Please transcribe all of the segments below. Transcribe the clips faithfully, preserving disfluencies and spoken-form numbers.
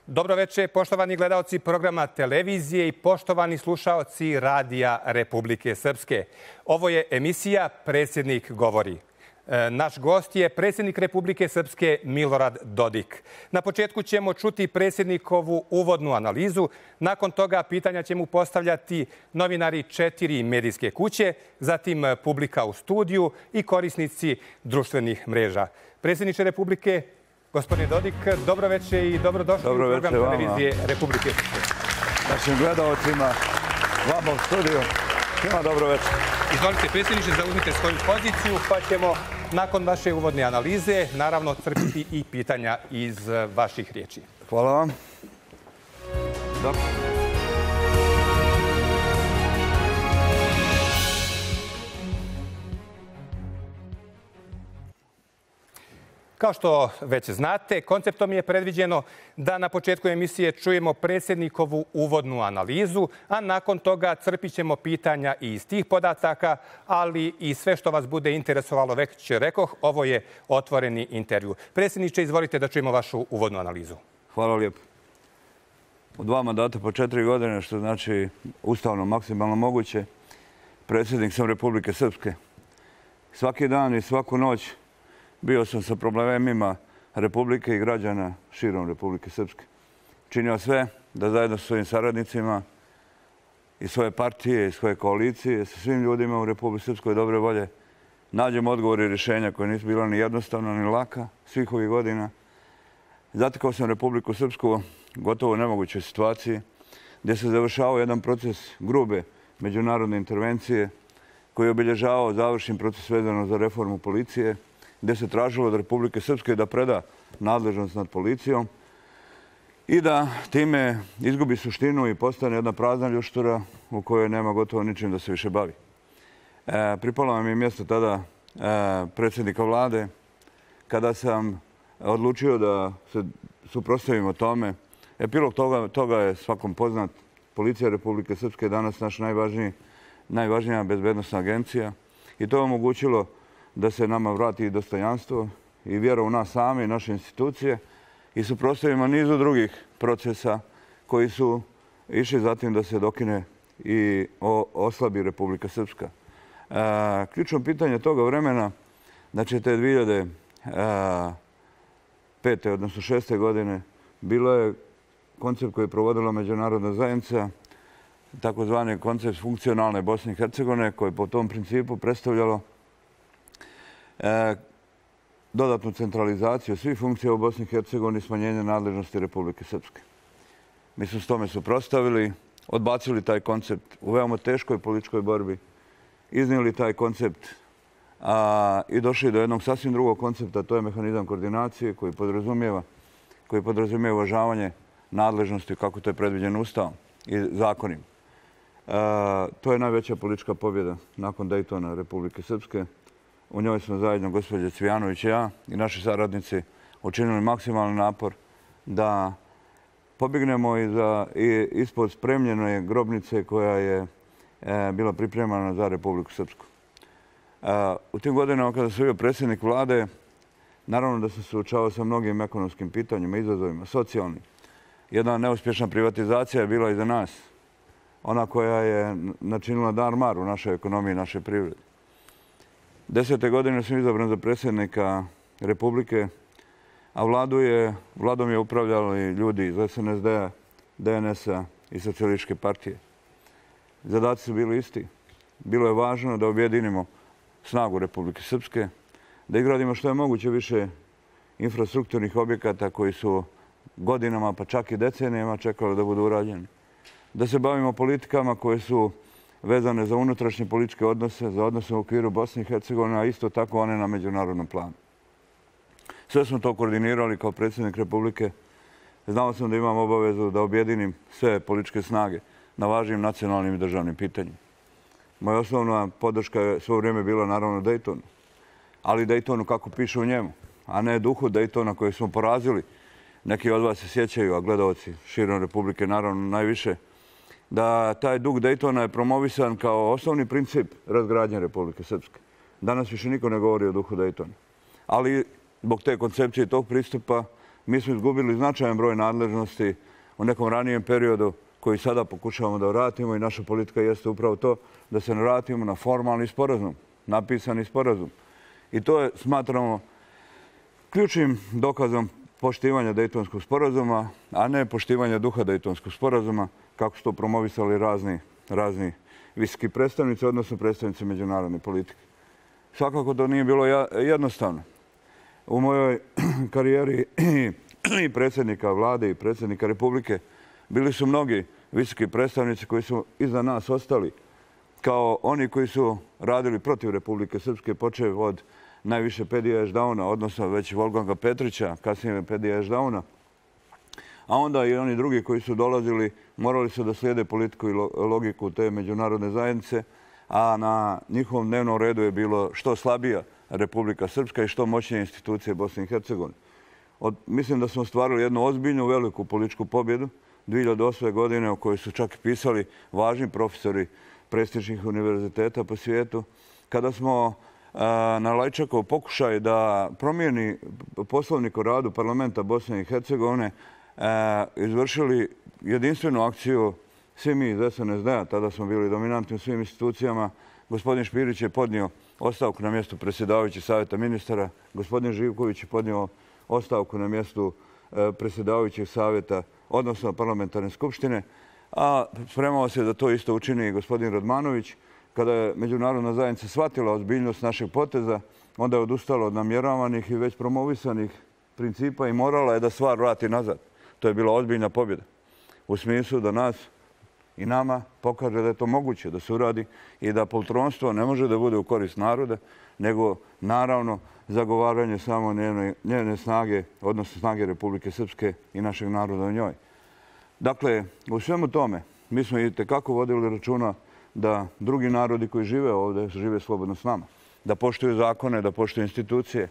Dobro večer, poštovani gledaoci programa televizije i poštovani slušaoci Radija Republike Srpske. Ovo je emisija Predsjednik govori. Naš gost je predsjednik Republike Srpske Milorad Dodik. Na početku ćemo čuti predsjednikovu uvodnu analizu. Nakon toga pitanja će mu postavljati novinari četiri medijske kuće, zatim publika u studiju i korisnici društvenih mreža. Predsjedniče Republike, gospodin Dodik, dobro večer i dobrodošli u program televizije Republike Srpske. Našim gledalcima, vama u studiju, svima dobro večer. Izvolite, predsjedniče, zauzmite svoju poziciju, pa ćemo nakon vaše uvodne analize naravno crpiti i pitanja iz vaših riječi. Hvala vam. Dobro. Kao što već znate, konceptom je predviđeno da na početku emisije čujemo predsjednikovu uvodnu analizu, a nakon toga crpit ćemo pitanja i iz tih podataka, ali i sve što vas bude interesovalo, već rekoh, ovo je otvoreni intervju. Predsjedniče, izvolite da čujemo vašu uvodnu analizu. Hvala lijepo. U dva mandata po četiri godine, što znači ustavno maksimalno moguće, predsjednik sam Republike Srpske. Svaki dan i svaku noć bio sam sa problemima Republike i građana širom Republike Srpske. Činio sve da zajedno sa svojim saradnicima i svoje partije i svoje koalicije sa svim ljudima u Republike Srpskoj dobre volje nađemo odgovore i rješenja koje nisu bila ni jednostavna ni laka svih ovih godina. Zatekao sam Republiku Srpsku gotovo u nemogućoj situaciji gdje se završavao jedan proces grube međunarodne intervencije koji je obilježavao završni proces vezano za reformu policije, gdje se tražilo od Republike Srpske da preda nadležnost nad policijom i da time izgubi suštinu i postane jedna prazna ljuštura u kojoj nema gotovo ničim da se više bavi. E, pripalo vam je mjesto tada e, predsjednika vlade kada sam odlučio da se suprotstavimo tome. Epilog toga, toga je svakom poznat. Policija Republike Srpske je danas naš najvažniji, najvažnija bezbednosna agencija i to je omogućilo da se nama vrati i dostojanstvo i vjera u nas same i naše institucije i suprotstavimo nizu drugih procesa koji su išli zatim da se dokine i oslabi Republika Srpska. E, ključno pitanje toga vremena, znači te dvije hiljade pete. odnosno šeste. godine, bilo je koncept koji je provodila međunarodna zajednica, takozvani koncept funkcionalne Bosne i Hercegovine, koji je po tom principu predstavljalo E, dodatnu centralizaciju svih funkcija u Bosni i Hercegovini i smanjenje nadležnosti Republike Srpske. Mi smo s tome suprotstavili, odbacili taj koncept u veoma teškoj političkoj borbi, iznijeli taj koncept a, i došli do jednog sasvim drugog koncepta, to je mehanizam koordinacije koji podrazumijeva, koji podrazumijeva uvažavanje nadležnosti kako to je predviđeno Ustavom i zakonima. E, to je najveća politička pobjeda nakon Dejtona Republike Srpske. U njoj smo zajedno, gospođa Cvijanović i ja i naši saradnici, učinili maksimalni napor da pobjegnemo iza, i ispod spremljene grobnice koja je e, bila pripremana za Republiku Srpsku. E, u tim godinama kada sam bio predsjednik vlade, naravno da sam se suočavao sa mnogim ekonomskim pitanjima, izazovima, socijalnim. Jedna neuspješna privatizacija je bila iza nas. Ona koja je načinila dar-mar u našoj ekonomiji i našoj privredi. Desete godine sam izabran za predsjednika Republike, a vladu je, vladom je upravljali ljudi iz S N S D-a, D N S-a i Socijalističke partije. Zadaci su bili isti. Bilo je važno da objedinimo snagu Republike Srpske, da izgradimo što je moguće više infrastrukturnih objekata koji su godinama, pa čak i decenijama čekali da budu urađeni. Da se bavimo politikama koje su vezane za unutrašnje političke odnose, za odnose u okviru Bosne i Hercegovine, a isto tako one na međunarodnom planu. Sve smo to koordinirali kao predsjednik Republike. Znao sam da imam obavezu da objedinim sve političke snage na važnim nacionalnim i državnim pitanjima. Moja osnovna podrška je svo vrijeme bila naravno Dejtonu, ali Dejtonu kako piše u njemu, a ne duhu Dejtona koje smo porazili. Neki od vas se sjećaju, a gledaoci širom Republike naravno najviše, da taj duh Dejtona je promovisan kao osnovni princip razgradnje Republike Srpske. Danas više niko ne govori o duhu Dejtona. Ali zbog te koncepcije i tog pristupa Mi smo izgubili značajan broj nadležnosti u nekom ranijem periodu koji sada pokušavamo da vratimo i naša politika jeste upravo to da se vratimo na formalni sporazum, napisani sporazum. I to je, smatramo, ključnim dokazom poštivanja Dejtonskog sporazuma, a ne poštivanja duha Dejtonskog sporazuma, kako su to promovisali razni, razni visoki predstavnici, odnosno predstavnici međunarodne politike. Svakako to nije bilo jednostavno. U mojoj karijeri i predsjednika vlade i predsjednika Republike bili su mnogi visoki predstavnici koji su iza nas ostali, kao oni koji su radili protiv Republike Srpske, počev od najviše Pedija Ešdauna, odnosno već Wolfganga Petrića, kasnije Pedija Ešdauna. A onda i oni drugi koji su dolazili morali su da slijede politiku i logiku te međunarodne zajednice, a na njihovom dnevnom redu je bilo što slabija Republika Srpska i što moćnije institucije Bosne i Hercegovine. Mislim da smo ostvarili jednu ozbiljnu, veliku političku pobjedu dvije hiljade osme. godine o kojoj su čak pisali važni profesori prestižnih univerziteta po svijetu, kada smo na Lajčakov pokušaj da promijeni poslovnik o radu parlamenta Bosne i Hercegovine izvršili jedinstvenu akciju. Svi mi iz S N S D-a, tada smo bili dominantni u svim institucijama. Gospodin Špirić je podnio ostavku na mjestu predsjedavajućeg savjeta ministara. Gospodin Živković je podnio ostavku na mjestu predsjedavajućeg savjeta, odnosno parlamentarne skupštine. A spremao se da to isto učini i gospodin Radmanović. Kada je međunarodna zajednica shvatila ozbiljnost našeg poteza, onda je odustala od namjeravanih i već promovisanih principa i morala je da stvar vrati nazad. To je bila ozbiljna pobjeda. U smislu da nas i nama pokaže da je to moguće da se uradi i da poltronstvo ne može da bude u korist naroda, nego naravno zagovaranje samo njene snage, odnosno snage Republike Srpske i našeg naroda u njoj. Dakle, u svemu tome mi smo i tekako vodili računa da drugi narodi koji žive ovdje žive slobodno s nama, da poštuju zakone, da poštuju institucije.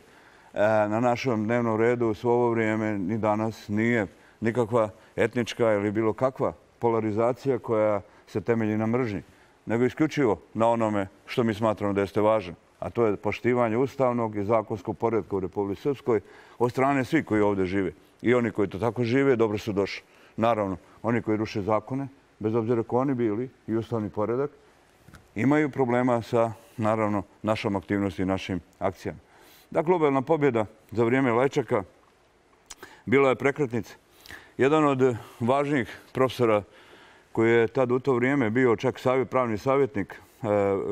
Na našem dnevnom redu svo ovo vrijeme ni danas nije nikakva etnička ili bilo kakva polarizacija koja se temelji na mržnji, nego isključivo na onome što mi smatramo da jeste važno, a to je poštivanje ustavnog i zakonskog poretka u Republici Srpskoj od strane svih koji ovdje žive. I oni koji to tako žive, dobro su došli. Naravno, oni koji ruše zakone, bez obzira ko oni bili i ustavni poredak, imaju problema sa, naravno, našom aktivnosti i našim akcijama. Da, globalna pobjeda za vrijeme Lajčaka bila je prekretnica. Jedan od važnijih profesora koji je tad u to vrijeme bio čak pravni savjetnik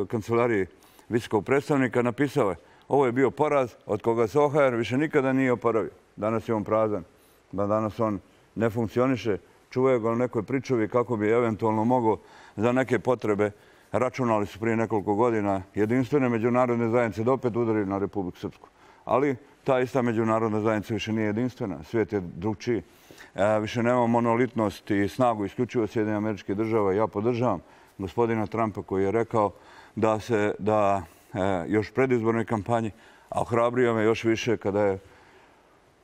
kancelariji visokog predstavnika napisao je: ovo je bio poraz od koga se O H R više nikada nije oporavio. Danas je on prazan, danas on ne funkcioniše. Čuvaju ga u nekoj pričuvi kako bi eventualno mogao za neke potrebe, računali su prije nekoliko godina, jedinstvene međunarodne zajednice da opet udari na Republiku Srpsku. Ali ta ista međunarodna zajednica više nije jedinstvena. Svijet je drugčiji. Više nema monolitnost i snagu isključivo Sjedinjenih Američkih Država. Ja podržavam gospodina Trumpa koji je rekao da se da još predizbornoj kampanji, a ohrabrio me još više kada je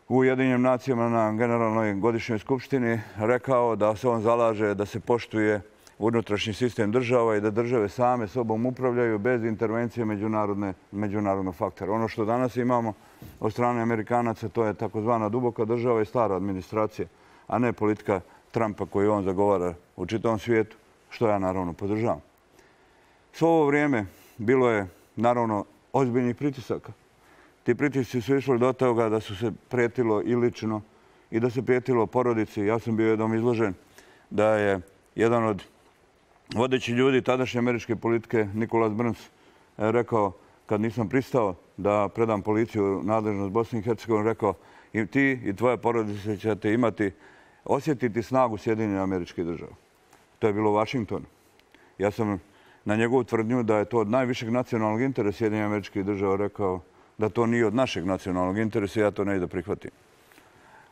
u Ujedinjenim nacijama na generalnoj godišnjoj skupštini rekao da se on zalaže da se poštuje unutrašnji sistem država i da države same sobom upravljaju bez intervencije međunarodnog faktora. Ono što danas imamo od strane Amerikanaca, to je takozvana duboka država i stara administracija, a ne politika Trumpa koju on zagovara u čitavom svijetu, što ja naravno podržavam. Svo ovo vrijeme bilo je naravno ozbiljnih pritisaka. Ti pritisci su išli do toga da su se prijetilo i lično i da se prijetilo porodici. Ja sam bio jednom izložen da je jedan od vodećih ljudi tadašnje američke politike, Nicholas Burns, rekao, kad nisam pristao da predam policiju nadležnost Bosne i Hercegovine, rekao: i ti i tvoja porodica ćete imati, osjetiti snagu Sjedinjenih Američkih Država. To je bilo u Vašingtonu. Ja sam na njegovu tvrdnju da je to od najvišeg nacionalnog interesa Sjedinjenih Američkih Država rekao da to nije od našeg nacionalnog interesa i ja to ne da prihvatim.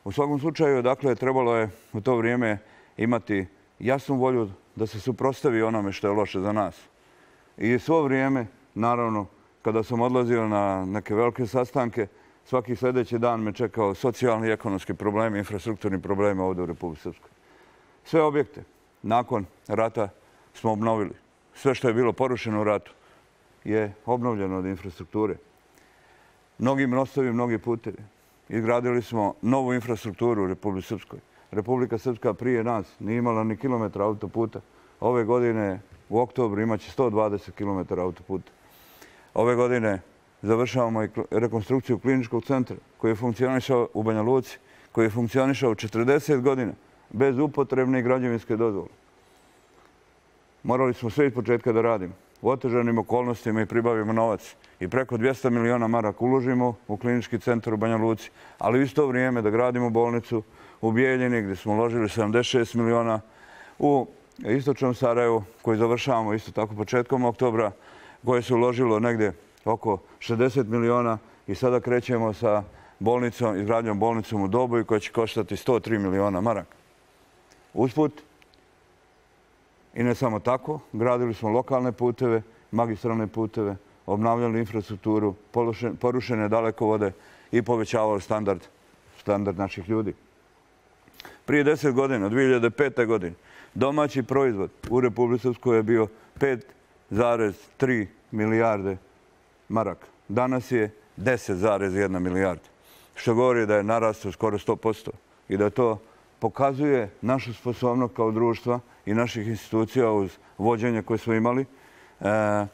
U svakom slučaju, dakle, trebalo je u to vrijeme imati jasnu volju da se suprotstavi onome što je loše za nas. I svo vrijeme, naravno, kada sam odlazio na neke velike sastanke, svaki sljedeći dan me čekao socijalni i ekonomski problemi, infrastrukturni problemi ovdje u Republici Srpskoj. Sve objekte nakon rata smo obnovili. Sve što je bilo porušeno u ratu je obnovljeno od infrastrukture. Mnogi mostovi, mnogi putevi. izgradili smo novu infrastrukturu u Republici Srpskoj. Republika Srpska prije nas nije imala ni kilometra autoputa. Ove godine u oktobru imaće sto dvadeset kilometara autoputa. Ove godine završavamo i rekonstrukciju kliničkog centra koji je funkcionišao u Banja Luci, koji je funkcionišao četrdeset godina bez upotrebne građevinske dozvole. Morali smo sve iz početka da radimo. U otežanim okolnostima i pribavimo novac. I preko dvjesto miliona maraka uložimo u klinički centar u Banja Luci, ali u isto vrijeme da gradimo bolnicu u Bijeljini gdje smo uložili sedamdeset šest miliona, u istočnom Sarajevu koji završavamo isto tako početkom oktobra, koje se uložilo negdje oko šezdeset miliona i sada krećemo sa bolnicom, izgradnjom bolnicom u Doboju koja će koštati sto tri miliona maraka. Usput, i ne samo tako, gradili smo lokalne puteve, magistralne puteve, obnavljali infrastrukturu, porušene dalekovode i povećavali standard, standard naših ljudi. Prije deset godina, dvije hiljade pete. godine, domaći proizvod u Republici Srpskoj je bio pet zarez tri milijarde maraka. Danas je deset zarez jedna milijarda, što govori da je narastao skoro sto posto i da to pokazuje našu sposobnost kao društva i naših institucija uz vođenje koje smo imali e,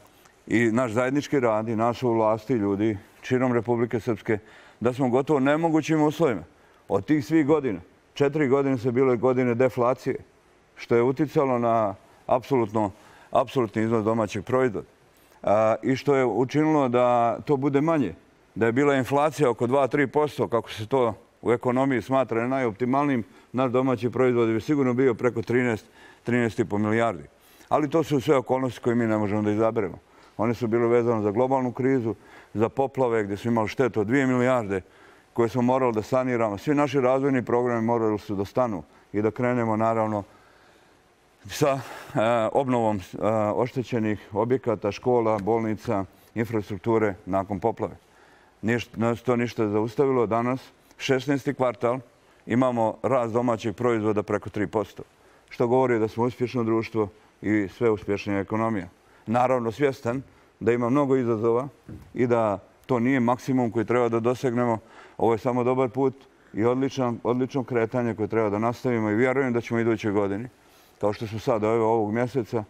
i naš zajednički rad i našu vlasti ljudi širom Republike Srpske, da smo gotovo nemogućim uslovima. Od tih svih godina, četiri godine su bile godine deflacije, što je uticalo na apsolutno, apsolutni iznos domaćeg proizvoda a, i što je učinilo da to bude manje. Da je bila inflacija oko dva do tri posto, kako se to u ekonomiji smatra najoptimalnijim, naš domaći proizvod bi sigurno bio preko trinaest, trinaest i po milijardi. Ali to su sve okolnosti koje mi ne možemo da izaberemo. One su bile vezane za globalnu krizu, za poplave gdje smo imali štetu od dvije milijarde koje smo morali da saniramo. Svi naši razvojni programi morali su da stanu i da krenemo naravno sa e, obnovom e, oštećenih objekata, škola, bolnica, infrastrukture nakon poplave. Nije nas to ništa zaustavilo. Danas, šesnaesti kvartal, imamo rast domaćeg proizvoda preko tri posto, što govori da smo uspješno društvo i sve uspješnija ekonomija. Naravno, svjestan da ima mnogo izazova i da to nije maksimum koji treba da dosegnemo. Ovo je samo dobar put i odličan, odlično kretanje koje treba da nastavimo i vjerujem da ćemo iduće godine, kao što smo sad ovog mjeseca,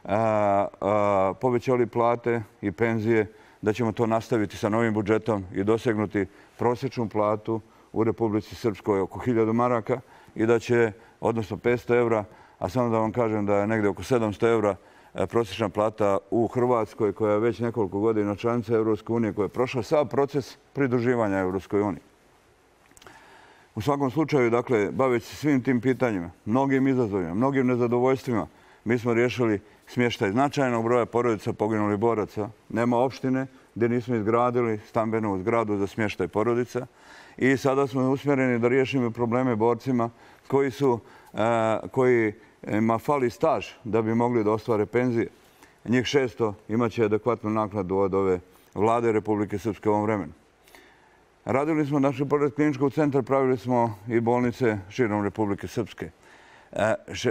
a, a, povećali plate i penzije, da ćemo to nastaviti sa novim budžetom i dosegnuti prosječnu platu u Republici Srpskoj oko hiljadu maraka i da će, odnosno petsto evra, a samo da vam kažem da je negdje oko sedamsto evra prosječna plata u Hrvatskoj, koja je već nekoliko godina članica Evropske unije, koja je prošla sav proces pridruživanja Evropskoj uniji. U svakom slučaju, dakle, baveći se svim tim pitanjima, mnogim izazovima, mnogim nezadovoljstvima, mi smo riješili smještaj značajnog broja porodica poginulih boraca. Nema opštine gdje nismo izgradili stambenu zgradu za smještaj porodica. I sada smo usmjereni da riješimo probleme borcima koji su, kojima fali staž da bi mogli da ostvare penzije. Njih šesto imaće adekvatnu naknadu od ove vlade Republike Srpske u ovom vremenu. Radili smo, znači, pored kliničkog centra, pravili smo i bolnice širom Republike Srpske.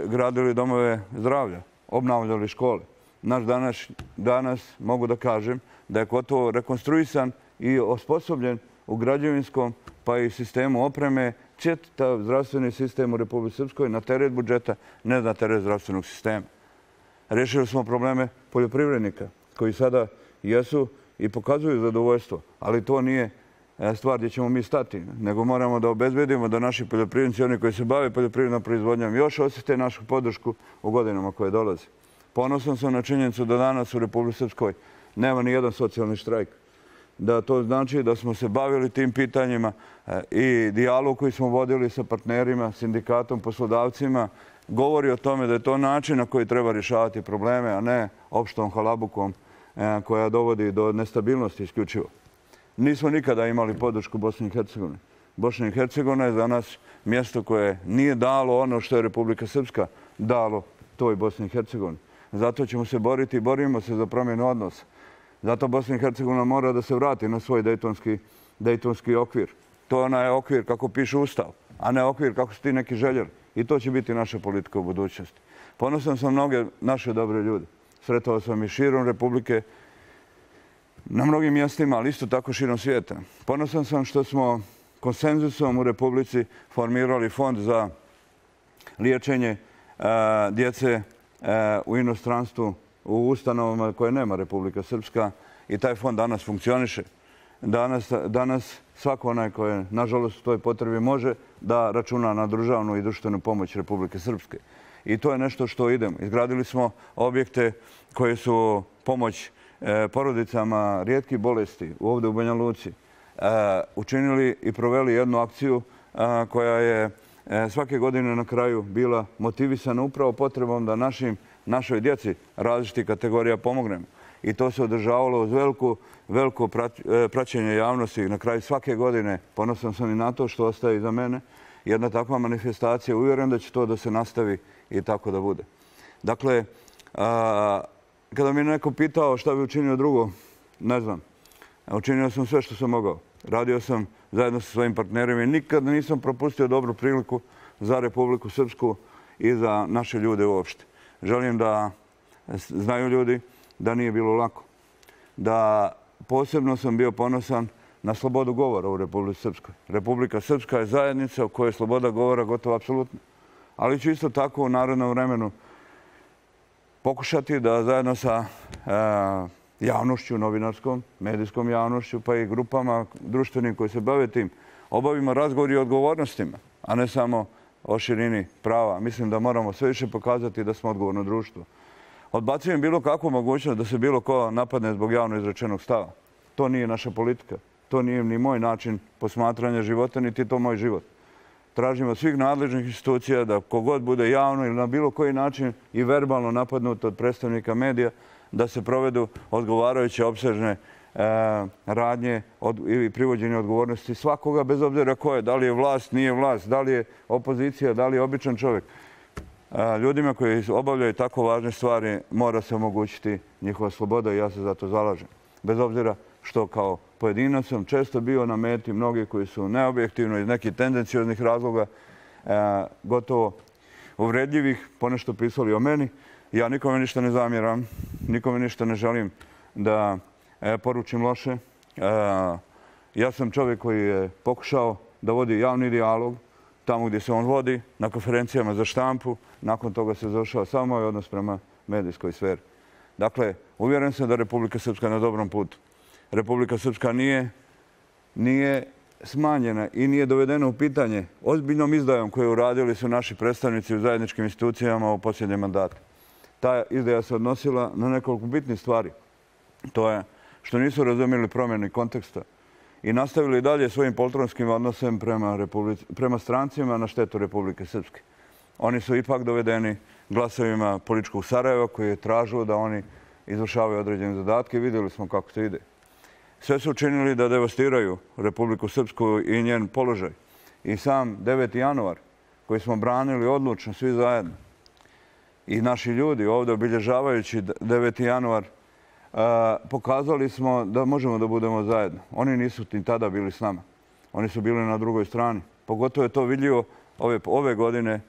Gradili domove zdravlja, obnavljali škole. Naš danas, danas mogu da kažem da je gotovo rekonstruisan i osposobljen u građevinskom pa i sistemu opreme čitav zdravstveni sistem u Republici Srpskoj na teret budžeta, ne na teret zdravstvenog sistema. Rešili smo probleme poljoprivrednika koji sada jesu i pokazuju zadovoljstvo, ali to nije stvar gdje ćemo mi stati, nego moramo da obezbedimo da naši poljoprivrednici, oni koji se bave poljoprivrednom proizvodnjom, još osjete našu podršku u godinama koje dolaze. Ponosan sam na činjenicu da danas u Republici Srpskoj nema ni jedan socijalni štrajk. Da to znači da smo se bavili tim pitanjima i dijalog koji smo vodili sa partnerima, sindikatom, poslodavcima, govori o tome da je to način na koji treba rješavati probleme, a ne opštom halabukom koja dovodi do nestabilnosti isključivo. Nismo nikada imali podršku Bosne i Hercegovine. Bosna i Hercegovina je za nas mjesto koje nije dalo ono što je Republika Srpska dalo toj Bosni i Hercegovini. Zato ćemo se boriti i borimo se za promjenu odnosa. Zato Bosna i Hercegovina mora da se vrati na svoj dejtonski, dejtonski okvir. To je onaj okvir kako piše Ustav, a ne okvir kako su ti neki željeli. I to će biti naša politika u budućnosti. Ponosan sam mnoge naše dobre ljude. Sretao sam i širom Republike, na mnogim mjestima, ali isto tako širom svijeta. Ponosan sam što smo konsenzusom u Republici formirali fond za liječenje djece u inostranstvu, u ustanovama koje nema Republika Srpska, i taj fond danas funkcioniše. Danas, danas svako onaj koji, nažalost, u toj potrebi može da računa na državnu i društvenu pomoć Republike Srpske. I to je nešto što idemo. Izgradili smo objekte koje su pomoć porodicama rijetkih bolesti ovdje u Banja Luci. Učinili i proveli jednu akciju koja je svake godine na kraju bila motivisana upravo potrebom da našim, našoj djeci različitih kategorija pomognemo. I to se održavalo uz veliko, veliko praćenje javnosti. Na kraju svake godine, ponosan sam i na to što ostaje iza mene, jedna takva manifestacija. Uvjeren da će to da se nastavi i tako da bude. Dakle, a, kada mi je neko pitao šta bi učinio drugo, ne znam. Učinio sam sve što sam mogao. Radio sam zajedno sa svojim partnerima i nikada nisam propustio dobru priliku za Republiku Srpsku i za naše ljude uopšte. Želim da znaju ljudi da nije bilo lako. Da posebno sam bio ponosan na slobodu govora u Republici Srpskoj. Republika Srpska je zajednica u kojoj je sloboda govora gotovo apsolutna. Ali ću isto tako u narednom vremenu pokušati da zajedno sa javnošću, novinarskom, medijskom javnošću, pa i grupama društvenim koji se bave tim, obavimo razgovor o odgovornostima, a ne samo o širini prava. Mislim da moramo sve više pokazati da smo odgovorno društvo. Odbacujem bilo kakvu mogućnost da se bilo ko napadne zbog javno izrečenog stava. To nije naša politika. To nije ni moj način posmatranja života, niti to moj život. Tražimo od svih nadležnih institucija da kogod bude javno ili na bilo koji način i verbalno napadnut od predstavnika medija, da se provedu odgovarajuće opsežne radnje ili privođenje odgovornosti svakoga, bez obzira ko je. Da li je vlast, nije vlast, da li je opozicija, da li je običan čovjek. Ljudima koji obavljaju tako važne stvari mora se omogućiti njihova sloboda i ja se za to zalažem. Bez obzira što kao pojedinac sam često bio na meti mnogi koji su neobjektivno iz nekih tendencioznih razloga gotovo uvredljivih ponešto pisali o meni. Ja nikome ništa ne zamjeram, nikome ništa ne želim da poručim loše. Ja sam čovjek koji je pokušao da vodi javni dijalog tamo gdje se on vodi, na konferencijama za štampu. Nakon toga se završava samo moj odnos prema medijskoj sferi. Dakle, uvjeren sam da Republika Srpska je na dobrom putu. Republika Srpska nije, nije smanjena i nije dovedena u pitanje ozbiljnom izdajom koju uradili su naši predstavnici u zajedničkim institucijama u posljednjem mandatu. Ta izdaja se odnosila na nekoliko bitnih stvari. To je što nisu razumjeli promjenu konteksta i nastavili dalje svojim poltronskim odnosem prema, prema strancima na štetu Republike Srpske. Oni su ipak dovedeni glasovima političkog Sarajeva koji je tražio da oni izvršavaju određene zadatke i vidjeli smo kako to ide. Sve su učinili da devastiraju Republiku Srpsku i njen položaj. I sam deveti januar koji smo branili odlučno svi zajedno i naši ljudi ovdje obilježavajući deveti januar pokazali smo da možemo da budemo zajedno. Oni nisu ni tada bili s nama. Oni su bili na drugoj strani. Pogotovo je to vidljivo ove, ove godine,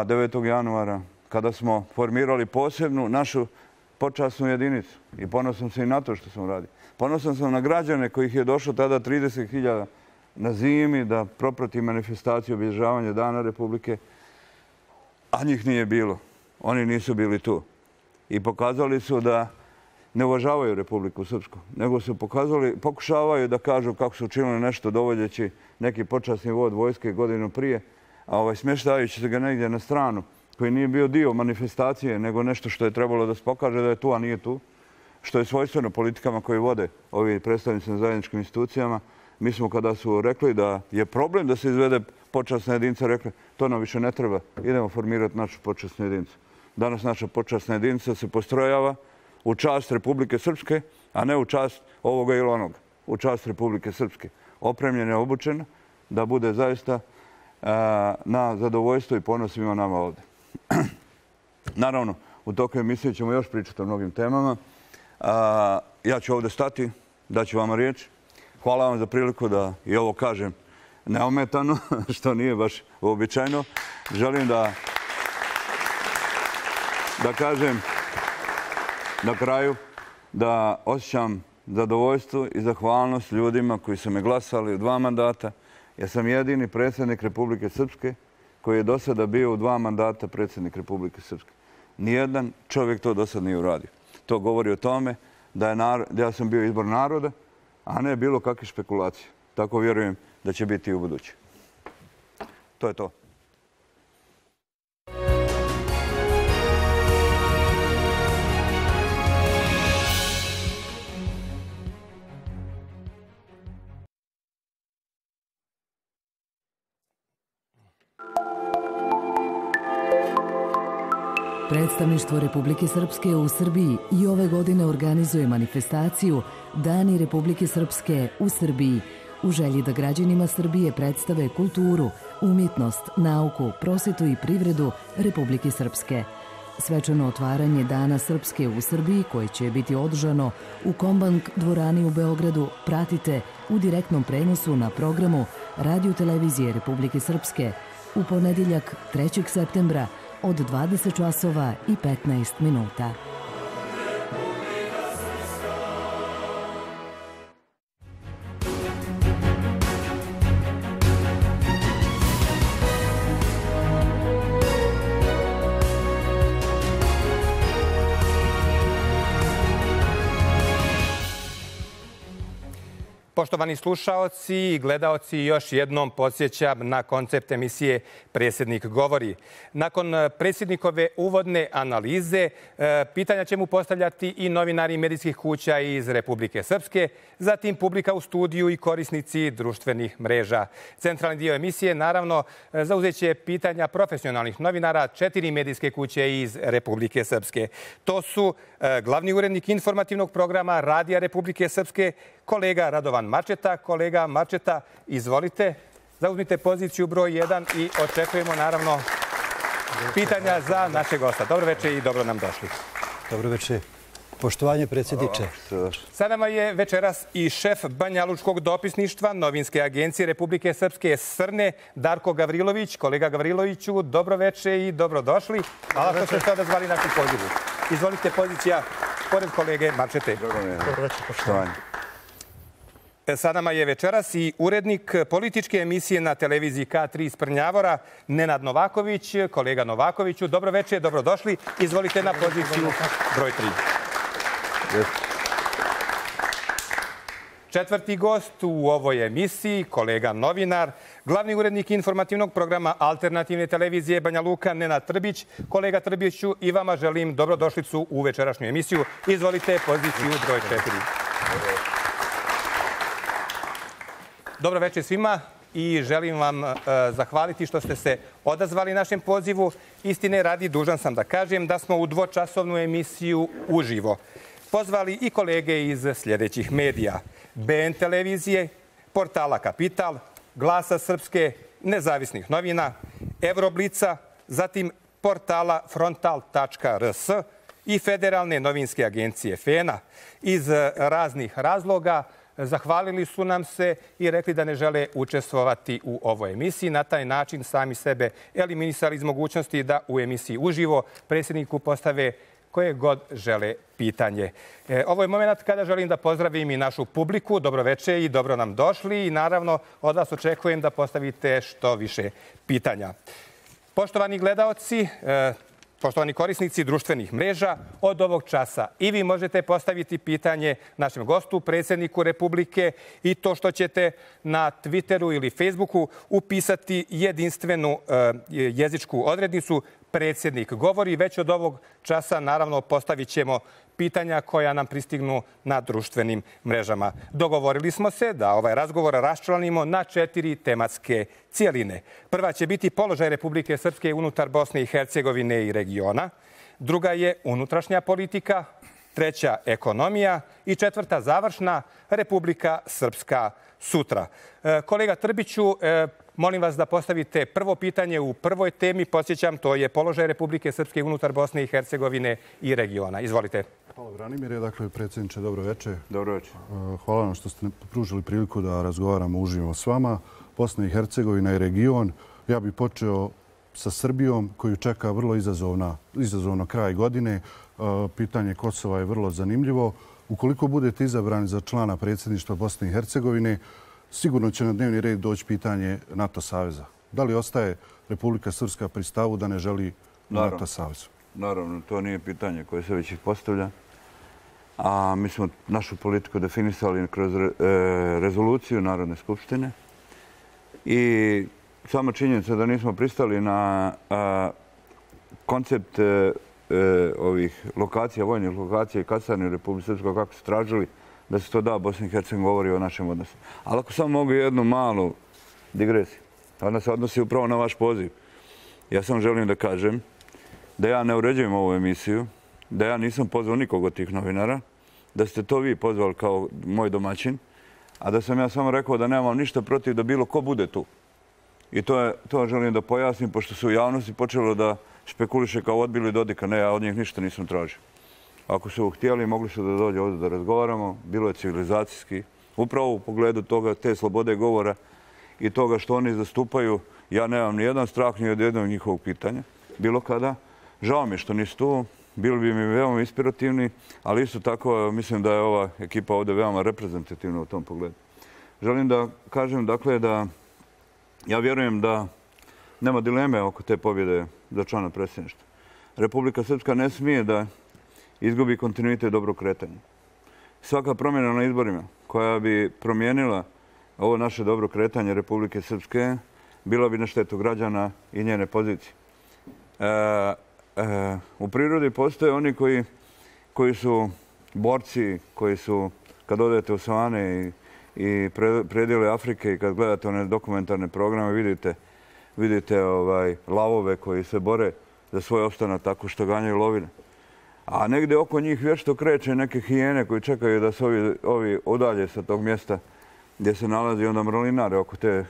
devetog januara, kada smo formirali posebnu našu počasnu jedinicu. I ponosan sam i na to što sam radio. Ponosan sam na građane kojih je došlo tada trideset hiljada na zimi da proprati manifestaciju obilježavanja Dana Republike, a njih nije bilo. Oni nisu bili tu. I pokazali su da ne uvažavaju Republiku Srpsku, nego su pokazali, pokušavaju da kažu kako su učinili nešto dovodeći neki počasni vod vojske godinu prije, a ovaj, smještajući se ga negdje na stranu, koji nije bio dio manifestacije, nego nešto što je trebalo da se pokaže da je tu, a nije tu, što je svojstveno politikama koji vode ovi predstavnici na zajedničkim institucijama. Mi smo kada su rekli da je problem da se izvede počasna jedinica, rekli to nam više ne treba, idemo formirati našu počasnu jedinicu. Danas naša počasna jedinica se postrojava u čast Republike Srpske, a ne u čast ovoga ili onoga. U čast Republike Srpske. Opremljena, obučena, da bude zaista na zadovoljstvo i ponos svima nama ovdje. Naravno, u toku emisije ćemo još pričati o mnogim temama. Ja ću ovdje stati, daću vam riječ. Hvala vam za priliku da i ovo kažem neometano, što nije baš uobičajeno. Želim da, da kažem na kraju da osjećam zadovoljstvo i zahvalnost ljudima koji su me glasali u dva mandata Ja sam jedini predsjednik Republike Srpske koji je do sada bio u dva mandata predsjednik Republike Srpske. Nijedan čovjek to do sada nije uradio. To govori o tome da, je narod, da ja sam bio izbor naroda, a ne bilo kakve špekulacije. Tako vjerujem da će biti i u buduće. To je to. Predstavništvo Republike Srpske u Srbiji i ove godine organizuje manifestaciju Dani Republike Srpske u Srbiji u želji da građanima Srbije predstave kulturu, umjetnost, nauku, prosvetu i privredu Republike Srpske. Svečano otvaranje Dana Srpske u Srbiji, koje će biti održano u Kombank dvorani u Beogradu, pratite u direktnom prenosu na programu Radio-televizije Republike Srpske u ponedjeljak trećeg septembra od dvadeset časova i petnaest minuta. Poštovani slušaoci i gledaoci, još jednom podsjećam na koncept emisije Predsjednik govori. Nakon predsjednikove uvodne analize, pitanja će mu postavljati i novinari medijskih kuća iz Republike Srpske, zatim publika u studiju i korisnici društvenih mreža. Centralni dio emisije, naravno, zauzet će pitanja profesionalnih novinara četiri medijske kuće iz Republike Srpske. To su glavni urednik informativnog programa Radija Republike Srpske, kolega Radovan Marčeta. Kolega Marčeta, izvolite, zauzmite poziciju broj jedan i očekujemo naravno pitanja za naše gosta. Dobro večer i dobro nam došli. Dobro večer. Poštovanje predsjedniče. Sa nama je večeras i šef Banjalučkog dopisništva Novinske agencije Republike Srpske Srne, Darko Gavrilović. Kolega Gavriloviću, dobro večer i dobro došli. Hvala što ste se odazvali našu pozivu. Izvolite, pozicija pored kolege Marčete. Dobro večer, poštovanje. Sa nama je večeras i urednik političke emisije na televiziji K tri iz Prnjavora, Nenad Novaković. Kolega Novakoviću, dobro večer, dobrodošli. Izvolite na poziciju broj tri. Četvrti gost u ovoj emisiji, kolega novinar, glavni urednik informativnog programa alternativne televizije Banja Luka, Nenad Trbić. Kolega Trbiću, i vama želim dobrodošlicu u večerašnju emisiju. Izvolite poziciju broj četiri. Dobro večer svima i želim vam uh, zahvaliti što ste se odazvali našem pozivu. Istine radi, dužan sam da kažem da smo u dvočasovnu emisiju uživo pozvali i kolege iz sljedećih medija: B N televizije, portala Kapital, Glasa Srpske, Nezavisnih novina, Evroblica, zatim portala frontal tačka r s i Federalne novinske agencije F E N A. Iz raznih razloga zahvalili su nam se i rekli da ne žele učestvovati u ovoj emisiji. Na taj način sami sebe eliminisali iz mogućnosti da u emisiji uživo predsjedniku postave koje god žele pitanje. E, ovo je moment kada želim da pozdravim i našu publiku. Dobro večer i dobro nam došli. I naravno od vas očekujem da postavite što više pitanja. Poštovani gledaoci, e, poštovani korisnici društvenih mreža, od ovog časa i vi možete postaviti pitanje našem gostu, predsjedniku Republike, i to što ćete na Twitteru ili Facebooku upisati jedinstvenu e, jezičku odrednicu Predsjednik govori. Već od ovog časa, naravno, postavit ćemo pitanja koja nam pristignu na društvenim mrežama. Dogovorili smo se da ovaj razgovor raščlanimo na četiri tematske cijeline. Prva će biti položaj Republike Srpske unutar Bosne i Hercegovine i regiona. Druga je unutrašnja politika. Treća ekonomija. I četvrta završna, Republika Srpska sutra. Kolega Trbiću, molim vas da postavite prvo pitanje u prvoj temi. Podsjećam, to je položaj Republike Srpske unutar Bosne i Hercegovine i regiona. Izvolite. Hvala, Branimire. Dakle, predsjedniče, dobro večer. Dobro večer. Hvala vam što ste pružili priliku da razgovaramo uživo s vama. Bosna i Hercegovina i region. Ja bih počeo sa Srbijom, koju čeka vrlo izazovna, izazovno kraj godine. Pitanje Kosova je vrlo zanimljivo. Ukoliko budete izabrani za člana predsjedništva Bosne i Hercegovine, sigurno će na dnevni red doći pitanje NATO saveza. Da li ostaje Republika Srpska pri stavu da ne želi NATO savez? Naravno, to nije pitanje koje se već postavlja. A mi smo našu politiku definisali kroz rezoluciju Narodne skupštine. I sama činjenica da nismo pristali na koncept ovih lokacija, vojnih lokacija i kasarni u Republike Srpskoj, kako su tražili da se to da, Bosna i Hercegovina govori o našem odnosu. Ali ako samo mogu jednu malu digresiju, ona se odnosi upravo na vaš poziv. Ja samo želim da kažem da ja ne uređujem ovu emisiju, da ja nisam pozvao nikog od tih novinara, da ste to vi pozvali kao moj domaćin, a da sam ja samo rekao da nemam ništa protiv da bilo ko bude tu. I to, je, to želim da pojasnim, pošto su u javnosti počelo da špekuliše kao odbili Dodika. Ne, ja od njih ništa nisam tražio. Ako su htjeli, mogli su da dođe ovdje da razgovaramo. Bilo je civilizacijski. Upravo u pogledu toga, te slobode govora i toga što oni zastupaju, ja nemam ni jedan strah ni od jednog njihovog pitanja. Bilo kada. Žao mi što nisu tu. Bili bi mi veoma inspirativni, ali isto tako mislim da je ova ekipa ovdje veoma reprezentativna u tom pogledu. Želim da kažem, dakle, da ja vjerujem da nema dileme oko te pobjede za člana predsjedništva. Republika Srpska ne smije da izgubi kontinuitet dobrog kretanja. Svaka promjena na izborima koja bi promijenila ovo naše dobro kretanje Republike Srpske bila bi na štetu građana i njene pozicije. E, e, u prirodi postoje oni koji, koji su borci, koji su, kad odete u savane i i predjele Afrike i kad gledate one dokumentarne programe vidite, vidite ovaj, lavove koji se bore za svoj opstanak tako što ganjaju lovine. A negdje oko njih vješto kreće neke hijene koji čekaju da se ovi, ovi udalje sa tog mjesta gdje se nalazi onda mrolinare oko te,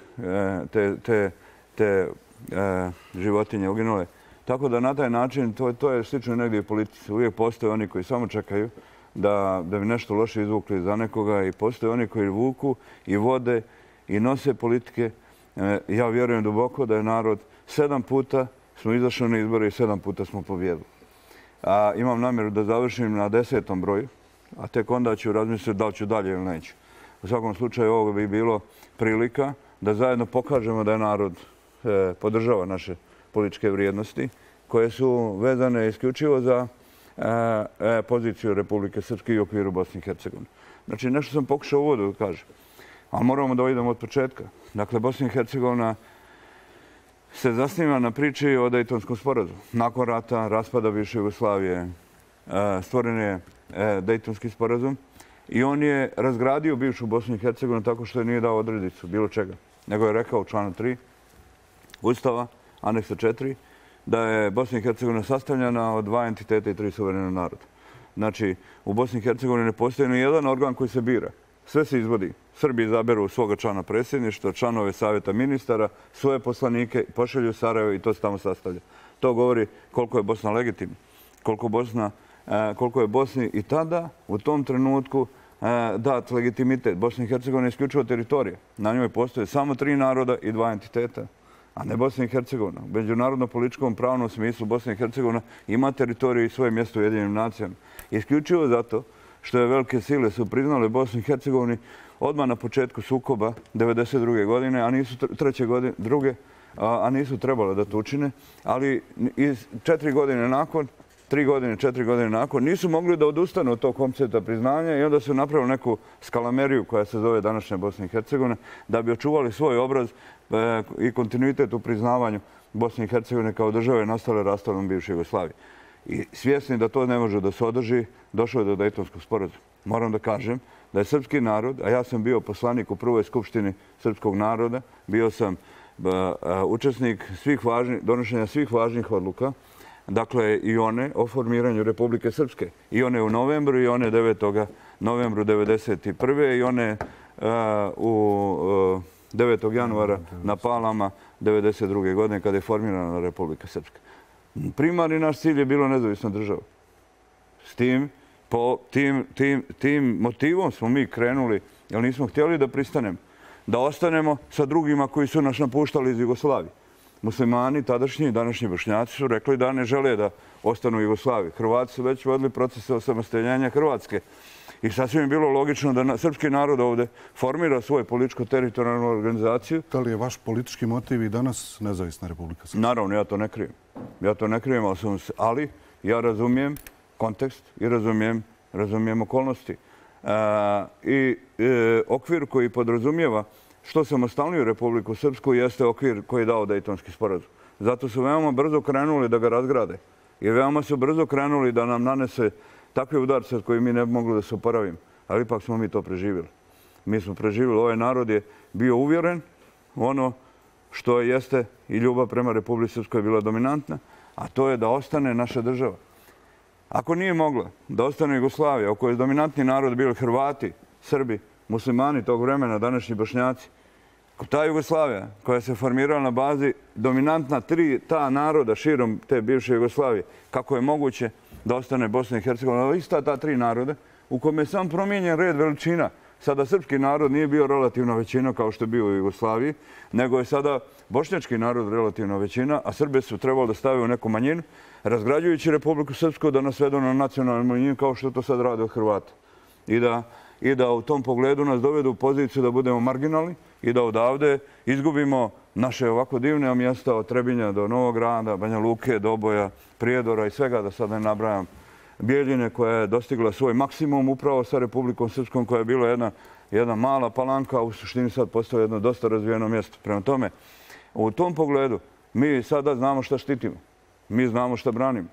te, te, te e, životinje uginule. Tako da na taj način to, to je slično negdje u politici. Uvijek postoje oni koji samo čekaju da, da bi nešto loše izvukli za nekoga i postoje oni koji vuku i vode i nose politike. E, ja vjerujem duboko da je narod sedam puta smo izašli na izbore i sedam puta smo pobjedili. A imam namjeru da završim na desetom broju, a tek onda ću razmisliti da li ću dalje ili neću. U svakom slučaju ovo bi bilo prilika da zajedno pokažemo da je narod e, podržava naše političke vrijednosti koje su vezane isključivo za e, e, poziciju Republike Srpske i u okviru Bosne i Hercegovine. Znači, nešto sam pokušao u uvodu da kažem, ali moramo da idemo od početka. Dakle, Bosna i Hercegovina se zasniva na priči o Dejtonskom sporazumu. Nakon rata, raspada bivše Jugoslavije, e, stvoren je e, Dejtonski sporazum i on je razgradio bivšu Bosnu i Hercegovinu tako što je nije dao odredicu bilo čega. Nego je rekao u članu tri Ustava, aneksa četiri, da je Bosna i Hercegovina sastavljena od dva entiteta i tri suverena naroda. Znači, u Bosni i Hercegovini ne postoji ni jedan organ koji se bira. Sve se izvodi. Srbi izaberu svoga člana predsjedništva, članove savjeta ministara, svoje poslanike, pošalju u Sarajevo i to se tamo sastavlja. To govori koliko je Bosna legitimna, koliko, Bosna, koliko je Bosni i tada, u tom trenutku, dat legitimitet. Bosna i Hercegovina je isključivo teritorija. Na njoj postoje samo tri naroda i dva entiteta, a ne Bosna i Hercegovina. U međunarodno-političkom pravnom smislu Bosna i Hercegovina ima teritoriju i svoje mjesto u Ujedinjenim nacijama. Isključivo zato što je velike sile su priznale Bosnu i Hercegovini odmah na početku sukoba devedeset druge godine, a nisu treće godine, druge, a nisu trebale da to učine, ali iz četiri godine nakon, tri godine, četiri godine nakon, nisu mogli da odustanu od tog koncepta priznanja i onda su napravili neku skalameriju koja se zove današnja Bosna i Hercegovina da bi očuvali svoj obraz i kontinuitet u priznavanju Bosne i Hercegovine kao države nastale raspadom bivše Jugoslavije. I svjesni da to ne može da se održi, došlo je do Dejtonskog sporazuma. Moram da kažem da je srpski narod, a ja sam bio poslanik u prvoj skupštini srpskog naroda, bio sam učesnik svih važnih, donošenja svih važnih odluka, dakle i one o formiranju Republike Srpske. I one u novembru i one devetog novembru devedeset prve i one u devetog januara na Palama devedeset druge godine kada je formirana Republika Srpska. Primarni naš cilj je bilo nezavisna država. S tim, po tim, tim, tim motivom smo mi krenuli, jer nismo htjeli da pristanemo, da ostanemo sa drugima koji su nas napuštali iz Jugoslavije. Muslimani, tadašnji i današnji Bošnjaci su rekli da ne žele da ostanu u Jugoslaviji. Hrvati su već vodili procese osamostaljenja Hrvatske I sasvim je bilo logično da srpski narod ovdje formira svoju političko-teritorijalnu organizaciju. Da li je vaš politički motiv i danas nezavisna Republika Srpska? Naravno, ja to ne krijem. Ja to ne krijem, ali ja razumijem kontekst i razumijem, razumijem okolnosti. E, I e, okvir koji podrazumijeva što samostalniju Republiku Srpsku jeste okvir koji je dao Dejtonski sporazum. Zato su veoma brzo krenuli da ga razgrade. I veoma su brzo krenuli da nam nanese takve udarce od koje mi ne bi mogli da se oporavimo. Ali ipak smo mi to preživjeli. Mi smo preživjeli. Ovaj narod je bio uvjeren ono što jeste i ljubav prema Republici Srpskoj je bila dominantna, a to je da ostane naša država. Ako nije mogla da ostane Jugoslavija, u kojoj je dominantni narod bili Hrvati, Srbi, muslimani tog vremena, današnji Bošnjaci, ta Jugoslavija koja se formirala na bazi dominantna tri ta naroda širom te bivše Jugoslavije, kako je moguće da ostane Bosna i Hercegovina, ista ta tri naroda u kome je sam promijenjen red veličina. Sada srpski narod nije bio relativna većina kao što je bio u Jugoslaviji, nego je sada bošnjački narod relativna većina, a Srbe su trebali da stave u neku manjinu, razgrađujući Republiku Srpsku da nas vedu na nacionalnu manjinu kao što to sad rade od Hrvata. I da, i da u tom pogledu nas dovedu u poziciju da budemo marginalni i da odavde izgubimo naše ovako divne mjesta od Trebinja do Novog Grada, Banja Luke, Doboja, Prijedora i svega, da sad ne nabrajam, Bijeljine koja je dostigla svoj maksimum upravo sa Republikom Srpskom koja je bila jedna, jedna mala palanka, a u suštini sad postoje jedno dosta razvijeno mjesto. Prema tome, u tom pogledu mi sada znamo šta štitimo. Mi znamo šta branimo.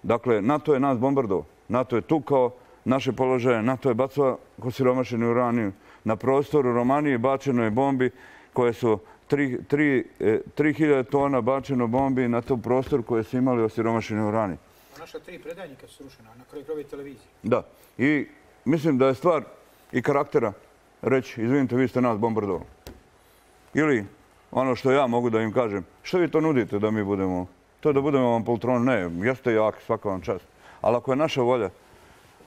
Dakle, NATO je nas bombardovao. NATO je tukao naše položaje. NATO je bacao osiromašeni uranijum. Na prostoru Romanije bačeno je bombi koje su tri hiljade tona bačeno bombi na tom prostoru koje su imali osiromašeni uranijum. Naša tri predajnika su srušena na kraju prve televizije. Da. I mislim da je stvar i karaktera reći, izvinite, vi ste nas bombardovali. Ili ono što ja mogu da im kažem, što vi to nudite da mi budemo? To je da budemo vam poltron. Ne, jeste jak, svaka vam čast. Ali ako je naša volja,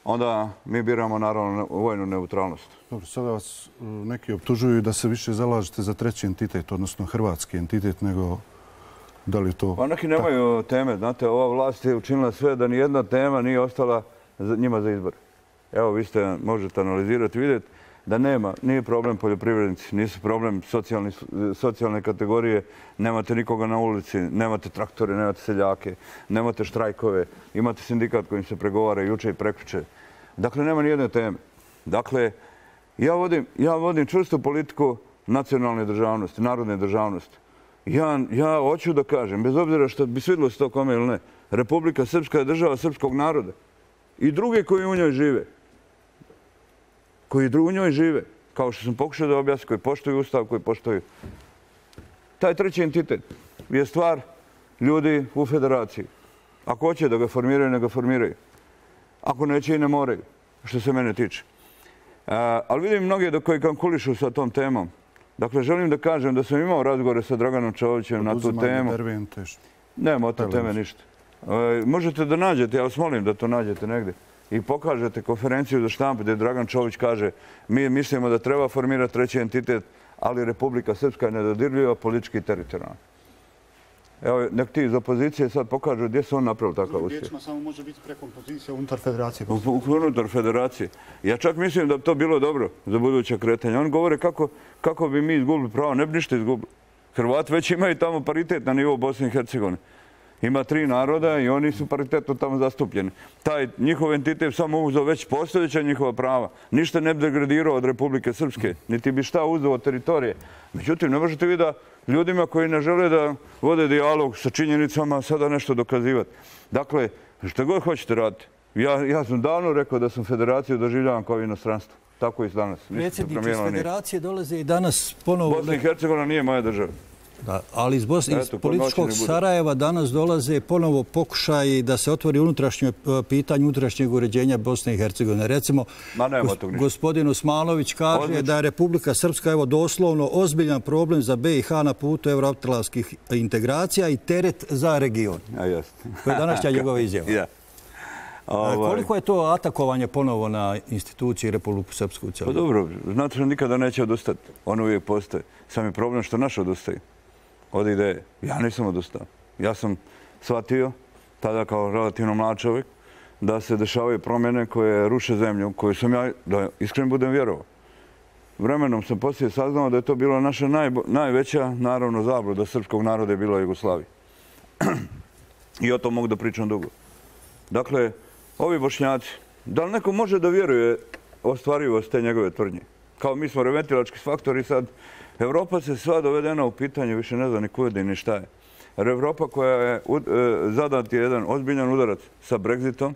onda mi biramo naravno vojnu neutralnost. Dobro, sada vas neki optužuju da se više zalažete za treći entitet, odnosno hrvatski entitet, nego da li to... Pa neki nemaju teme. Znate, ova vlast je učinila sve da nijedna tema nije ostala njima za izbor. Evo, vi ste, možete analizirati, vidjeti da nema, nije problem poljoprivrednici, nisu problem socijalni, socijalne kategorije, nemate nikoga na ulici, nemate traktore, nemate seljake, nemate štrajkove, imate sindikat kojim se pregovara juče i prekjuče. Dakle, nema nijedne teme. Dakle, ja vodim, ja vodim čvrstu politiku nacionalne državnosti, narodne državnosti. Ja, ja hoću da kažem, bez obzira što bi svidilo se to kome ili ne, Republika Srpska je država srpskog naroda. I druge koji u njoj žive. Koji u njoj žive. Kao što sam pokušao da objasnim, koji poštuju ustav, koji poštuju. Taj treći entitet je stvar ljudi u federaciji. Ako hoće da ga formiraju, ne ga formiraju. Ako neće i ne moraju, što se mene tiče. A, ali vidim mnoge do koji kalkulišu sa tom temom. Dakle, želim da kažem da sam imao razgovore sa Draganom Čovićem na tu temu. Nema od te teme ništa. E, možete da nađete, ja vas molim da to nađete negdje i pokažete konferenciju za štampu gdje Dragan Čović kaže mi mislimo da treba formirati treći entitet, ali Republika Srpska je nedodirljiva politički i teritorijalna. Evo, nek ti iz opozicije sad pokažu gdje su on napravili takav uspjeh. Riječima samo može biti preko pozicija unutar federacije. Unutar federacije. Ja čak mislim da bi to bilo dobro za buduće kretanje. Oni govore kako, kako bi mi izgubili pravo. Ne bi ništa izgubili. Hrvati već imaju tamo paritet na nivou Bosne i Hercegovine. Ima tri naroda i oni su paritetno tamo zastupljeni. Taj njihov entitet samo uzeo već postojeća njihova prava. Ništa ne bi degradirao od Republike Srpske. Niti bi šta uzeo od teritorije. Međutim, ne možete vi da ljudima koji ne žele da vode dijalog sa činjenicama sada nešto dokazivati. Dakle, što god hoćete raditi. Ja, ja sam davno rekao da sam federaciju doživljavam kao inostranstvo. Tako i danas. Predsjedniče, iz federacije dolaze i danas ponovo... Bosna i Hercegovina nije moja država. Da, ali iz, Bosne, iz političkog Sarajeva danas dolaze ponovo pokušaji da se otvori unutrašnje pitanje unutrašnjeg uređenja Bosne i Hercegovine. Recimo, gos, gospodin Osmanović kaže Odlično. da je Republika Srpska evo, doslovno ozbiljan problem za B i H na putu evroatlanskih integracija i teret za region. A jest. To je današnja njegova izjava. Ja. Ovaj. Koliko je to atakovanje ponovo na institucije Republiku Srpsku u cijelom? Pa dobro, znate, nikada neće odustati. On uvijek postoje. Sam je problem što naš odustaje od ideje. Ja nisam odustao. Ja sam shvatio, tada kao relativno mlad čovjek, da se dešavaju promjene koje ruše zemlju, koju sam ja, da iskreno budem vjerovao. Vremenom sam poslije saznao da je to bila naša najveća, naravno, zabluda srpskog naroda je bila Jugoslavija. I o tom mogu da pričam dugo. Dakle, ovi Bošnjaci, da li neko može da vjeruje ostvarivost te njegove tvrdnje? Kao mi smo reventilački faktori sad, Evropa se sva dovedena u pitanje, više ne zna ni kuda ni šta je. Evropa koja je zadat je jedan ozbiljan udarac sa Brexitom,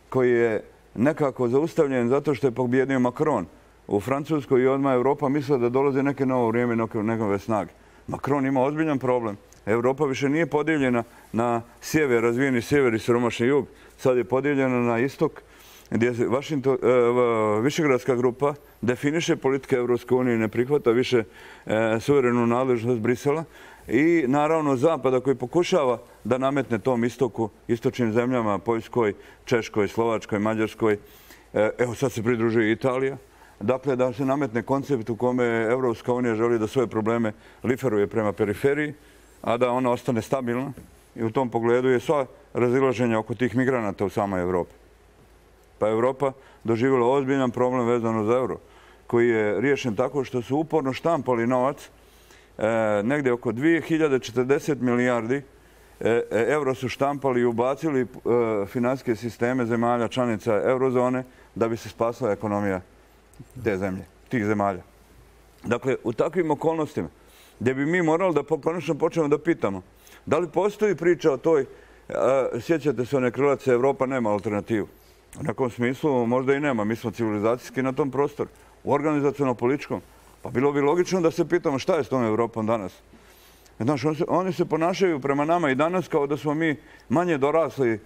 koji je nekako zaustavljen zato što je pobjedio Macron u Francuskoj i odmah Evropa mislila da dolazi neke novo vrijeme, nekove snage. Macron ima ozbiljan problem. Evropa više nije podijeljena na sjever, razvijeni sjever i siromašni jug. Sad je podijeljena na istok, gdje se Višegradska grupa definiše politike Evropske unije i ne prihvata više suverenu nadležnost Brisela. I naravno Zapada koji pokušava da nametne tom istoku, istočnim zemljama, Poljskoj, Češkoj, Slovačkoj, Mađarskoj. Evo sad se pridružuje i Italija. Dakle, da se nametne koncept u kome Evropska unija želi da svoje probleme liferuje prema periferiji, a da ona ostane stabilna. I u tom pogledu je sva razilaženja oko tih migranata u samoj Evropi. Pa Evropa doživjela ozbiljan problem vezano za euro, koji je riješen tako što su uporno štampali novac. Negdje oko dvije hiljade četrdeset milijardi euro su štampali i ubacili finansijske sisteme zemalja članica eurozone da bi se spasila ekonomija te zemlje, tih zemalja. Dakle, u takvim okolnostima gdje bi mi morali da konačno počnemo da pitamo da li postoji priča o toj, sjećate se one krilace, Evropa nema alternativu. U nekom smislu možda i nema, mi smo civilizacijski na tom prostoru, u organizaciono-političkom. Pa bilo bi logično da se pitamo šta je s tom Evropom danas. Znaš, oni se ponašaju prema nama i danas kao da smo mi manje dorasli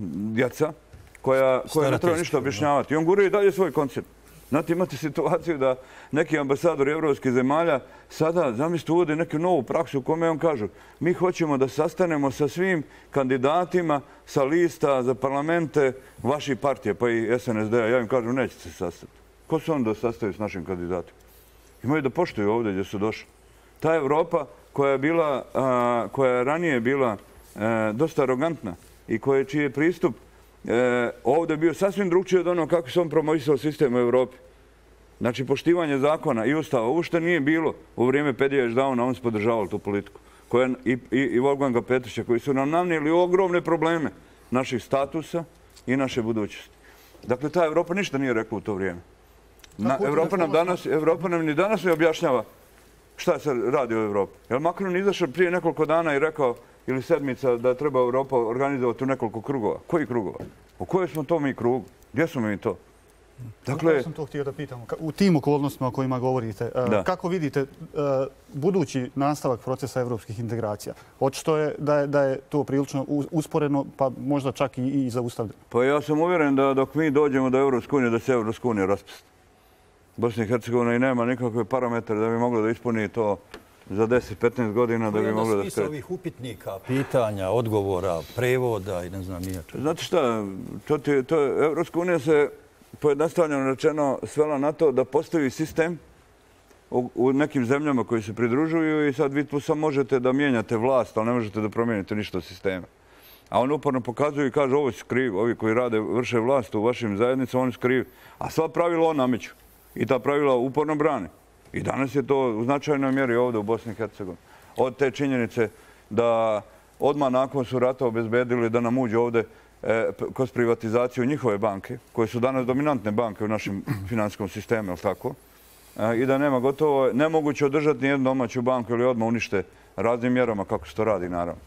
djeca koja ne treba ništa objašnjavati. I on guruje i dalje svoj koncept. Znate, imate situaciju da neki ambasadori evropskih zemalja sada, zamislite, uvode neku novu praksu u kome on kažu mi hoćemo da sastanemo sa svim kandidatima sa lista za parlamente vaših partije, pa i S N S D-a. Ja im kažem, nećete se sastati. Ko su onda sastaju s našim kandidatima? Imaju da poštuju ovdje gdje su došli. Ta Evropa koja je bila, koja je ranije bila dosta arogantna i čiji je pristup ovdje bio sasvim drugčiji od ono kako se on promovisao sistem u Evropi. Znači, poštivanje zakona i ustava uopšte nije bilo u vrijeme Pedija Ždauna, on se podržavao tu politiku. I Wolfganga Petruća, koji su nam nanijeli ogromne probleme naših statusa i naše budućnosti. Dakle, ta Evropa ništa nije rekla u to vrijeme. Evropa nam danas, Evropa nam ni danas ne objašnjava šta se radi u Evropi. Jer Macron izašao prije nekoliko dana i rekao, ili sedmica, da treba Evropa organizovati u nekoliko krugova. Koji krugova? U kojoj smo to mi krugu? Gdje smo mi to? Dakle, ja sam to htio da pitam. U tim okolnostima o kojima govorite, kako vidite budući nastavak procesa evropskih integracija? Očito je da je to prilično usporeno, pa možda čak i zaustavljeno. Pa ja sam uvjeren da dok mi dođemo do Evropske unije, da se Evropska unija raspusti. Bosna i Hercegovina i nema nikakve parametre da bi mogla da ispuni to za deset do petnaest godina da bi mogla da skreti. Smisla ovih upitnika, pitanja, odgovora, prevoda i ne znam nijače. Znate šta, Evropska unija se pojednostavljeno rečeno svela na to da postoji sistem u nekim zemljama koji se pridružuju i sad vi tu samo možete da mijenjate vlast, ali ne možete da promijenite ništa od sistema. A on uporno pokazuju i kaže ovo su krivi, ovi koji rade, vrše vlast u vašim zajednicama, oni su krivi. A sva pravila on nameću. I ta pravila uporno brane. I danas je to u značajnoj mjeri ovdje u Bosni i Hercegovini. Od te činjenice da odmah nakon su rata obezbedili da nam uđe ovdje kroz privatizaciju njihove banke, koje su danas dominantne banke u našem finansijskom sistemu, je li tako? I da nema gotovo, nemoguće održati nijednu domaću banku ili odmah unište raznim mjerama kako se to radi, naravno.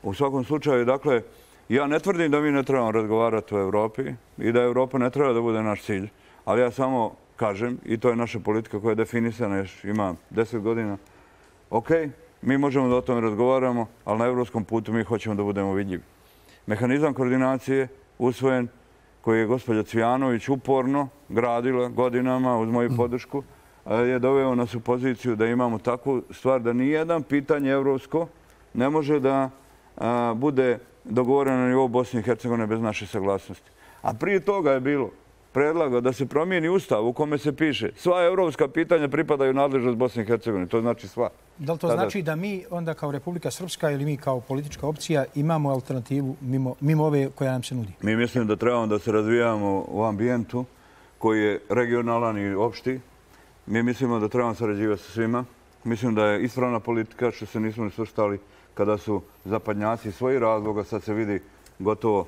U svakom slučaju, dakle, ja ne tvrdim da mi ne trebamo razgovarati o Evropi i da Evropa ne treba da bude naš cilj, ali ja samo kažem, i to je naša politika koja je definisana, još ima deset godina, ok, mi možemo da o tome razgovaramo, ali na evropskom putu mi hoćemo da budemo vidljivi. Mehanizam koordinacije usvojen, koji je gospođa Cvijanović uporno gradila godinama uz moju podršku, je doveo nas u poziciju da imamo takvu stvar da nijedan pitanje evropsko ne može da bude dogovoreno na nivou Bosne i Hercegovine bez naše saglasnosti. A prije toga je bilo predlagao da se promijeni ustav u kome se piše sva evropska pitanja pripadaju nadležnost Bosne i Hercegovine. To znači sva. Da li to znači da mi onda kao Republika Srpska ili mi kao politička opcija imamo alternativu mimo ove koja nam se nudi? Mi mislim da trebamo da se razvijamo u ambijentu koji je regionalan i opšti. Mi mislimo da trebamo sarađivati sa svima. Mislim da je ispravna politika što se nismo ni svrstali kada su zapadnjaci svoji razloga, sad se vidi gotovo,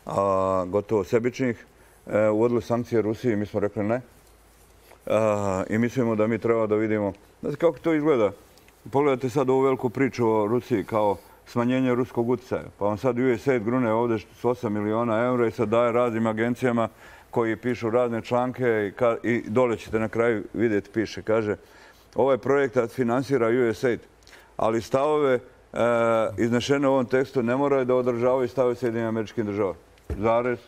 a, gotovo sebičnih, e, uvodili sankcije Rusiji i mi smo rekli ne. A, I mislimo da mi treba da vidimo. Znate kako to izgleda? Pogledajte sad ovu veliku priču o Rusiji kao smanjenje ruskog utjecaja. Pa vam sad U S A I D grune ovdje s osam miliona eura i sad daje raznim agencijama koji pišu razne članke i, ka, i dole ćete na kraju vidjeti, piše, kaže ovaj projekat finansira U S A I D, ali stavove e, iznešene u ovom tekstu ne moraju da održavaju stavove Sjedinjenih Američkih Država. Zarez,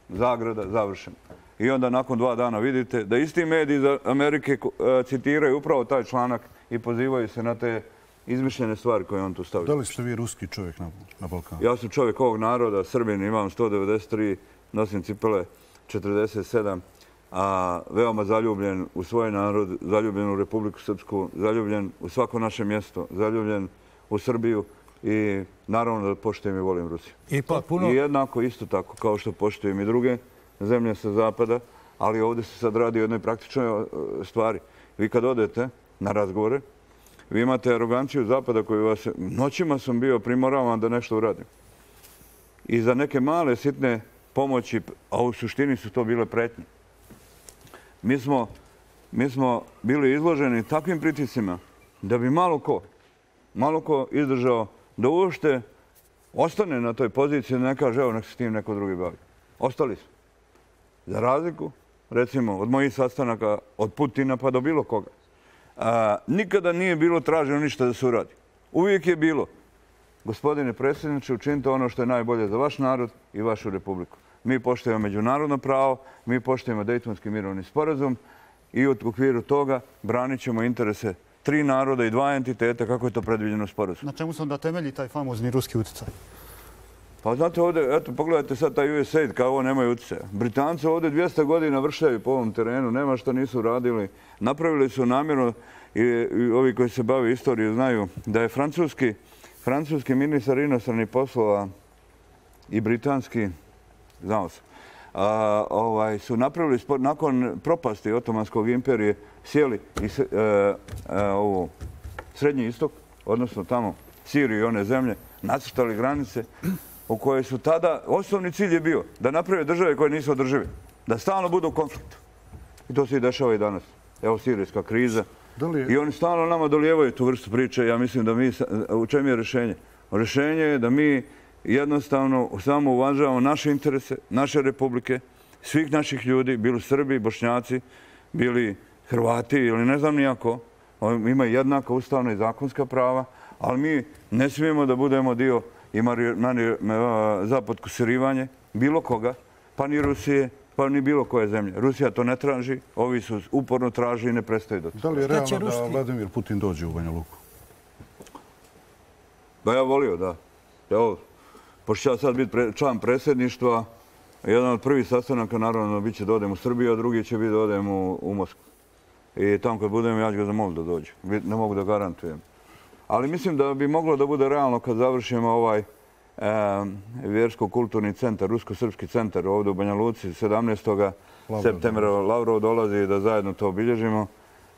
zagrada, završeno. I onda nakon dva dana vidite da isti mediji iz Amerike e, citiraju upravo taj članak i pozivaju se na te izmišljene stvari koje on tu stavio. Da li ste vi ruski čovjek na, na Balkanu? Ja sam čovjek ovog naroda, Srbin, imam sto devedeset tri, nosim cipele četrdeset sedam, a veoma zaljubljen u svoj narod, zaljubljen u Republiku Srpsku, zaljubljen u svako naše mjesto, zaljubljen u Srbiju i naravno da poštujem i volim Rusiju. I, pa, puno... I jednako isto tako kao što poštujem i druge zemlje sa zapada, ali ovdje se sad radi o jednoj praktičnoj stvari. Vi kad odete na razgovore, vi imate aroganciju zapada koju vas... Noćima sam bio primoravan da nešto uradim. I za neke male, sitne pomoći, a u suštini su to bile pretnje. Mi smo, mi smo bili izloženi takvim pritiscima da bi malo ko, malo ko izdržao da uopšte ostane na toj poziciji, ne kaže, evo, nek se s tim neko drugi bavi. Ostali su. Za razliku, recimo, od mojih sastanaka, od Putina pa do bilo koga. A, nikada nije bilo traženo ništa da se uradi. Uvijek je bilo, gospodine predsjedniče, učinite ono što je najbolje za vaš narod i vašu republiku. Mi poštujemo međunarodno pravo, mi poštujemo Dejtonski mirovni sporazum i u okviru toga branit ćemo interese tri naroda i dva entiteta kako je to predviđeno sporazum. Na čemu se onda temelji taj famozni ruski utjecaj? Pa znate ovdje, eto, pogledajte sad taj U S A I D kao ovo nemaju utjecaja. Britanci ovdje dvjesto godina vršljaju po ovom terenu, nema što nisu radili. Napravili su namjerno i, i ovi koji se bave istoriju znaju da je francuski, francuski ministar inostranih poslova i britanski, znao sam, a, ovaj, su napravili, spor, nakon propasti Otomanskog imperije, sjeli i se, e, e, ovo, Srednji istok, odnosno tamo Siriju i one zemlje, nacrtali granice u koje su tada, osnovni cilj je bio da naprave države koje nisu održive, da stalno budu u konfliktu. I to se i dešava i danas. Evo sirijska kriza. I oni stalno nama dolijevaju tu vrstu priče. Ja mislim da mi, u čemu je rješenje? Rješenje je da mi jednostavno samo uvažavamo naše interese, naše republike, svih naših ljudi, bili Srbi, Bošnjaci, bili Hrvati ili ne znam nijako. Imaju jednaka ustavna i zakonska prava, ali mi ne smijemo da budemo dio i za podkusirivanje bilo koga, pa ni Rusije, pa ni bilo koje zemlje. Rusija to ne traži, ovi su uporno traži i ne prestaju do toga. Da li je realno da Vladimir Putin dođe u Banja Luku? Ba ja volio, da. Evo, pošto ću ja sad biti član predsjedništva, jedan od prvih sastanaka naravno bit će da odem u Srbiju, a drugi će biti da odem u, u Moskvu. I tamo kad budem, ja ću ga zamoliti da dođe. Ne mogu da garantujem. Ali mislim da bi moglo da bude realno kad završimo ovaj e, vjersko-kulturni centar, rusko-srpski centar ovdje u Banja Luci, sedamnaestog septembra Lavrov dolazi da zajedno to obilježimo.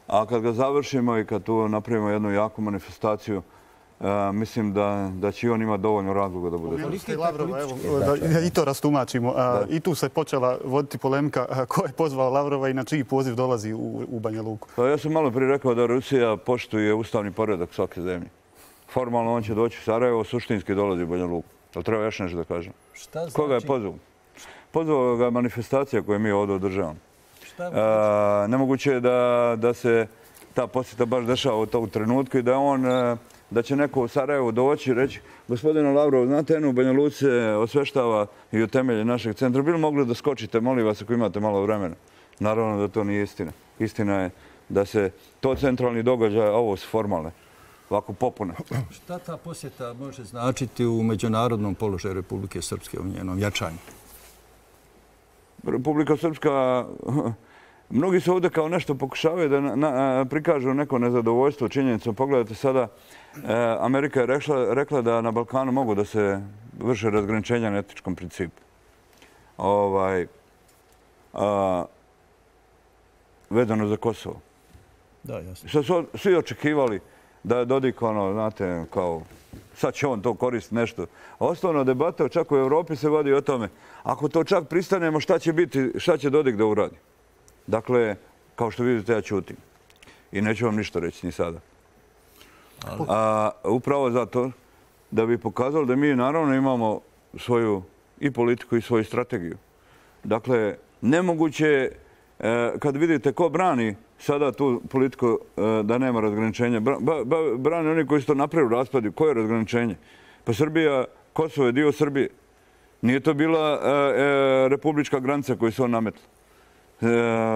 A kad ga završimo i kad tu napravimo jednu jaku manifestaciju, e, mislim da, da će on imati dovoljno razloga da bude. Lavrova, evo, da i to rastumačimo. A, I tu se počela voditi polemika ko je pozvao Lavrova i na čiji poziv dolazi u, u Banja Luku. Pa ja sam malo prije rekao da Rusija poštuje ustavni poredak svake zemlje. Formalno on će doći u Sarajevo, suštinski dolazi u Banja Luku. Ali treba još nešto da kažem. Šta znači? Koga je pozvao? Pozvao ga manifestacija koju mi ovdje održavamo. A, nemoguće je da, da se ta posjeta baš dešava u tom trenutku i da on... da će neko u Sarajevu doći i reći gospodine Lavrov, znate, eno u Banja Luci se osveštava i u temelje našeg centra. Bili mogli da skočite, molim vas, ako imate malo vremena. Naravno da to nije istina. Istina je da se to centralni događaj, ovo su formalne, ovako popune. Šta ta posjeta može značiti u međunarodnom položaju Republike Srpske u njenom jačanju? Republika Srpska, mnogi se ovdje kao nešto pokušavaju da prikažu neko nezadovoljstvo činjenicom. Pogledajte sada, Amerika je rekla da na Balkanu mogu da se vrše razgraničenja na etničkom principu. Vezano za Kosovo. Da, jasno. Što su svi očekivali da je Dodik, ono, znate, kao, sad će on to koristiti nešto. A osnovna debata čak u Evropi se vodi o tome. Ako to čak pristanemo, šta će biti, šta će Dodik da uradi? Dakle, kao što vidite, ja ćutim. I neću vam ništa reći ni sada. A upravo zato da bi pokazali da mi naravno imamo svoju i politiku i svoju strategiju. Dakle, nemoguće je, kad vidite ko brani sada tu politiku da nema razgraničenja, brani oni koji su to napravili u raspadu. Koje je razgraničenje? Pa Srbija, Kosovo je dio Srbije. Nije to bila republička granica koju su on nametili.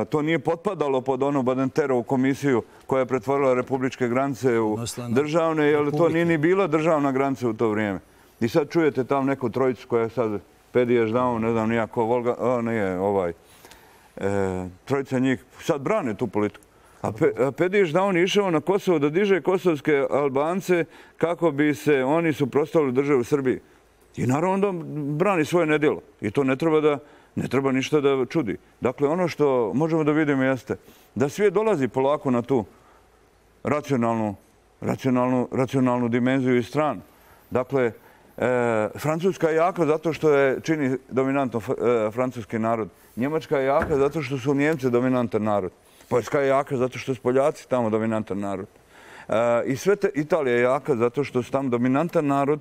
To nije potpadalo pod onu Badenterovu komisiju koja je pretvorila republičke granice u državne, jer to nije ni bila državna granica u to vrijeme. I sad čujete tam neku trojicu koja je sad Pediješ Daum, ne znam nijako, Volga, o, nije ovaj, trojica njih, sad brane tu politiku. A Pediješ Daum je išao na Kosovo da diže kosovske Albance kako bi se oni suprotstavili državu Srbiji. I naravno da brani svoje nedjelo. I to ne treba da Ne treba ništa da čudi. Dakle, ono što možemo da vidimo jeste da svijet dolazi polako na tu racionalnu, racionalnu, racionalnu dimenziju i stranu. Dakle, e, Francuska je jaka zato što je čini dominantno e, francuski narod. Njemačka je jaka zato što su Njemci dominantan narod. Poljska je jaka zato što su Poljaci tamo dominantan narod. E, I sve te, Italija je jaka zato što su tamo dominantan narod.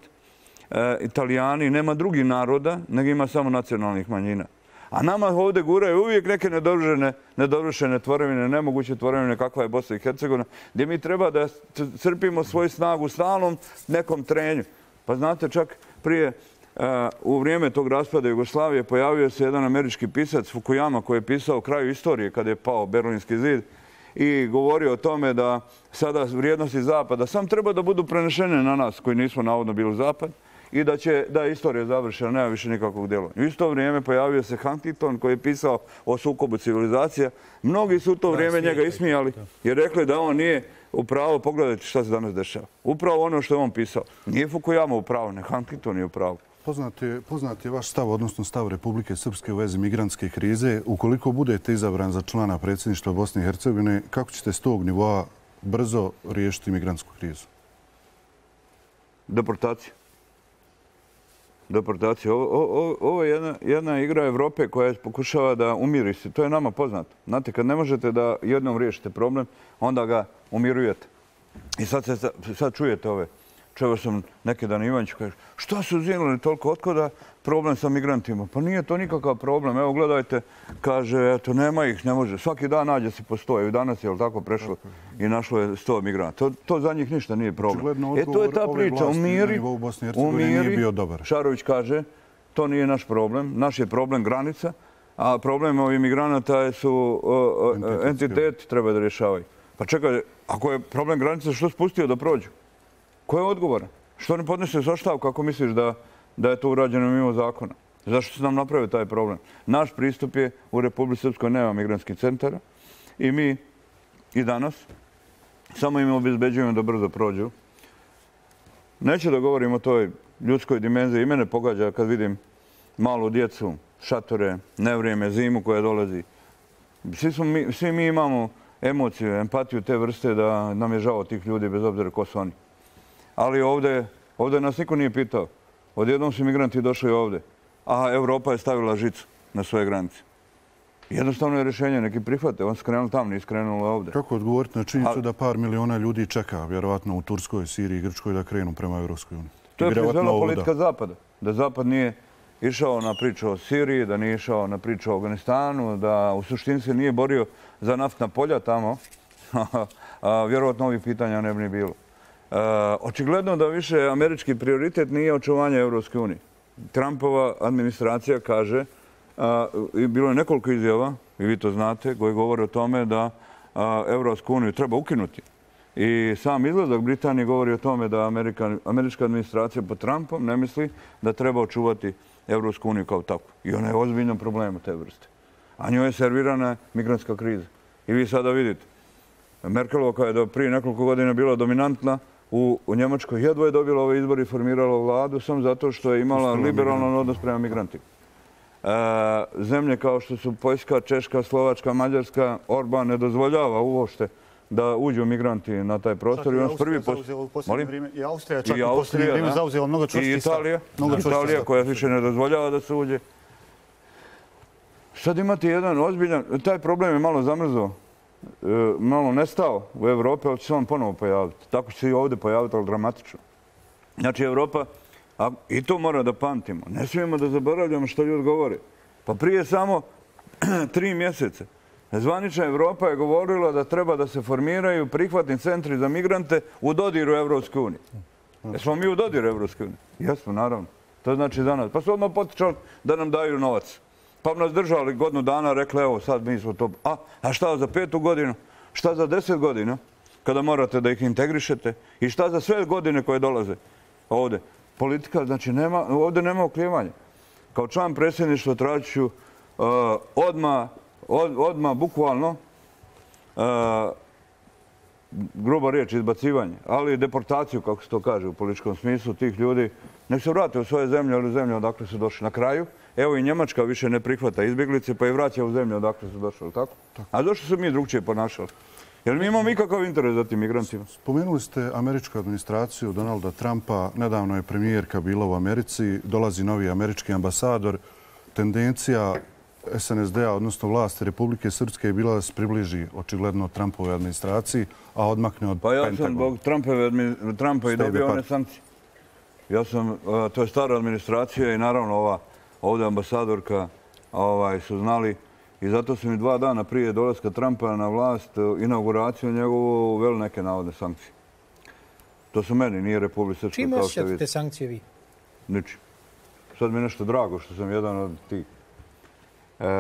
E, Italijani, nema drugih naroda, nego ima samo nacionalnih manjina. A nama ovdje guraju uvijek neke nedovršene, nedovršene tvorevine, nemoguće tvorevine kakva je Bosna i Hercegovina, gdje mi treba da crpimo svoju snagu u stalnom nekom trenju. Pa znate, čak prije, uh, u vrijeme tog raspada Jugoslavije, pojavio se jedan američki pisac, Fukuyama, koji je pisao o kraju istorije kada je pao Berlinski zid i govorio o tome da sada vrijednosti Zapada sam treba da budu prenešene na nas koji nismo navodno bili Zapad, i da će, da je istorija završena, nema više nikakvog djela. U isto vrijeme pojavio se Huntington koji je pisao o sukobu civilizacija. Mnogi su u to vrijeme njega ismijali jer rekli da on nije u pravu. Pogledajte šta se danas dešava. Upravo ono što je on pisao. Nije Fukuyama u pravu, ne Huntington je u pravu. Poznat je vaš stav, odnosno stav Republike Srpske u vezi migrantske krize. Ukoliko budete izabran za člana predsjedništva Bosne i Hercegovine, kako ćete s tog nivoa brzo riješiti migrantsku krizu? Deportacija. Deportacija. Ovo je jedna, jedna igra Evrope koja pokušava da umiri se. To je nama poznato. Znate, kad ne možete da jednom riješite problem, onda ga umirujete. I sad, se, sad čujete ove. Čuo sam neki dan Ivančić kaže, što su zinuli toliko, otkoda problem sa migrantima? Pa nije to nikakav problem. Evo, gledajte, kaže, eto, nema ih, ne može. Svaki dan nađe se po sto. I danas je, jel tako, prešlo i našlo je sto migranta. To, to za njih ništa nije problem. E, to je ta priča. Umiri, umiri, Šarović kaže, to nije naš problem. Naš je problem granica, a problem ovih migranata su o, o, entitet, treba da rješavaju. Pa čekaj, ako je problem granica, što spustio da prođu? Ko je odgovoran? Što ne podnese ostavku ako misliš da, da je to urađeno mimo zakona? Zašto se nam napravio taj problem? Naš pristup je u Republici Srpskoj nema migrantskih centara i mi i danas samo im obezbeđujemo da brzo prođu. Neću da govorim o toj ljudskoj dimenziji. I mene pogađa kad vidim malu djecu, šatore, nevrijeme, zimu koja dolazi. Svi, smo mi, svi mi imamo emociju, empatiju te vrste da nam je žao tih ljudi bez obzira ko su oni. Ali ovdje, ovdje nas niko nije pitao. Odjednom su migranti došli ovdje, a Evropa je stavila žicu na svoje granice. Jednostavno je rješenje, neki prihvate. On skrenuli tamo, nije skrenuli ovdje. Kako odgovoriti na činjenicu da par miliona ljudi čeka, vjerovatno u Turskoj, Siriji i Grčkoj, da krenu prema Evropskoj uniji? To je proizvela politika Zapada. Da Zapad nije išao na priču o Siriji, da nije išao na priču o Afganistanu, da u suštini se nije borio za naftna polja tamo, vjerovatno ovih pitanja ne bi ni bilo. Uh, očigledno da više američki prioritet nije očuvanje Evropske unije. Trumpova administracija kaže, uh, i bilo je nekoliko izjava, i vi to znate, koji govore o tome da uh, Evropsku uniju treba ukinuti. I sam izlazak Britanije govori o tome da Amerika, američka administracija pod Trumpom ne misli da treba očuvati Evropsku uniju kao takvu. I ona je ozbiljno problema te vrste. a njoj je servirana migrantska kriza. I vi sada vidite, Merkelova koja je prije nekoliko godina bila dominantna u Njemačkoj, jedva je dobila ove izbore i formirala vladu samo zato što je imala liberalan odnos prema migrantima. Zemlje kao što su Poljska, Češka, Slovačka, Mađarska, Orban ne dozvoljava uopšte da uđu migranti na taj prostor. I Austrija čak u posljednje vrijeme zauzela mnogo čvrsti stav. I Italija koja više ne dozvoljava da se uđe. Sad imate jedan ozbiljan, taj problem je malo zamrzao, malo nestao u Evropi, ali će se on ponovo pojaviti. Tako će se i ovdje pojaviti, ali dramatično. Znači, Evropa, i to mora da pamtimo, ne smijemo da zaboravljamo što ljudi govore. Pa prije samo tri mjesece zvanična Evropa je govorila da treba da se formiraju prihvatni centri za migrante u dodiru Evropske unije. Jesmo mi u dodiru Evropske unije? Jesmo, naravno. To znači za nas. Pa su odmah potičali da nam daju novac. Pa nas držali godinu dana, rekli, evo, sad mi smo to... A, a šta za petu godinu? Šta za deset godina? Kada morate da ih integrišete? I šta za sve godine koje dolaze ovdje? Politika, znači, ovdje nema oklijevanja. Kao član predsjedništva tražit ću odmah, odmah, bukvalno, gruba riječ, izbacivanje, ali deportaciju, kako se to kaže u političkom smislu, tih ljudi, nek se vrate u svoje zemlje, ali u zemlje odakle su došli na kraju. Evo i Njemačka više ne prihvata izbjeglice, pa i vraća u zemlje odakle su došli, tako? A zašto su mi drugčije ponašali? Jer mi imamo ikakav interes za tim migrantima. Spomenuli ste američku administraciju Donalda Trumpa. Nedavno je premijerka bila u Americi. Dolazi novi američki ambasador. Tendencija S N S D-a, odnosno vlasti Republike Srpske, je bila da se približi očigledno Trumpove administraciji, a odmakne od Pentagona. Pa ja sam zbog Trumpa i dobio one sankcije. Ja sam, to je stara administracija i naravno ova ovdje ambasadorka su znali. I zato su mi dva dana prije dolaska Trumpa na vlast, inauguraciju njegovu, uveli neke navodne sankcije. To su meni, nije Republika Srpska. Čime osjećate te sankcije vi? Ničim. Sad mi je nešto drago što sam jedan od tih.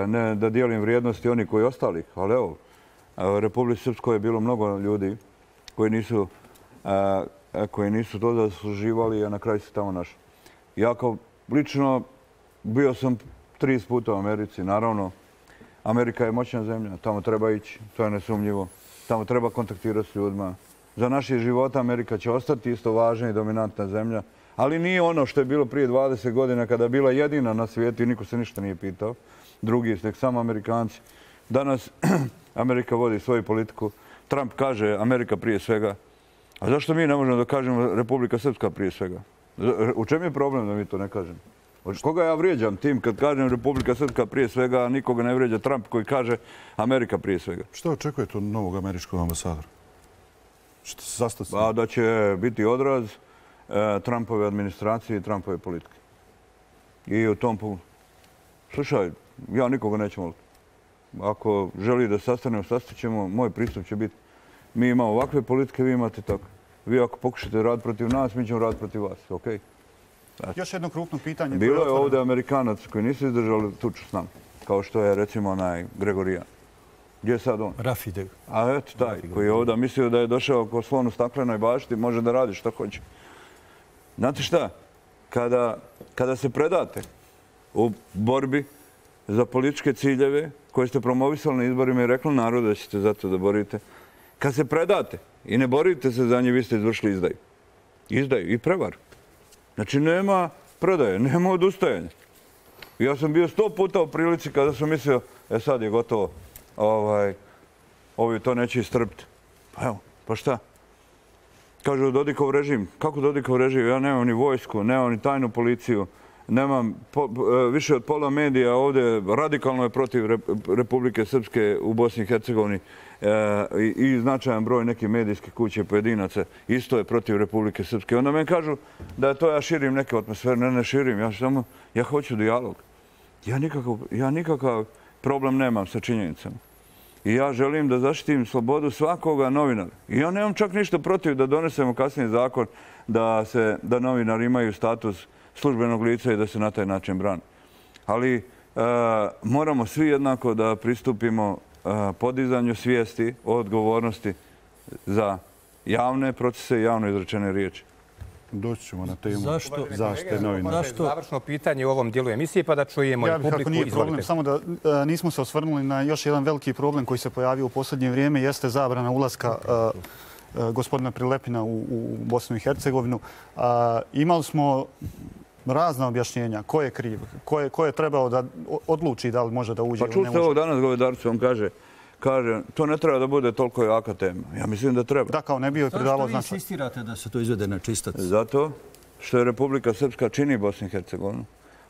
Ne da dijelim vrijednosti oni koji ostalih, ali evo, u Republici Srpskoj je bilo mnogo ljudi koji nisu, koji nisu to zasluživali, a na kraju se tamo našli. Ja kao lično bio sam trideset puta u Americi, naravno. Amerika je moćna zemlja, tamo treba ići, to je nesumnjivo. Tamo treba kontaktirati s ljudima. Za naše života Amerika će ostati isto važna i dominantna zemlja, ali nije ono što je bilo prije dvadeset godina kada je bila jedina na svijetu i niko se ništa nije pitao. Drugi, nek samo Amerikanci. Danas Amerika vodi svoju politiku. Trump kaže Amerika prije svega. A zašto mi ne možemo da kažemo Republika Srpska prije svega? U čem je problem da mi to ne kažemo? Koga ja vrijeđam tim kad kažem Republika Srpska prije svega, a nikoga ne vrijeđa Trump koji kaže Amerika prije svega? Što očekujete od novog američkog ambasadora? Što se sastati? Pa da će biti odraz Trumpove administracije i Trumpove politike. I u tom pogledu. Slušaj, ja nikoga neću moliti. Ako želi da sastanemo, sastaćemo, moj pristup će biti mi imamo ovakve politike, vi imate tako. Vi ako pokušate raditi protiv nas, mi ćemo raditi protiv vas. Okej? Još jedno krupno pitanje. Bilo je ovdje Amerikanac koji nisu izdržali tuču s nama, kao što je recimo onaj Gregorijan. Gdje je sad on? Rafide. A eto taj koji je ovdje mislio da je došao ko slon u staklenoj bašti, može da radi što hoće. Znate šta? Kada se predate u borbi za političke ciljeve koje ste promovisali na izborima i rekli narodu da ćete za to da borite, kad se predate i ne borite se za nje, vi ste izvršili izdaju. Izdaju i prevaru. Znači, nema predaje, nema odustajanja. Ja sam bio sto puta u prilici kada sam mislio, e sad je gotovo, ovi to neće istrpiti. Pa evo, pa šta? Kažu Dodikov režim. Kako Dodikov režim? Ja nemam ni vojsku, nemam ni tajnu policiju, nemam više od pola medija ovdje, radikalno je protiv Republike Srpske u Bosni i Hercegovini i značajan broj nekih medijskih kuće i pojedinaca isto je protiv Republike Srpske. Onda me kažu da to ja širim neke atmosfere. Ne, ne širim. Ja samo, ja hoću dijalog. Ja nikakav problem nemam sa činjenicama. I ja želim da zaštitim slobodu svakoga novinara. I ja nemam čak ništa protiv da donesemo kasnije zakon da novinari imaju status službenog lica i da se na taj način brani. Ali moramo svi jednako da pristupimo podizanju svijesti o odgovornosti za javne procese i javno izrečene riječi. Doći ćemo na temu zaštite novina. Zašto? Završno pitanje u ovom dijelu emisije pa da čujemo ja i publiku. Kako nije problem, samo da a, nismo se osvrnuli na još jedan veliki problem koji se pojavio u posljednje vrijeme, jeste zabrana ulaska a, a, gospodina Prilepina u, u Bosnu i Hercegovinu. A, imali smo razna objašnjenja. Ko je kriv? Ko je, ko je trebao da odluči da li može da uđe pa ili ne može? Pa čuli ste ovo danas, Govedarcu, on kaže Kaže, to ne treba da bude toliko jaka tema. Ja mislim da treba. Da, kao ne bio je pridavao značaj. Zašto vi insistirate da se to izvede na čistac? Zato što je Republika Srpska čini Bosnu i Hercegovinu.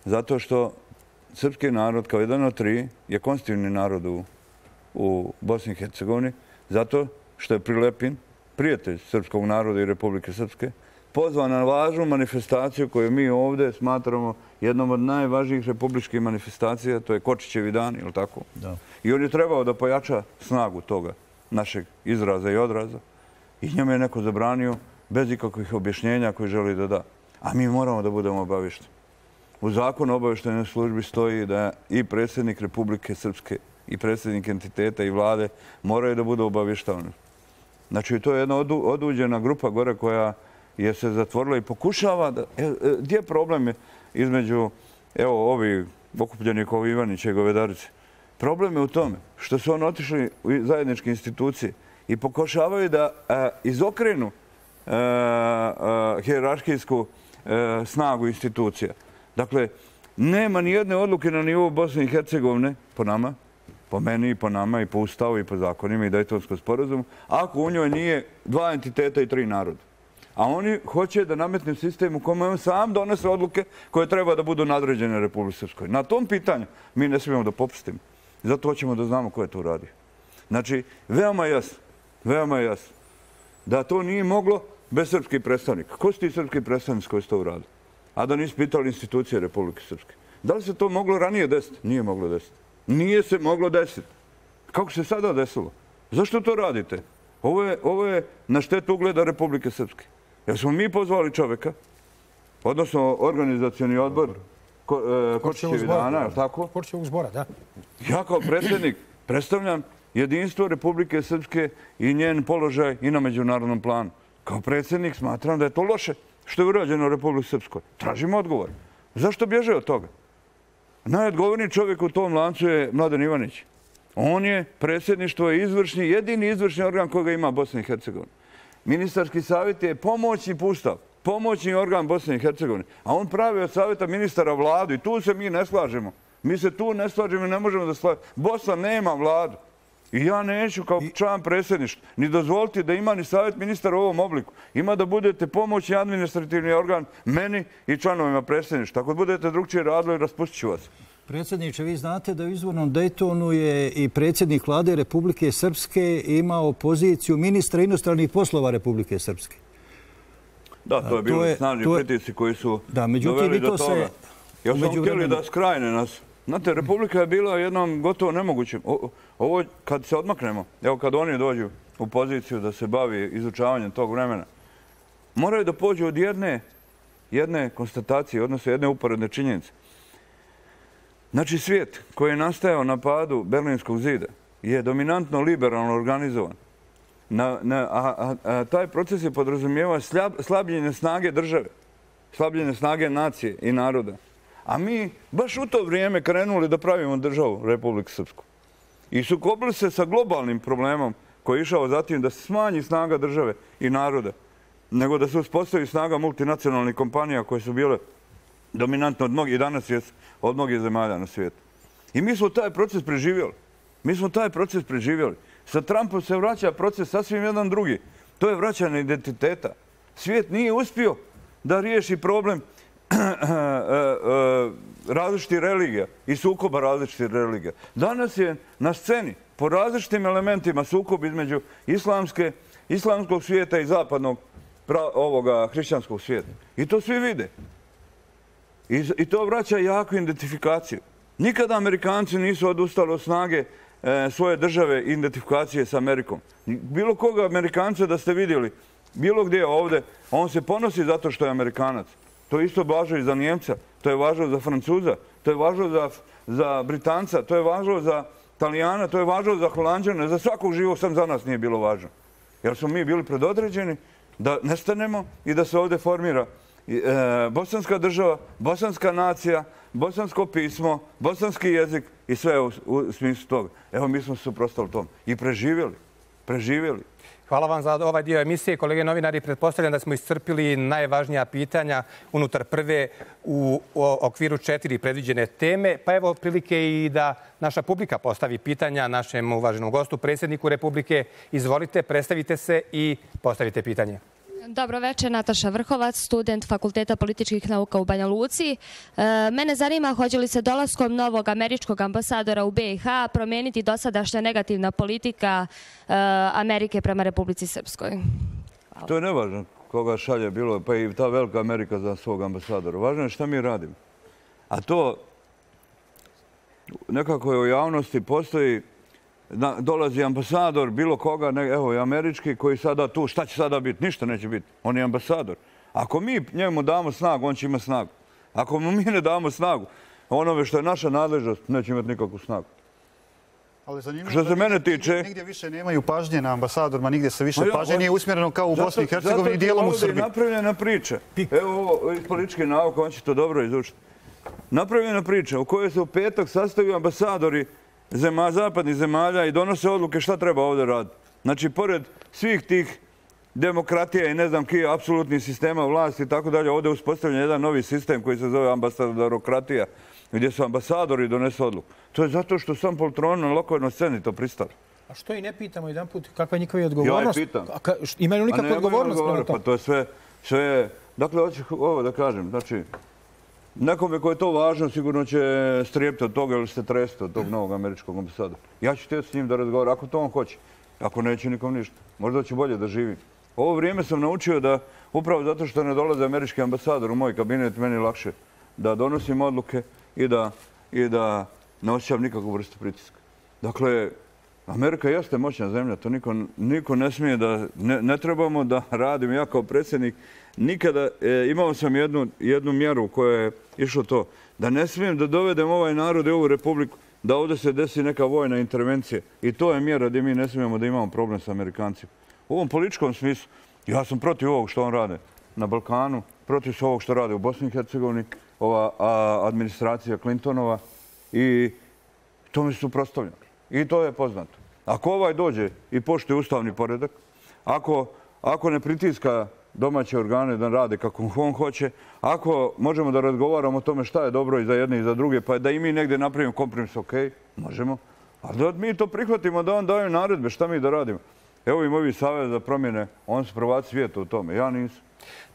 Zato što srpski narod kao jedan od tri je konstitutivni narod u, u Bosni i Hercegovini. Zato što je Prilepin, prijatelj srpskog naroda i Republike Srpske, pozvan na važnu manifestaciju koju mi ovdje smatramo jednom od najvažnijih republičkih manifestacija, to je Kočićevi dan, ili tako? Da. I on je trebao da pojača snagu toga našeg izraza i odraza. I njemu je neko zabranio bez ikakvih objašnjenja koje želi da da. A mi moramo da budemo obavišteni. U zakonu o obavještajnoj službi stoji da i predsjednik Republike Srpske i predsjednik entiteta i vlade moraju da budu obavještavani. Znači, to je jedna oduđena grupa gore koja je se zatvorila i pokušava da... E, e, gdje je problem između, evo, ovih okupljenih ovi Ivanića i Govedarice? Problem je u tome što su oni otišli u zajedničke institucije i pokušavaju da e, izokrenu e, e, hijerarhijsku e, snagu institucija. Dakle, nema ni jedne odluke na nivou Bosne i Hercegovine, po nama, po meni i po nama i po ustavu i po zakonima i Daytonskom sporazumu, ako u njoj nije dva entiteta i tri naroda. A oni hoće da nametnu sistem u kome on sam donese odluke koje treba da budu nadređene Republike Srpskoj. Na tom pitanju mi ne smijemo da popustimo. Zato hoćemo da znamo ko je to uradio. Znači, veoma jasno, veoma jasno, da to nije moglo bez srpskih predstavnika. Ko su ti srpski predstavnici koji su to uradili? A da nisu pitali institucije Republike Srpske. Da li se to moglo ranije desiti? Nije moglo desiti. Nije se moglo desiti. Kako se sada desilo? Zašto to radite? Ovo je, ovo je na štetu ugleda Republike Srpske. Jer smo mi pozvali čovjeka, odnosno organizacioni odbor ko, e, Kočićevi dana, je li tako? Kočićevog zbora, da. Ja kao predsjednik predstavljam jedinstvo Republike Srpske i njen položaj i na međunarodnom planu. Kao predsjednik smatram da je to loše što je urađeno u Republike Srpskoj. Tražimo odgovor. Zašto bježe od toga? Najodgovorniji čovjek u tom lancu je Mladen Ivanić. On je predsjedništvo i izvršni, jedini izvršni organ koga ima Bosna i Hercegovina. Ministarski savjet je pomoćni pustav, pomoćni organ Bosne i Hercegovine. A on pravi od savjeta ministara vladu i tu se mi ne slažemo. Mi se tu ne slažemo i ne možemo da slažemo. Bosna nema vladu. I ja neću kao član predsjedništva ni dozvoliti da ima ni savjet ministara u ovom obliku. Ima da budete pomoćni administrativni organ meni i članovima predsjedništva. Ako budete drugčije radili, raspustit ću vas. Predsjedniče, vi znate da u izvornom Daytonu je i predsjednik vlade Republike Srpske imao poziciju ministra inostranih poslova Republike Srpske. Da, to je bilo snažni pritisci koji su doveli do toga. Jer smo htjeli da skrajne nas. Znate, Republika je bila jednom gotovo nemogućim. Ovo kad se odmaknemo, evo kad oni dođu u poziciju da se bavi izučavanjem tog vremena, moraju da pođu od jedne, jedne konstatacije, odnosno jedne uporedne činjenice. Znači, svijet koji je nastajao na padu Berlinskog zida je dominantno liberalno organizovan. Na, na, a, a, a taj proces je podrazumijevao slabljenje snage države, slabljenje snage nacije i naroda. A mi baš u to vrijeme krenuli da pravimo državu Republiku Srpsku. I sukobili se sa globalnim problemom koji je išao zatim da se smanji snaga države i naroda, nego da se uspostavi snaga multinacionalnih kompanija koje su bile dominantno od mnogih, i danas je od mnogih zemalja na svijetu. I mi smo taj proces preživjeli. Mi smo taj proces preživjeli. Sa Trumpom se vraća proces sasvim jedan drugi. To je vraćanje identiteta. Svijet nije uspio da riješi problem različitih religija i sukoba različitih religija. Danas je na sceni po različitim elementima sukob između islamske, islamskog svijeta i zapadnog ovoga hrišćanskog svijeta. I to svi vide. I, I to vraća jaku identifikaciju. Nikada Amerikanci nisu odustali od snage e, svoje države identifikacije s Amerikom. Bilo koga Amerikanca da ste vidjeli, bilo gdje ovdje, on se ponosi zato što je Amerikanac. To isto važno i za Njemca, to je važno za Francuza, to je važno za, za Britanca, to je važno za Talijana, to je važno za Holanđana, za svakog živog, sam za nas nije bilo važno. Jer smo mi bili predodređeni da nestanemo i da se ovdje formira bosanska država, bosanska nacija, bosansko pismo, bosanski jezik i sve u smislu toga. Evo, mi smo se suprotstavili tom i preživjeli. Preživjeli. Hvala vam za ovaj dio emisije. Kolege novinari, pretpostavljam da smo iscrpili najvažnija pitanja unutar prve u okviru četiri predviđene teme. Pa evo prilike i da naša publika postavi pitanja našem uvaženom gostu, predsjedniku Republike. Izvolite, predstavite se i postavite pitanje. Dobro večer, Nataša Vrhovac, student Fakulteta političkih nauka u Banja Luci. Mene zanima hoće li se dolaskom novog američkog ambasadora u B i H promijeniti dosadašnja negativna politika Amerike prema Republici Srpskoj? To je nevažno koga šalje bilo, pa i ta velika Amerika za svog ambasadora. Važno je šta mi radimo. A to nekako je u javnosti postoji. Dolazi ambasador bilo koga, evo i američki, koji sada tu, šta će sada biti? Ništa neće biti. On je ambasador. Ako mi njemu damo snagu, on će imati snagu. Ako mu mi ne damo snagu, onome što je naša nadležnost, neće imati nikakvu snagu. Što se mene tiče... Nigdje više nemaju pažnje na ambasadorima, nigdje se više pažnje nije usmjereno kao u Bosni i Hercegovini i dijelom u Srbiji. Zato je napravljena priča. Evo ovo iz političke nauke, on će to dobro izučiti. Napravljena priča u kojoj se u petak sastavio ambasadori zapadnih zemalja i donose odluke šta treba ovdje raditi. Znači, pored svih tih demokratija i ne znam kije apsolutnih sistema vlasti i tako dalje, ovdje je uspostavljen jedan novi sistem koji se zove ambasadorokratija, gdje su ambasadori donesu odluku. To je zato što sam poltron na lokalnoj sceni to pristali. A što i ne pitamo jedan put kakva je njihova odgovornost? Ja je pitam. Imaju li nikakvu odgovornost? Pa to je sve, sve... Dakle, hoću ovo da kažem. Znači, nekome koji je to važno sigurno će strijepiti od toga ili se tresti od tog novog američkog ambasadora. Ja ću htjeti s njim da razgovaram, ako to on hoće. Ako neće nikom ništa. Možda će bolje da živi. Ovo vrijeme sam naučio da, upravo zato što ne dolaze američki ambasador u moj kabinet, meni je lakše da donosim odluke i da, i da ne osjećam nikakvu vrstu pritiska. Dakle, Amerika jeste moćna zemlja, to niko, niko ne smije da, ne, ne trebamo da radim. Ja kao predsjednik nikada, e, imao sam jednu, jednu mjeru koja je išlo to, da ne smijem da dovedem ovaj narod i ovu republiku, da ovdje se desi neka vojna intervencija. I to je mjera gdje mi ne smijemo da imamo problem sa Amerikancima. U ovom političkom smislu, ja sam protiv ovog što on rade na Balkanu, protiv ovog što rade u Bosni i Hercegovini, ova a, administracija Clintonova i to mi su suprotstavljeni. I to je poznato. Ako ovaj dođe i poštuje ustavni poredak, ako, ako ne pritiska domaće organe da rade kako on hoće, ako možemo da razgovaramo o tome šta je dobro i za jedne i za druge, pa da i mi negdje napravimo kompromis, ok, možemo. A da mi to prihvatimo, da on daje naredbe, šta mi da radimo. Evo im ovi savez za promjene, on su prvaci svijeta u tome, ja nisam.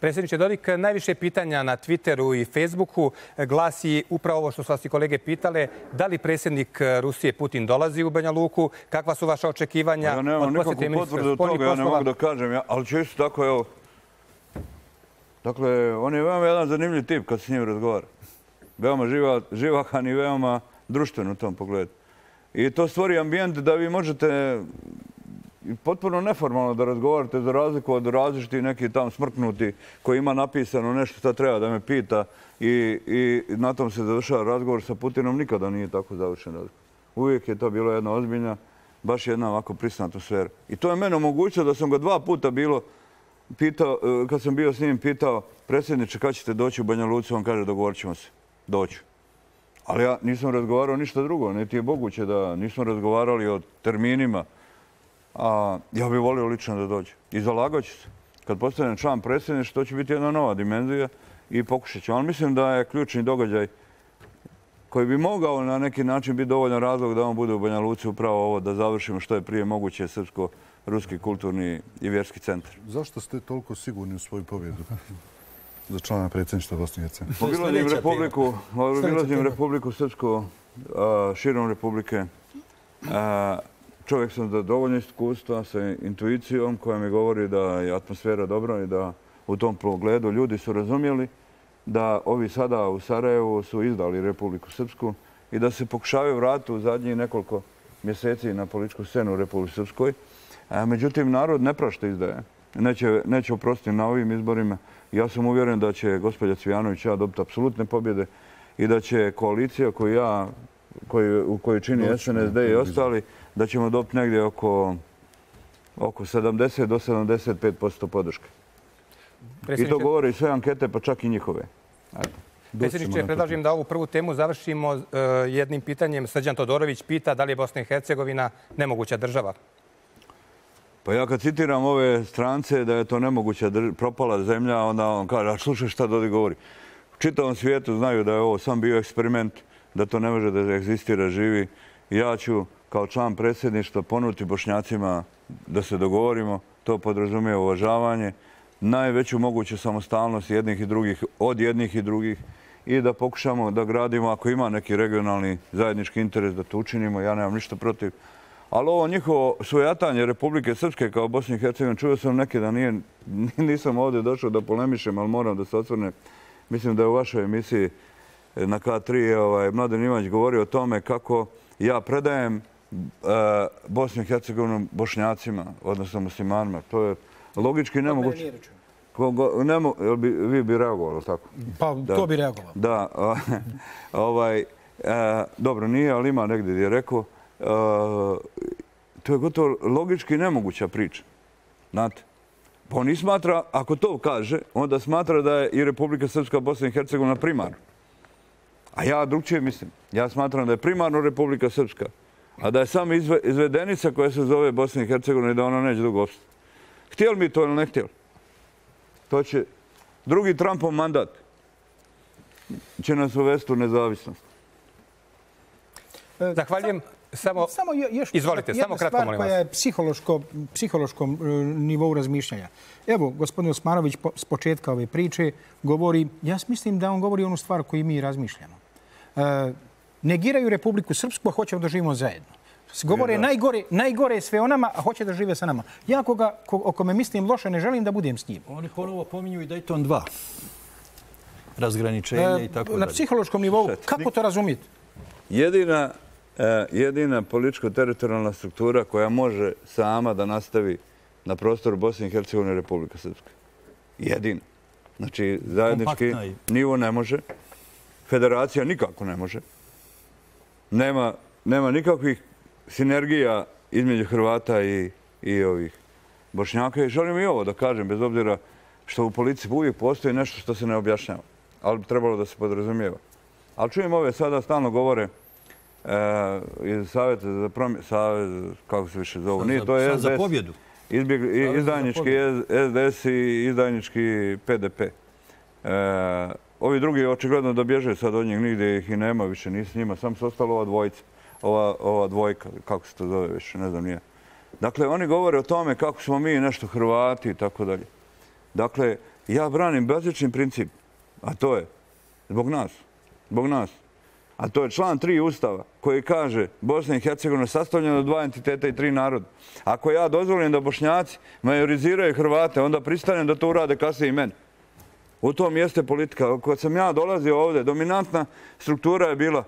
Predsjedniče Dodik, najviše pitanja na Twitteru i Facebooku glasi upravo ovo što su vas i kolege pitale. Da li predsjednik Rusije Putin dolazi u Banja Luku? Kakva su vaša očekivanja? Ja nemam nikakvu potvrdu od toga, ja ne mogu da kažem, ja, ali će isto tako, evo. Dakle, on je veoma jedan zanimljiv tip kad s njim razgovara. Veoma živa, živahan i veoma društven u tom pogledu. I to stvori ambijent da vi možete potpuno neformalno da razgovarate za razliku od različitih neki tam smrknuti koji ima napisano nešto što treba da me pita i, i na tom se završava razgovor sa Putinom. Nikada nije tako završen razgovor. Uvijek je to bilo jedna ozbiljna, baš jedna ovako prisna atmosfera. I to je mene omogućilo da sam ga dva puta bilo pitao, kad sam bio s njim pitao predsjedniče kad ćete doći u Banja Luci, on kaže dogovorit ćemo se, doću. Ali ja nisam razgovarao ništa drugo, niti je moguće da nismo razgovarali o terminima. A ja bih volio lično da dođe. I zalagat ću se. Kad postanem član predsjedništva, to će biti jedna nova dimenzija i pokušat ću. Ali mislim da je ključni događaj koji bi mogao na neki način biti dovoljan razlog da on bude u Banja Luci upravo ovo, da završimo što je prije moguće srpsko-ruski kulturni i vjerski centar. Zašto ste toliko sigurni u svoju pobjedu za člana predsjedništva Bosne i Hercegovine? Obilazim Republiku, obilazim Republiku Srpsku, širom Republike. Čovjek sam da dovoljno iskustva sa intuicijom koja mi govori da je atmosfera dobra i da u tom pogledu ljudi su razumjeli da ovi sada u Sarajevu su izdali Republiku Srpsku i da se pokušavaju vratiti u zadnjih nekoliko mjeseci na političku scenu u Republike Srpskoj. Međutim, narod ne prašta izdaje. Neće, neće oprostiti na ovim izborima. Ja sam uvjeren da će gospođa Cvijanović ja dobiti apsolutne pobjede i da će koalicija koju ja, koju, u kojoj čini S N S D i ostali, da ćemo dobiti negdje oko, oko sedamdeset do sedamdeset pet posto podrške. I to govore i sve ankete, pa čak i njihove. Predsjedniče, predlažem da ovu prvu temu završimo jednim pitanjem. Srđan Todorović pita da li je Bosna i Hercegovina nemoguća država. Pa ja kad citiram ove strance da je to nemoguća propala zemlja, onda on kaže, a slušaj šta Dodik govori. U čitavom svijetu znaju da je ovo sam bio eksperiment, da to ne može da egzistira, živi. Ja ću kao član predsjedništva ponuditi Bošnjacima da se dogovorimo. To podrazumije uvažavanje, najveću moguću samostalnost jednih i drugih, od jednih i drugih i da pokušamo da gradimo, ako ima neki regionalni zajednički interes, da to učinimo. Ja nemam ništa protiv. Ali ovo njihovo svojatanje Republike Srpske kao Bosne i Hercegovine, čuo sam neke da nije, nisam ovdje došao da polemišem, ali moram da se osvrnem. Mislim da je u vašoj emisiji na K tri ovaj, Mladen Ivanić govorio o tome kako ja predajem uh, Bosnu i Hercegovinu Bošnjacima, odnosno muslimanima. To je logički nemoguće. Nemo, bi, vi bi reagovali, tako? Pa, da. To bi reagovalo. Da. ovaj, uh, dobro, nije, ali ima negdje gdje je rekao. Uh, to je gotovo logički nemoguća priča. Znate? Pa on i smatra, ako to kaže, onda smatra da je i Republika Srpska, Bosna i Hercegovina primarno. A ja drugčije mislim. Ja smatram da je primarno Republika Srpska, a da je samo izve, izvedenica koja se zove Bosna i Hercegovina i da ona neće dugo opstati. Htjeli mi to ili ne htjeli? To će drugi Trumpov mandat će nas uvesti u nezavisnost. Zahvaljujem. Samo, samo još izvolite, jedna samo kratko, stvar molim vas. koja je psihološko, psihološkom nivou razmišljanja. Evo, gospodin Osmanović po, s početka ove priče govori, ja mislim da on govori onu stvar koju mi razmišljamo. E, negiraju Republiku Srpsku, a hoćemo da živimo zajedno. Govore je, najgore, najgore je sve o nama, a hoće da žive sa nama. Ja koga, ko, o kome mislim loše, ne želim da budem s njim. Oni ponovo pominju i Dayton dva. Razgraničenje e, i tako dalje. Na psihološkom nivou, kako to razumijete? Jedina jedina političko-teritorijalna struktura koja može sama da nastavi na prostoru Bosne i Hercegovine Republika Srpska. Jedina. Znači, zajednički nivo ne može. Federacija nikako ne može. Nema, nema nikakvih sinergija između Hrvata i, i ovih Bošnjaka. I želim i ovo da kažem, bez obzira što u politici uvijek postoji nešto što se ne objašnjava. Ali bi trebalo da se podrazumijeva. Ali čujem ove sada stalno govore E, iz Savjeta za promjenu, Savjet, kako se više zovu, nije, to je S D S, za pobjedu. Izbjeg, izdajnički S D S i izdajnički P D P. E, ovi drugi očigledno da bježe sad od njih, nigdje ih i nema više, ni s njima, sam su ostalo ova dvojica, ova, ova dvojka, kako se to zove više, ne znam nije. Dakle, oni govore o tome kako smo mi nešto Hrvati i tako dalje. Dakle, ja branim bazični princip, a to je zbog nas, zbog nas. A to je član tri Ustava koji kaže Bosna i Hercegovina sastavljena od dva entiteta i tri naroda. Ako ja dozvolim da Bošnjaci majoriziraju Hrvate, onda pristanem da to urade kasnije i meni. U tom jeste politika. Kad sam ja dolazio ovdje, dominantna struktura je bila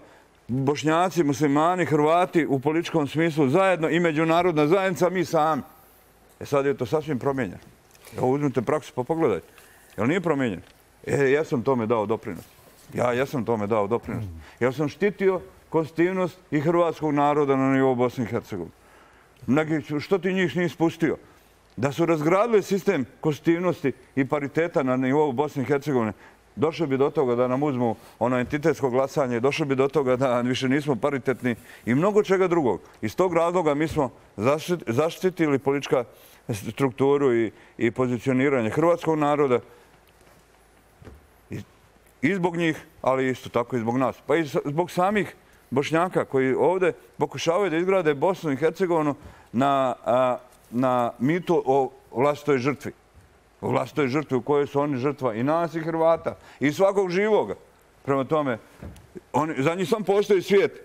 Bošnjaci, muslimani, Hrvati u političkom smislu zajedno i međunarodna zajednica, mi sami. E sad je to sasvim promijenjeno. Evo uzmite praksu pa pogledajte. Jel nije promijenjeno? E, ja sam tome dao doprinos. Ja, ja sam tome dao doprinos. Ja sam štitio konstitutivnost i hrvatskog naroda na nivou Bosne i Hercegovine. Neki, što ti njih nije spustio? Da su razgradili sistem konstitutivnosti i pariteta na nivou Bosne i Hercegovine, došli bi do toga da nam uzmu ono entitetsko glasanje, došli bi do toga da više nismo paritetni i mnogo čega drugog. Iz tog razloga mi smo zaštitili politička strukturu i, i pozicioniranje hrvatskog naroda i zbog njih, ali isto tako i zbog nas. Pa i zbog samih Bošnjaka koji ovdje pokušavaju da izgrade Bosnu i Hercegovinu na, a, na mitu o vlastitoj žrtvi. O vlastitoj žrtvi u kojoj su oni žrtva i nas i Hrvata i svakog živoga. Prema tome, oni, za njih sam postoji svijet.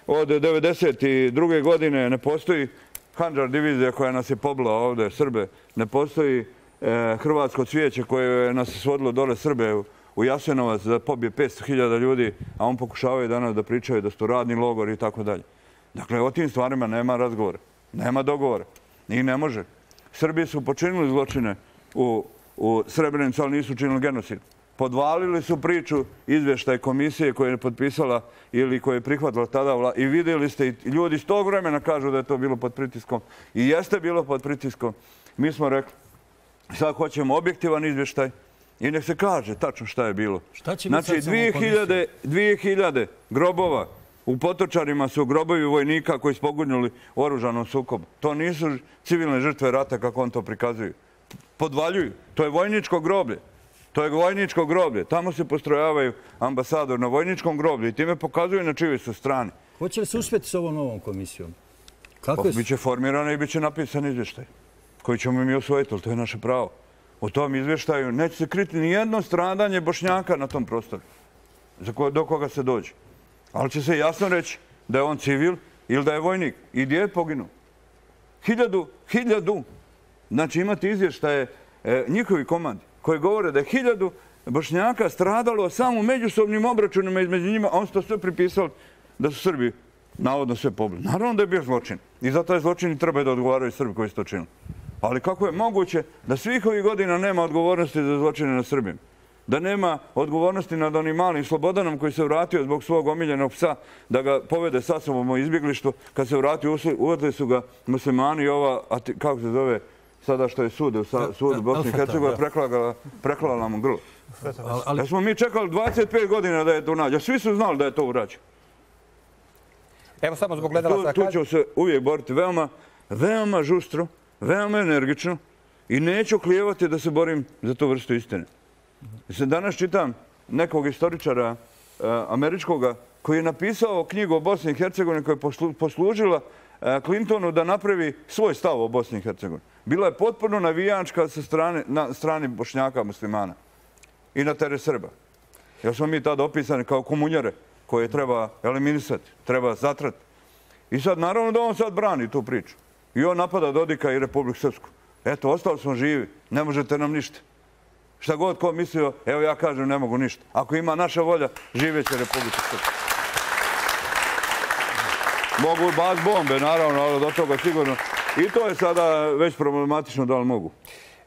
Od devedeset druge godine ne postoji Handžar divizija koja nas je pobila ovdje, Srbe. Ne postoji e, hrvatsko cvijeće koje nas je svodilo dole Srbe u, u Jasenovac da pobije petsto hiljada ljudi, a on pokušavaju danas da pričaju da su to radni logori i tako dalje. Dakle, o tim stvarima nema razgovora, nema dogovora. I ne može. Srbi su počinili zločine u, u Srebrenicu, ali nisu činili genocid. Podvalili su priču izvještaj komisije koja je potpisala ili koja je prihvatila tada vla... i vidjeli ste, i ljudi iz tog vremena kažu da je to bilo pod pritiskom. I jeste bilo pod pritiskom. Mi smo rekli, Sad hoćemo objektivan izvještaj i nek se kaže tačno šta je bilo. Znači, dvije hiljade grobova u Potočarima su grobovi vojnika koji su poginuli u oružanom sukobu. To nisu civilne žrtve rata kako on to prikazuju. Podvaljuju. To je vojničko groblje. To je vojničko groblje. Tamo se postrojavaju ambasador na vojničkom groblju i time pokazuju na čijoj su strani. Hoće li se uspjeti s ovom novom komisijom? Biće formirana i biće napisan izvještaj koji ćemo mi osvojiti, ali to je naše pravo. U tom izvještaju neće se kriti ni jedno stradanje Bošnjaka na tom prostoru do koga se dođe. Ali će se jasno reći da je on civil ili da je vojnik. I gdje je poginuo? Hiljadu, hiljadu. Znači imate izvještaje njihovi komandi koji govore da je hiljadu Bošnjaka stradalo samo u međusobnim obračunima između njima, a on su to sve pripisali da su Srbi navodno sve pobili. Naravno da je bio zločin. I za taj zločin i treba da odgovaraju Srbi koji su to činili. Ali kako je moguće da svih ovih godina nema odgovornosti za zločine na Srbima? Da nema odgovornosti nad onim malim Slobodanom koji se vratio zbog svog omiljenog psa da ga povede sa sobom u izbjeglištvo. Kad se vratio, uvodili su ga muslimani i ova, kako se zove, sada što je sud u sudu Bosne i Hercegovine, preklala mu grlo. Da smo mi čekali dvadeset pet godina da je to nađe. Svi su znali da je to urađeno. Evo samo zbog gledalaca. Tu ću se uvijek boriti veoma, veoma žustro, veoma energično i neću klijevati da se borim za tu vrstu istine. Danas čitam nekog istoričara američkoga koji je napisao knjigu o Bosni i Hercegovini koja je poslužila Clintonu da napravi svoj stav o Bosni i Hercegovini. Bila je potpuno navijačka na strani Bošnjaka muslimana i na teret Srba. Jer smo mi tada opisani kao komunjare koje treba eliminisati, treba zatrati. I sad naravno da on sad brani tu priču. I on napada Dodika i Republiku Srpsku. Eto, ostali smo živi, ne možete nam ništa. Šta god ko mislio, evo ja kažem ne mogu ništa. Ako ima naša volja, živjet će Republika Srpska. Mogu baz bombe, naravno, ali do toga sigurno. I to je sada već problematično da li mogu.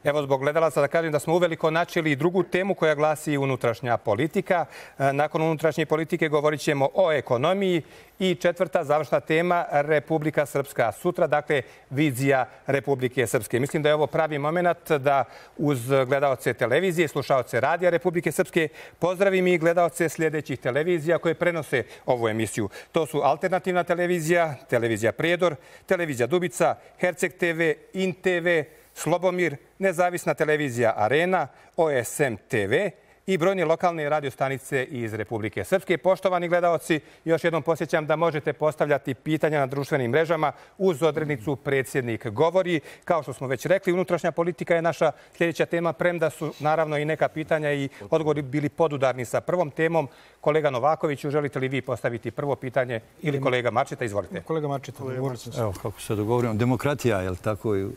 Evo, zbog gledalaca da kažem da smo uveliko načeli drugu temu koja glasi unutrašnja politika. Nakon unutrašnje politike govorit ćemo o ekonomiji i četvrta završna tema Republika Srpska. Sutra, dakle, vizija Republike Srpske. Mislim da je ovo pravi moment da uz gledalce televizije, slušalce radija Republike Srpske pozdravim i gledalce sljedećih televizija koje prenose ovu emisiju. To su Alternativna televizija, Televizija Prijedor, Televizija Dubica, Herceg te ve, In te ve, Slobomir, Nezavisna televizija Arena, O S M te ve i brojne lokalne radiostanice iz Republike Srpske. Poštovani gledaoci, još jednom posjećam da možete postavljati pitanja na društvenim mrežama uz odrednicu Predsjednik govori. Kao što smo već rekli, unutrašnja politika je naša sljedeća tema, premda su naravno i neka pitanja i odgovori bili podudarni sa prvom temom. Kolega Novakoviću, želite li vi postaviti prvo pitanje ili kolega Marčeta? Izvolite. Kolega Marčeta, govorite. Evo, kako se dogovorimo, demokratija, je li tako i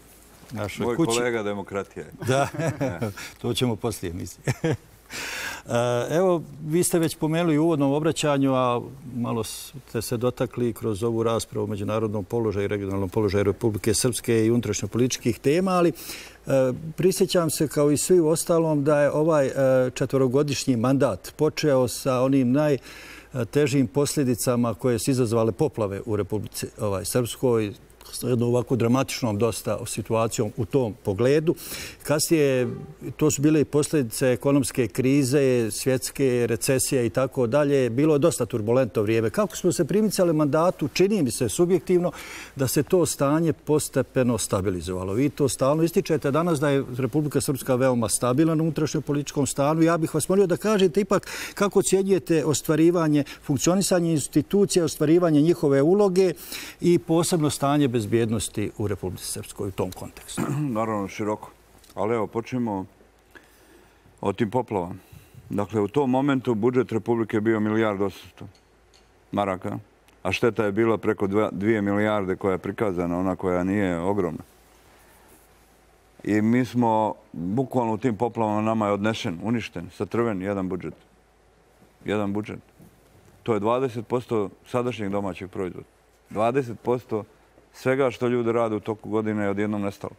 našoj kući? Moj kolega demokratija. Da, to ćemo poslije emisije. Evo, vi ste već pomenuli u uvodnom obraćanju, a malo ste se dotakli kroz ovu raspravu o međunarodnom položaju i regionalnom položaju Republike Srpske i unutrašnjopolitičkih tema, ali prisjećam se kao i svi u ostalom da je ovaj četvorogodišnji mandat počeo sa onim najtežim posljedicama koje su izazvale poplave u Republici Srpskoj, jednom ovako dramatičnom dosta situacijom u tom pogledu. Kasnije, to su bile i posljedice ekonomske krize, svjetske recesije i tako dalje. Bilo je dosta turbulentno vrijeme. Kako smo se primicali mandatu, čini mi se subjektivno da se to stanje postepeno stabilizovalo. Vi to stalno ističete danas da je Republika Srpska veoma stabilna na unutrašnjem političkom stanu. Ja bih vas molio da kažete ipak kako ocjenjujete ostvarivanje, funkcionisanje institucija, ostvarivanje njihove uloge i posebno stanje bezbjednosti u Republici Srpskoj u tom kontekstu. Naravno, široko. Ali evo, počnemo o tim poplavama. Dakle, u tom momentu budžet Republike je bio milijardu osamsto maraka, a šteta je bila preko dvije milijarde koja je prikazana, ona koja nije ogromna. I mi smo, bukvalno u tim poplavama nama je odnešen, uništen, satrven jedan budžet. Jedan budžet. To je dvadeset posto sadašnjeg domaćeg proizvoda. dvadeset posto svega što ljudi rade u toku godine je odjednom nestalo.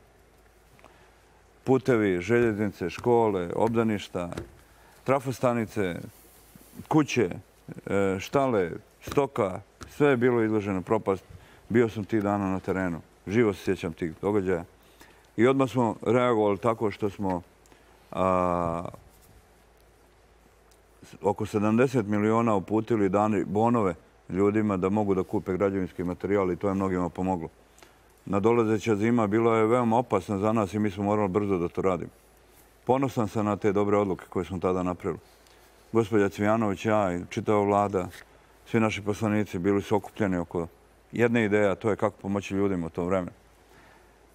Putevi, željeznice, škole, obdaništa, trafostanice, kuće, štale, stoka, sve je bilo izloženo propast. Bio sam tih dana na terenu. Živo se sjećam tih događaja. I odmah smo reagovali tako što smo oko sedamdeset miliona uputili dani bonove ljudima da mogu da kupe građevinski materijal i to je mnogima pomoglo. Nadolazeća zima bila je veoma opasna za nas i mi smo morali brzo da to radimo. Ponosan sam na te dobre odluke koje smo tada napravili. Gospođa Cvijanović, ja i čitava vlada, svi naši poslanici bili su okupljeni oko jedne ideje, a to je kako pomoći ljudima u to vreme.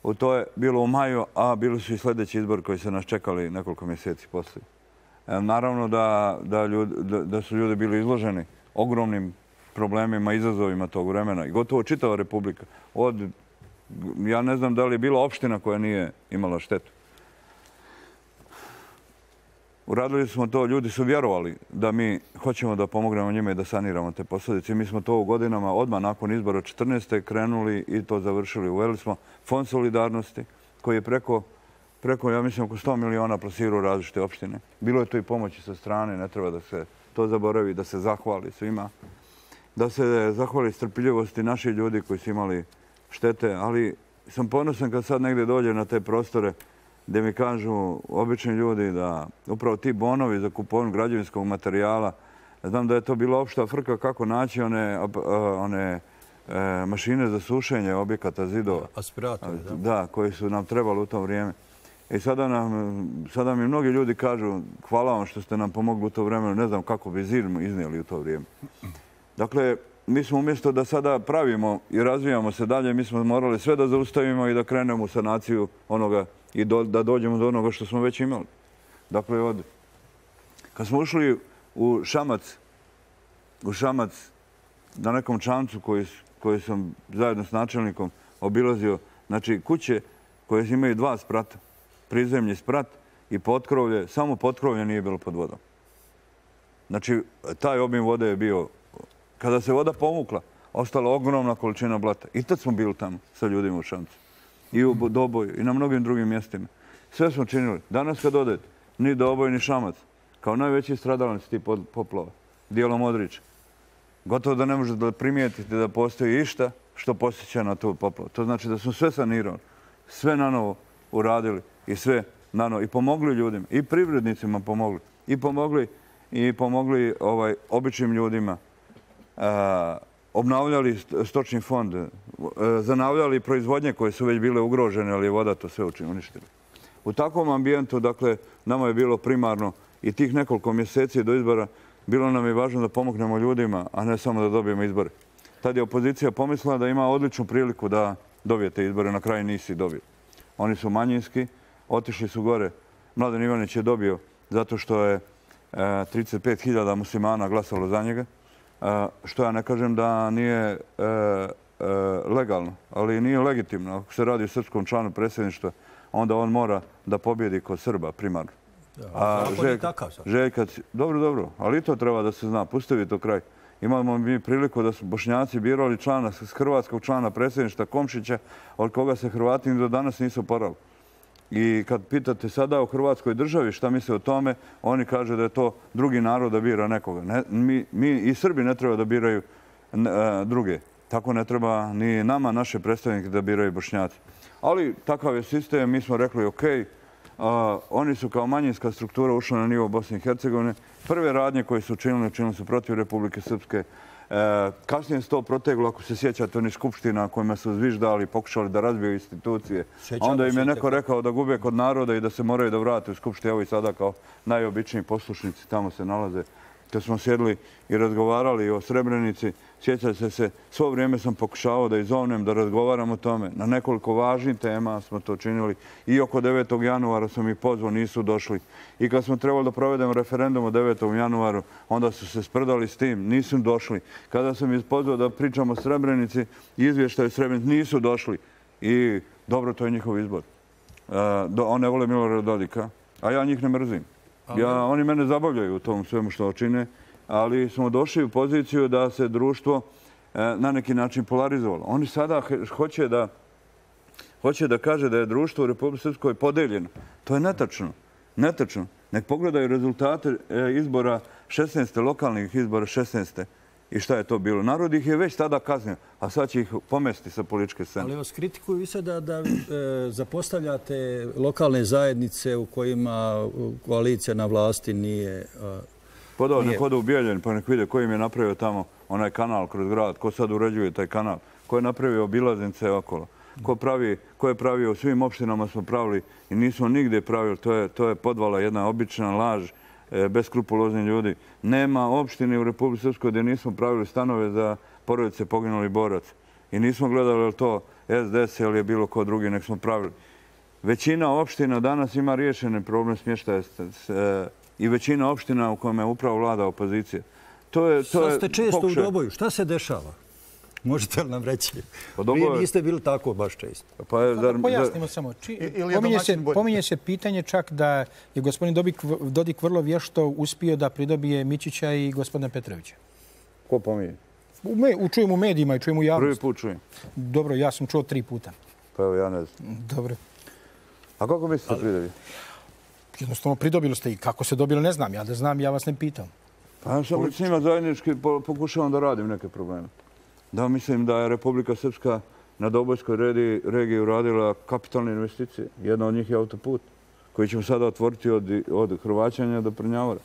U to je bilo u maju, a bili su i sljedeći izbor koji se nas čekali nekoliko mjeseci poslije. Naravno da, da, ljudi, da, da su ljudi bili izloženi ogromnim problemima, izazovima tog vremena i gotovo čitava Republika. Od, ja ne znam da li je bila opština koja nije imala štetu. Uradili smo to, ljudi su vjerovali da mi hoćemo da pomognemo njima i da saniramo te posljedice. Mi smo to u godinama, odmah nakon izbora četrnaeste krenuli i to završili. Uveli smo Fond solidarnosti koji je preko, preko ja mislim, oko sto miliona plasirao različite opštine. Bilo je to i pomoći sa strane, ne treba da se to zaboravi, da se zahvali svima. Da se zahvali strpljivosti naših ljudi koji su imali štete, ali sam ponosan kad sad negdje dođe na te prostore gdje mi kažu obični ljudi da upravo ti bonovi za kupovinu građevinskog materijala, znam da je to bila opšta frka kako naći one, one e, mašine za sušenje objekata, zidova. Aspiratori, da. Da, koji su nam trebali u to vrijeme. I sada, nam, sada mi mnogi ljudi kažu hvala vam što ste nam pomogli u to vremenu, ne znam kako bi zid iznijeli u to vrijeme. Dakle, mi smo umjesto da sada pravimo i razvijamo se dalje, mi smo morali sve da zaustavimo i da krenemo u sanaciju onoga i do, da dođemo do onoga što smo već imali. Dakle, od, kad smo ušli u Šamac, u Šamac na nekom čamcu koji, koji sam zajedno s načelnikom obilazio, znači kuće koje imaju dva sprata, prizemlji sprat i potkrovlje, samo potkrovlje nije bilo pod vodom. Znači, taj obim vode je bio, kada se voda pomukla, ostala ogromna količina blata. I tad smo bili tamo sa ljudima u Šamcu. I u Doboju, i na mnogim drugim mjestima. Sve smo činili. Danas kad odete, ni Doboj, ni Šamac, kao najveći stradalnici tih poplava, dijelom Modrića, gotovo da ne možete da primijetite da postoji išta što posjeća na tu poplavu. To znači da smo sve sanirali, sve na novo uradili i sve na novo. I pomogli ljudima, i privrednicima pomogli, i pomogli, i pomogli ovaj, običnim ljudima. A, obnavljali stočni fond, zanavljali proizvodnje koje su već bile ugrožene, ali je voda to sve uništila. U takvom ambijentu, dakle, nama je bilo primarno i tih nekoliko mjeseci do izbora, bilo nam je važno da pomognemo ljudima, a ne samo da dobijemo izbore. Tad je opozicija pomislila da ima odličnu priliku da dobijete izbore, na kraju nisi dobio. Oni su manjinski, otišli su gore. Mladen Ivanić je dobio zato što je trideset pet hiljada muslimana glasalo za njega, što ja ne kažem da nije legalno, ali nije legitimno. Ako se radi o srpskom članu predsjedništva, onda on mora da pobjedi kod Srba primarno. A zakon je takav. Željka, dobro, dobro, ali i to treba da se zna. Pustevi to kraj. Imamo mi priliku da su Bošnjaci birali člana, hrvatskog člana predsjedništva Komšića, od koga se Hrvati do danas nisu porali. I kad pitate sada u Hrvatskoj državi šta misle o tome, oni kažu da je to drugi narod da bira nekoga. Ne, mi, mi i Srbi ne treba da biraju ne, druge. Tako ne treba ni nama, naše predstavnike, da biraju Bošnjaci. Ali takav je sistem, mi smo rekli ok, a, oni su kao manjinska struktura ušli na nivo Bosne i Hercegovine. Prve radnje koje su učinili, učinili su protiv Republike Srpske. E, kasnije se to proteglo, ako se sjećate, oni skupština kojima su zviždali, pokušali da razbiju institucije. Sjećamo, onda im je neko rekao da gube kod naroda i da se moraju da vrate u skupštinu. Evo i sada kao najobičniji poslušnici tamo se nalaze. Kad smo sjedli i razgovarali o Srebrenici, sjećate se, svo vrijeme sam pokušavao da izovnem, da razgovaram o tome. Na nekoliko važnih tema smo to činili. I oko devetog januara sam ih pozvao, nisu došli. I kad smo trebali da provedemo referendum o devetom januaru, onda su se sprdali s tim, nisu došli. Kada sam ih pozvao da pričamo o Srebrenici, izvještaju Srebrenici, nisu došli. I dobro, to je njihov izbor. On ne vole Milorada Dodika, a ja njih ne mrzim. Ja, oni mene zabavljaju u tom svemu što čine, ali smo došli u poziciju da se društvo na neki način polarizovalo. Oni sada hoće da, hoće da kaže da je društvo u Republici Srpskoj podeljeno. To je netačno. Netačno. Nek pogledaju rezultate izbora šesnaeste lokalnih izbora šesnaeste i šta je to bilo. Narod ih je već tada kaznio, a sad će ih pomesti sa političke scene. Ali vas kritikuju i sada da zapostavljate lokalne zajednice u kojima koalicija na vlasti nije... Podao, nek odu u Bijeljin pa nek vide ko im je napravio tamo onaj kanal kroz grad, ko sad uređuje taj kanal, ko je napravio obilaznice okolo, ko, pravi, ko je pravio u svim opštinama smo pravili i nismo nigdje pravili, to je, to je podvala jedna obična laž, e, beskrupulozni ljudi. Nema opštine u Republici Srpskoj gdje nismo pravili stanove za porodice poginulih boraca i nismo gledali je to S D S ili je bilo ko drugi, nek smo pravili. Većina opština danas ima riješene problem smještaja i većina opština u kojima je upravo vlada opozicija. To je, to Sad ste često pokušaj... u Doboju. Šta se dešava? Možete li nam reći? Doboju... Vi niste bili tako baš često. Pa je, zar, pojasnimo zar... samo. Či... Pominje, se, pominje se pitanje čak da je gospodin Dodik, Dodik vrlo vješto uspio da pridobije Mićića i gospodina Petrovića. Ko pominje? U me, u, čujem u medijima i čujem u javnosti. Prvi put čujem. Dobro, ja sam čuo tri puta. Pa evo, ja ne znam. Dobro. A kako mislite Ali... pridobili? Jednostavno pridobili ste i kako se dobilo ne znam. Ja da znam, ja vas ne pitam. Pa ja sam s njima zajednički pokušavam da radim neke probleme. Da, mislim da je Republika Srpska na Dobojskoj regiji uradila kapitalne investicije. Jedna od njih je autoput koji ćemo sada otvoriti od, od Hrvaćanja do Prnjavora.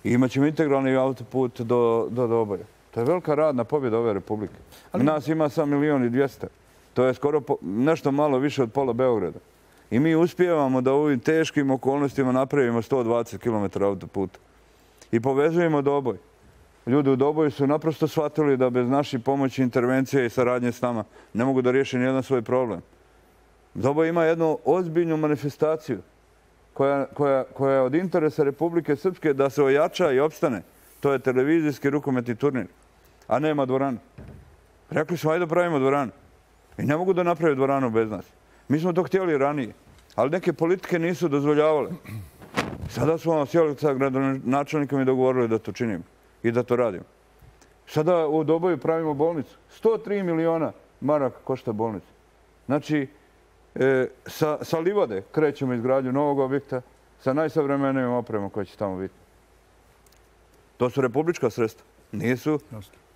I imat ćemo integralni autoput do, do Doboja. To je velika radna pobjeda ove Republike. Ali... Nas ima sam milijon i dvijesta. To je skoro po, nešto malo više od pola Beograda. I mi uspijevamo da u ovim teškim okolnostima napravimo sto dvadeset kilometara autoputa. I povezujemo Doboj. Ljudi u Doboju su naprosto shvatili da bez naših pomoći, intervencije i saradnje s nama ne mogu da riješi nijedan svoj problem. Doboj ima jednu ozbiljnu manifestaciju koja, koja, koja je od interesa Republike Srpske da se ojača i opstane. To je televizijski rukometni turnir. A nema dvoranu. Rekli smo, ajde da pravimo dvoranu. I ne mogu da napravi dvoranu bez nas. Mi smo to htjeli ranije, ali neke politike nisu dozvoljavale. Sada smo sjeli sa gradonačelnikom i dogovorili da to činimo i da to radimo. Sada u Doboju pravimo bolnicu. sto tri miliona maraka košta bolnica. Znači, e, sa, sa livade krećemo izgradnju novog objekta sa najsavremenijom opremom koja će tamo biti. To su republička sredstva. Nisu,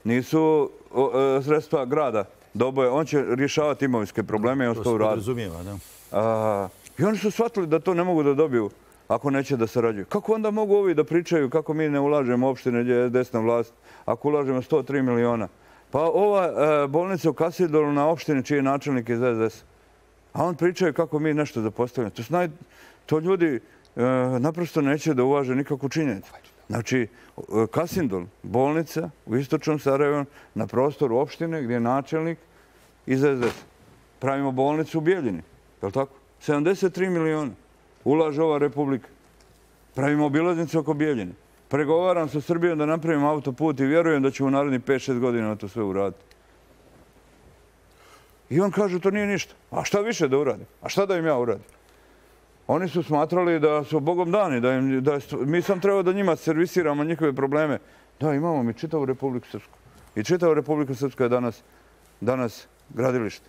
nisu o, e, sredstva grada Doboje. On će rješavati imovinske probleme i on to uradi. A, I oni su shvatili da to ne mogu da dobiju ako neće da sarađuju. Kako onda mogu ovi da pričaju kako mi ne ulažemo opštine gdje je desna vlast, ako ulažemo sto tri miliona? Pa ova e, bolnica u Kasidolu na opštini čiji je načelnik iz S D S. A on pričaju kako mi nešto zapostavljamo. To, snaj, to ljudi e, naprosto neće da uvaže nikakvu činjenicu. Znači, Kasindol, bolnica u istočnom Sarajevu, na prostoru opštine gdje je načelnik iz S D S. Pravimo bolnicu u Bijeljini, je li tako? sedamdeset tri miliona ulaže ova Republika. Pravimo obilaznicu oko Bijeljine. Pregovaram sa Srbijom da napravimo autoput i vjerujem da će u narednih pet šest godina na to sve uraditi. I on kaže, to nije ništa. A šta više da uradim? A šta da im ja uradim? Oni su smatrali da su Bogom dani, da, im, da mi sam trebao da njima servisiramo njihove probleme. Da, imamo mi čitavu Republiku Srpsku. I čitava Republika Srpska je danas, danas gradilište.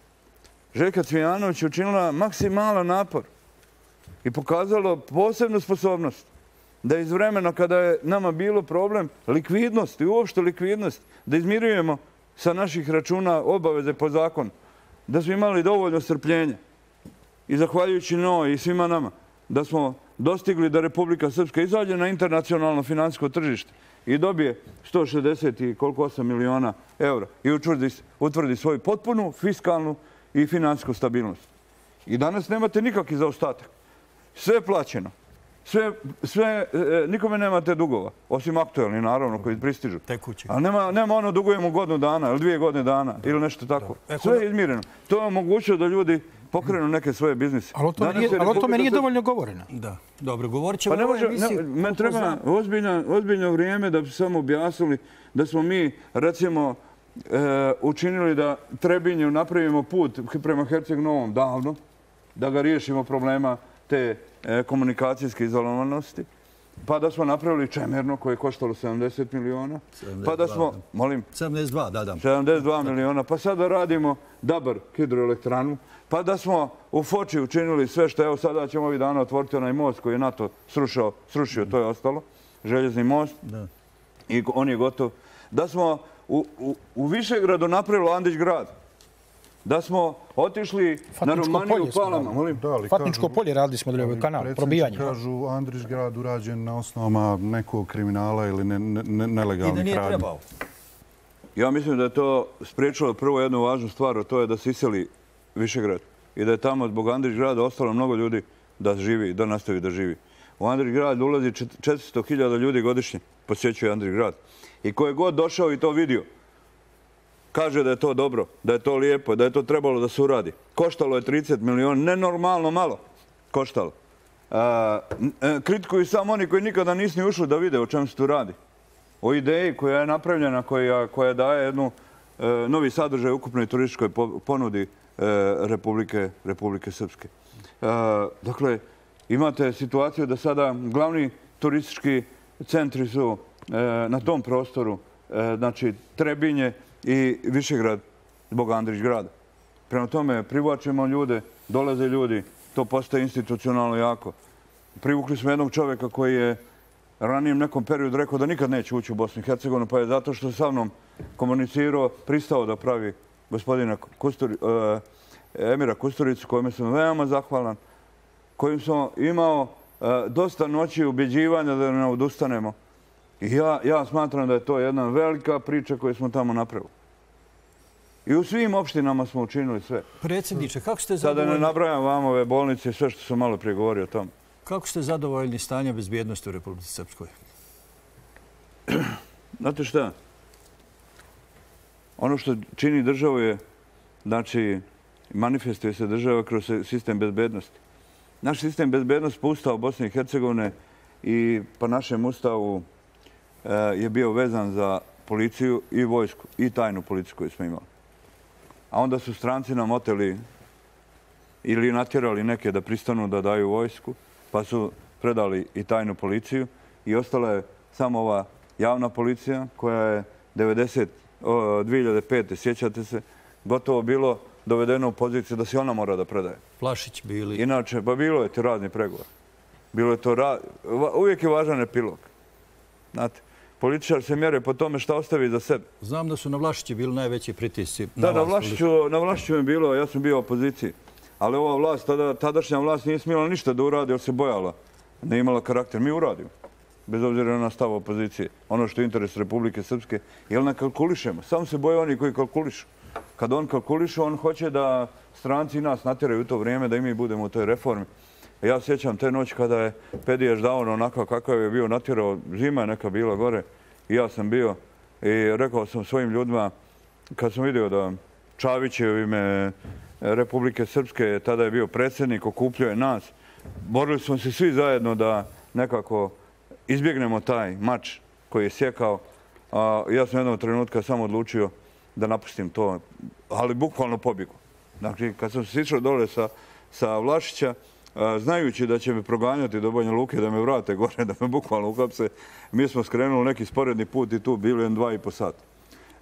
Željka Cvijanović je učinila maksimalan napor i pokazalo posebnu sposobnost da iz vremena kada je nama bilo problem likvidnost i uopšte likvidnost, da izmirujemo sa naših računa obaveze po zakonu, da smo imali dovoljno strpljenja i zahvaljujući njoj i svima nama, da smo dostigli da Republika Srpska izađe na internacionalno finansijsko tržište i dobije sto šezdeset i koliko osam miliona eura i utvrdi, utvrdi svoju potpunu fiskalnu i finansijsku stabilnost. I danas nemate nikakvi zaostatak. Sve je plaćeno. Sve, sve, e, nikome nemate dugova, osim aktualni, naravno, koji pristižu. Tekući. Ali nema, nema ono dugujemo godinu dana ili dvije godine dana da. Ili nešto tako. Da. Sve je izmireno. To je omogućuje da ljudi pokrenu neke svoje biznise. Ali o tome nije, ali o tome nije dovoljno govoreno. Da. Dobro, govorit ćemo pa ne može, ne, men treba ozbiljno, ozbiljno vrijeme da bi samo objasnili da smo mi, recimo, e, učinili da Trebinju napravimo put prema Herceg Novom davno, da ga riješimo problema te e, komunikacijske izolovanosti, pa da smo napravili Čemerno koje je koštalo sedamdeset miliona, pa da smo, molim, sedamdeset dva, da, da. sedamdeset dva miliona, pa sad da radimo Dabar hidroelektranu, pa da smo u Foči učinili sve što, evo sada ćemo ovih dana otvoriti onaj most koji je NATO srušao, srušio, to je ostalo, željezni most, da. I on je gotov. Da smo u Višegradu napravilo Andrić grad. Da smo otišli na Romaniju u Palama. Fatničko polje radili smo dolje, kanal, probijanje. Kažu Andrić grad urađen na osnovama nekog kriminala ili nelegalnih radnji. I da nije trebao. Ja mislim da je to spriječilo prvo jednu važnu stvar, a to je da se iseli Višegrad. I da je tamo zbog Andrić grada ostalo mnogo ljudi da živi, da nastavi da živi. U Andrić grad ulazi četiristo hiljada ljudi godišnje, posjećuje Andrić grad. I ko je god došao i to vidio, kaže da je to dobro, da je to lijepo, da je to trebalo da se uradi. Koštalo je trideset miliona, nenormalno malo koštalo. Kritikuju samo oni koji nikada nisu ni ušli da vide o čemu se tu radi. O ideji koja je napravljena, koja daje jednu novi sadržaj ukupnoj turističkoj ponudi Republike Srpske. Dakle, imate situaciju da sada glavni turistički centri su na tom prostoru, znači Trebinje i Višegrad zbog Andrić grada. Prema tome, privlačimo ljude, dolaze ljudi, to postaje institucionalno jako. Privukli smo jednog čovjeka koji je ranijem nekom periodu rekao da nikad neće ući u Bosnu i Hercegovinu, pa je zato što sa mnom komunicirao, pristao da pravi gospodina Emira Kusturicu, kojima sam veoma zahvalan, kojim sam imao dosta noći ubjeđivanja da ne odustanemo. I ja smatram da je to jedna velika priča koju smo tamo napravili. I u svim opštinama smo učinili sve. Predsjedniče, kako ste zadovoljni... Sada ne nabrajam vam ove bolnice i sve što sam malo prije govorio o tom. Kako ste zadovoljni stanja bezbjednosti u Republici Srpskoj? Znate šta? Ono što čini državu je, znači, manifestuje se država kroz sistem bezbjednosti. Naš sistem bezbjednosti po Ustavu Bosne i Hercegovine i po našem Ustavu je bio vezan za policiju i vojsku i tajnu policiju koju smo imali. A onda su stranci nam oteli ili natjerali neke da pristanu da daju vojsku, pa su predali i tajnu policiju i ostala je samo ova javna policija koja je dvije hiljade pete. sjećate se, gotovo bilo dovedeno u poziciju da se ona mora da predaje. Vlašić bili. Inače, pa bilo je to radni pregovor. Bilo je to rad... Uvijek je važan epilog. Znate, političar se mjere po tome šta ostavi za sebe. Znam da su na Vlašići bili najveći pritisci. Da, na Vlašiću je bilo, ja sam bio u opoziciji. Ali ova vlast, tadašnja vlast nije smjela ništa da uradi, jer se bojala. Ne imala karakter. Mi uradimo. Bez obzira na stav opozicije. Ono što je interes Republike Srpske. Jer ne kalkulišemo. Samo se boje oni koji kalkulišu. Kad on kalkulišu, on hoće da stranci nas natjeraju u to vrijeme, da i mi budemo u toj reformi. Ja sjećam te noći kada je Pediješ Davon onako kakav je bio natjerao, zima je neka bila gore i ja sam bio i rekao sam svojim ljudima, kad sam vidio da Čavić je u ime Republike Srpske, tada je bio predsjednik, okupljuje nas, borili smo se svi zajedno da nekako izbjegnemo taj mač koji je sjekao. Ja sam jednog trenutka samo odlučio da napustim to, ali bukvalno pobjegu. Znači, kad sam se išao dole sa Vlašića, znajući da će me proganjati do Banja Luke, da me vrate gore, da me bukvalno uhapse, mi smo skrenuli neki sporedni put i tu bili jedan dva i po sata.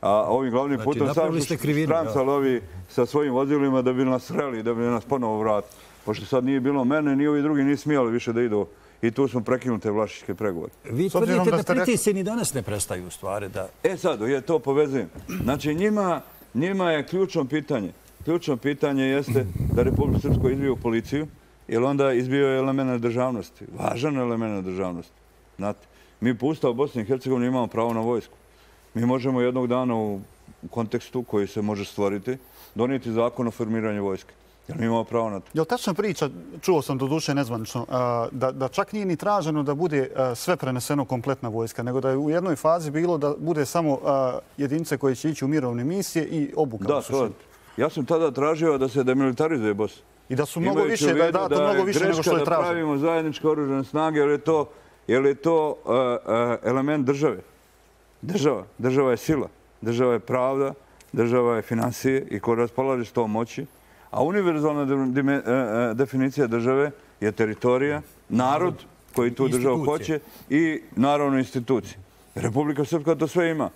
A ovim glavnim putom sam su strancali ovi sa svojim vozilima da bi nas sreli, da bi nas ponovo vratili. Pošto sad nije bilo mene, ni ovi drugi nisu smijali više da idu i tu smo prekinuli te vlašićke pregovore. Vi tvrdite da pritisci ni danas ne prestaju u stvari. E sad, ja to povezujem. Znači, njima je ključno pitanje. Ključno pitanje jeste da Republika Srpska izbije u policiju, jer onda izbio je element državnosti. Važan element državnosti. Znate, mi po Ustavu Bosne i Hercegovine imamo pravo na vojsku. Mi možemo jednog dana u kontekstu koji se može stvoriti donijeti zakon o formiranju vojske. Jer mi imamo pravo na to. Je li tačna priča, čuo sam do duše nezvanično, da čak nije ni traženo da bude sve preneseno kompletna vojska, nego da je u jednoj fazi bilo da bude samo jedinice koje će ići u mirovne misije i obuka? Da, to je. Ja sam tada tražio da se demilitarizuje Bosna. I da su mnogo više, da je dato mnogo više nego što je traženo. Da pravimo zajedničke oružane snage, jer je to element države. Država. Država je sila. Država je pravda. Država je financije i ko raspolaže s tom moći. A univerzalna definicija države je teritorija, narod koji tu državu hoće i naravno institucije. Republika Srpska to sve ima.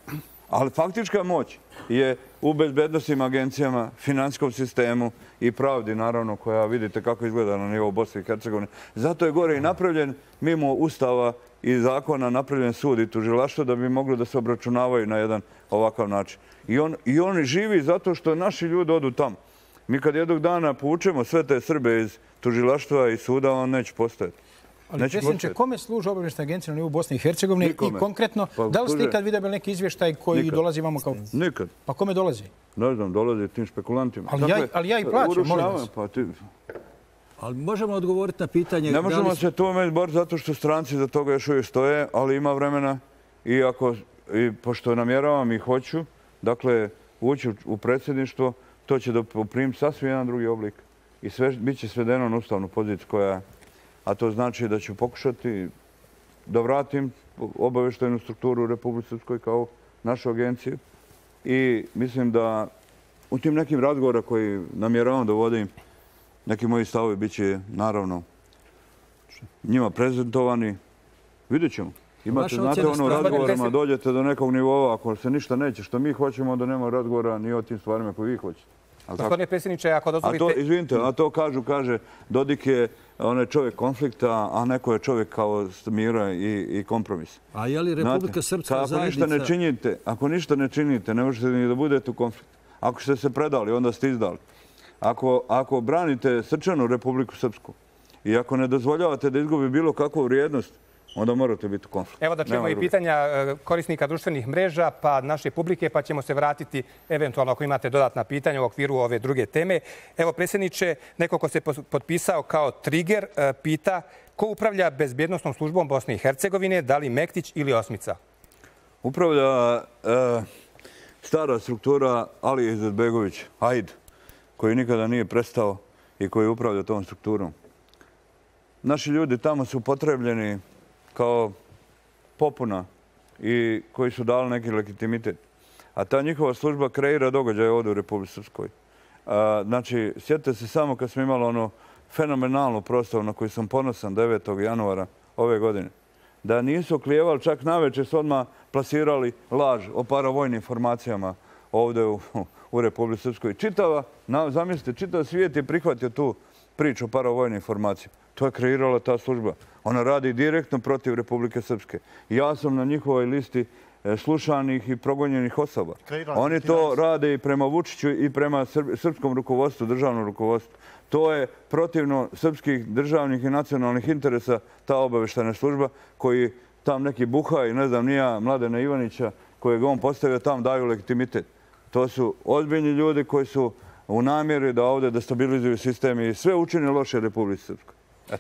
Ali faktička moć je u bezbednostnim agencijama, finansijskom sistemu i pravdi, naravno, koja vidite kako izgleda na nivou Bosne i Hercegovine. Zato je gore i napravljen, mimo ustava i zakona, napravljen sud i tužilaštvo da bi mogli da se obračunavaju na jedan ovakav način. I, on, i oni živi zato što naši ljudi odu tamo. Mi kad jednog dana poučemo sve te Srbe iz tužilaštva i suda, on neće postojati. Ali, predsjedniče, kome služe obavještajne agencije na nivou Bosne i Hercegovine i konkretno, da li ste ikad vidjeli neki izvještaj koji dolazi vamo kao... Nikad. Pa kome dolazi? Ne znam, dolazi tim špekulantima. Ali ja i plaćam, molim vas. Ali možemo odgovoriti na pitanje... Ne možemo se tome izboriti zato što stranci za toga još uvijek stoje, ali ima vremena i ako, pošto namjeravam i hoću, dakle, ući u predsjedništvo, to će da poprim sasvim jedan drugi oblik i bit će svedeno na ustavnu poziciju koja, a to znači da ću pokušati da vratim obavještajnu strukturu u Republici Srpskoj kao našu agenciju i mislim da u tim nekim razgovora koji namjeravam da vodim, neki moji stavovi bit će naravno njima prezentovani. Vidjet ćemo. Imate, znate, ono u razgovorima dođete do nekog nivoa, ako se ništa neće što mi hoćemo, onda nema razgovora ni o tim stvarima koje vi hoćete. Gospodine predsjedniče, ako dozvolite... Izvinite, a to kažu, kaže, Dodik je on je čovjek konflikta, a neko je čovjek kao mira i kompromisa. A je li Republika Srpska zajednica... Ako ništa ne činite, ne možete ni da budete u konfliktu. Ako ste se predali, onda ste izdali. Ako branite srčanu Republiku Srpsku i ako ne dozvoljavate da izgubi bilo kakvu vrijednost, onda morate biti u konfliktu. Evo da čujemo i pitanja korisnika društvenih mreža, pa naše publike, pa ćemo se vratiti eventualno ako imate dodatna pitanja u okviru ove druge teme. Evo, predsjedniče, neko ko se potpisao kao trigger, pita ko upravlja bezbjednostnom službom Bosne i Hercegovine, da li Mektić ili Osmica? Upravlja stara struktura Alija Izetbegović, Aid, koji nikada nije prestao i koji upravlja tom strukturom. Naši ljudi tamo su potrebljeni kao popuna i koji su dali neki legitimitet. A ta njihova služba kreira događaje ovdje u Republici Srpskoj. Znači, sjetite se samo kad smo imali ono fenomenalnu proslavu na koju sam ponosan devetog januara ove godine. Da nisu oklijevali, čak navečer su odmah plasirali laž o paravojnim formacijama ovdje u, u Republici Srpskoj. Čitava, zamislite, čitav svijet je prihvatio tu priču o paravojnim formacijama. To je kreirala ta služba. Ona radi direktno protiv Republike Srpske. Ja sam na njihovoj listi slušanih i progonjenih osoba. Oni to rade i prema Vučiću i prema srpskom rukovodstvu, državnom rukovodstvu. To je protivno srpskih državnih i nacionalnih interesa, ta obavještajna služba koji tam neki buha i ne znam nija Mladena Ivanića kojeg on postavio tam daju legitimitet. To su ozbiljni ljudi koji su u namjeri da ovdje destabilizuju sistem i sve učini loše Republici Srpskoj.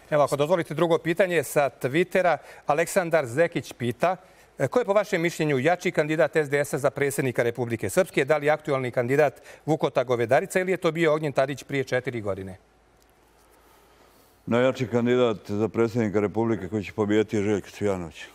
Evo, ako dozvolite drugo pitanje sa Twittera, Aleksandar Zekić pita ko je po vašem mišljenju jači kandidat es de es a za predsjednika Republike Srpske? Da li aktualni kandidat Vukota Govedarica ili je to bio Ognjen Tadić prije četiri godine? Najjači kandidat za predsjednika Republike koji će pobijeti je Željko Cvijanović.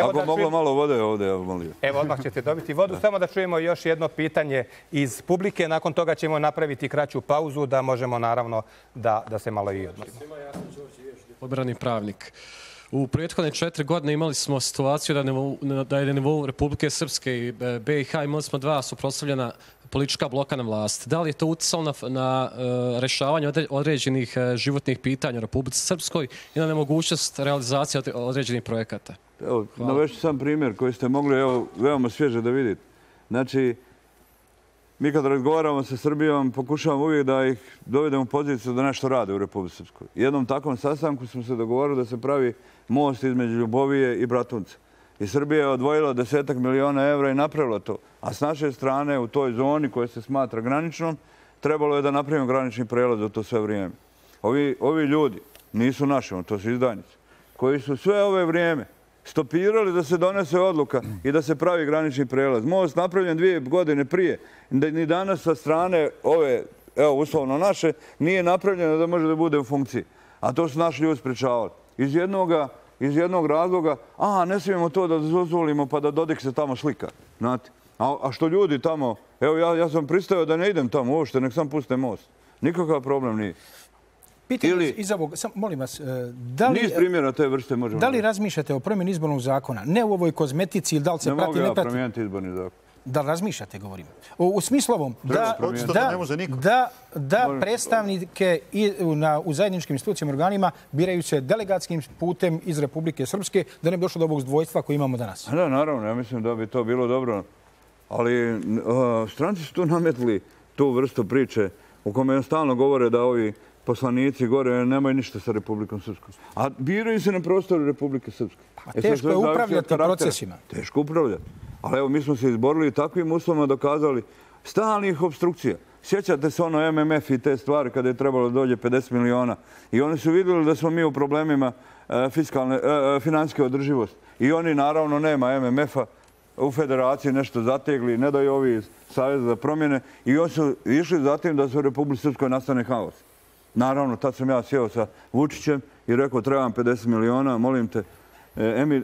Ako moglo malo vode ovdje, ja molio. Evo, odmah ćete dobiti vodu. Samo da čujemo još jedno pitanje iz publike. Nakon toga ćemo napraviti kraću pauzu da možemo, naravno, da se malo i odmorimo. Ja sam Đorđe Jež, diplomirani pravnik. U prethodne četiri godine imali smo situaciju da je na nivou Republike Srpske i be i ha imali smo dva suprotstavljena politička bloka na vlast. Da li je to uticalo na rešavanje određenih životnih pitanja u Republici Srpskoj i na nemogućnost realizacije određenih projekata? Evo, navešću sam primjer koji ste mogli, evo, veoma svježe da vidite. Znači, mi kad razgovaramo sa Srbijom, pokušavamo uvijek da ih dovedemo u poziciju da nešto rade u Republici Srpskoj. Jednom takvom sastanku smo se dogovorili da se pravi most između Ljubovije i Bratunca. I Srbija je odvojila desetak miliona evra i napravila to. A s naše strane, u toj zoni koja se smatra graničnom, trebalo je da napravimo granični prelaz za to sve vrijeme. Ovi, ovi ljudi nisu naši, to su izdajnici, koji su sve ove vrijeme stopirali da se donese odluka i da se pravi granični prelaz. Most napravljen dvije godine prije. Ni danas sa strane ove, evo, uslovno naše, nije napravljeno da može da bude u funkciji. A to su naši ljudi sprečavali. Iz jednoga, iz jednog razloga, a, ne smijemo to da dozvolimo pa da Dodik se tamo slika. Znate? A, a što ljudi tamo, evo, ja, ja sam pristao da ne idem tamo uopšte, nek sam puste most. Nikakav problem nije. pitanje iz ovog, molim vas, da li... Niz primjera te vrste možemo... Da li razmišljate o promjeni izbornog zakona? Ne u ovoj kozmetici ili da li se prati, ne prati... Ne mogu ja promijeniti izborni zakon. Da li razmišljate, govorim? U smislu ovom, da predstavnike u zajedničkim institucijama organima biraju se delegatskim putem iz Republike Srpske, da ne bi došlo do ovog dvojstva koje imamo danas. Da, naravno, ja mislim da bi to bilo dobro. Ali stranci su tu nametli tu vrstu priče u kome stalno govore da ovi poslanici gore nemaju ništa sa Republikom Srpskom. A biraju se na prostoru Republike Srpske. Teško je upravljati procesima. Teško upravljati. Ali evo, mi smo se izborili i takvim uslovima dokazali stalnih obstrukcija. Sjećate se ono M M F i te stvari kada je trebalo da dođe pedeset miliona. I oni su vidjeli da smo mi u problemima financijske održivosti. I oni, naravno, nema M M F-a, u federaciji nešto zategli, ne daju ovi iz Savjeza za promjene. I oni su išli zatim da se u Republici Srpskoj nastane haos. Naravno, tad sam ja sjeo sa Vučićem i rekao trebam pedeset miliona, molim te,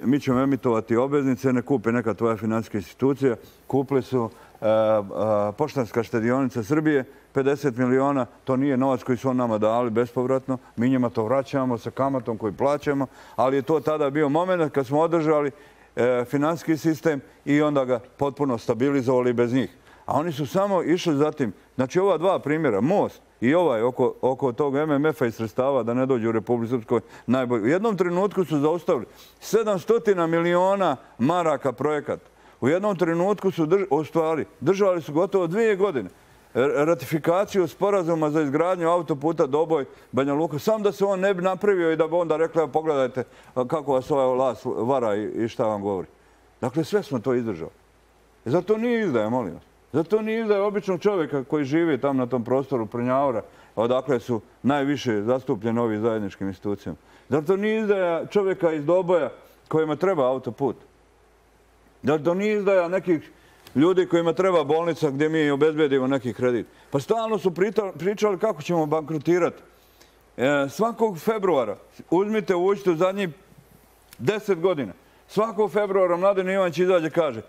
mi ćemo emitovati obveznice, ne kupe neka tvoja financijska institucija. Kupili su Poštanska štedionica Srbije, pedeset miliona, to nije novac koji su on nama dali bespovratno, mi njima to vraćamo sa kamatom koju plaćamo, ali je to tada bio moment kad smo održali financijski sistem i onda ga potpuno stabilizovali bez njih. A oni su samo išli zatim, znači ova dva primjera, most i ovaj oko tog M M F-a i sredstava da ne dođu u Republiku Srpskoj najbolji. U jednom trenutku su zaustavili sedamsto miliona maraka projekat. U jednom trenutku su ostvarili, držali su gotovo dvije godine ratifikaciju sporazuma za izgradnju autoputa Doboj-Banja Luka, sam da se on ne bi napravio i da bi onda rekla pogledajte kako vas ovaj vlast vara i šta vam govori. Dakle, sve smo to izdržali. Zato nije izdaja, molim vas. Zato nije izdaja običnog čovjeka koji živi tam na tom prostoru Prnjavora, odakle su najviše zastupljeni ovi zajedničkim institucijama. Zato nije izdaja čovjeka iz Doboja kojima treba autoput. Zato nije izdaja nekih ljudi kojima treba bolnica gdje mi obezbedimo neki kredit. Pa stalno su pričali kako ćemo bankrotirati. Svakog februara, uzmite, uđite u zadnjih deset godina, svakog februara Mladen Ivanić izađe i kaže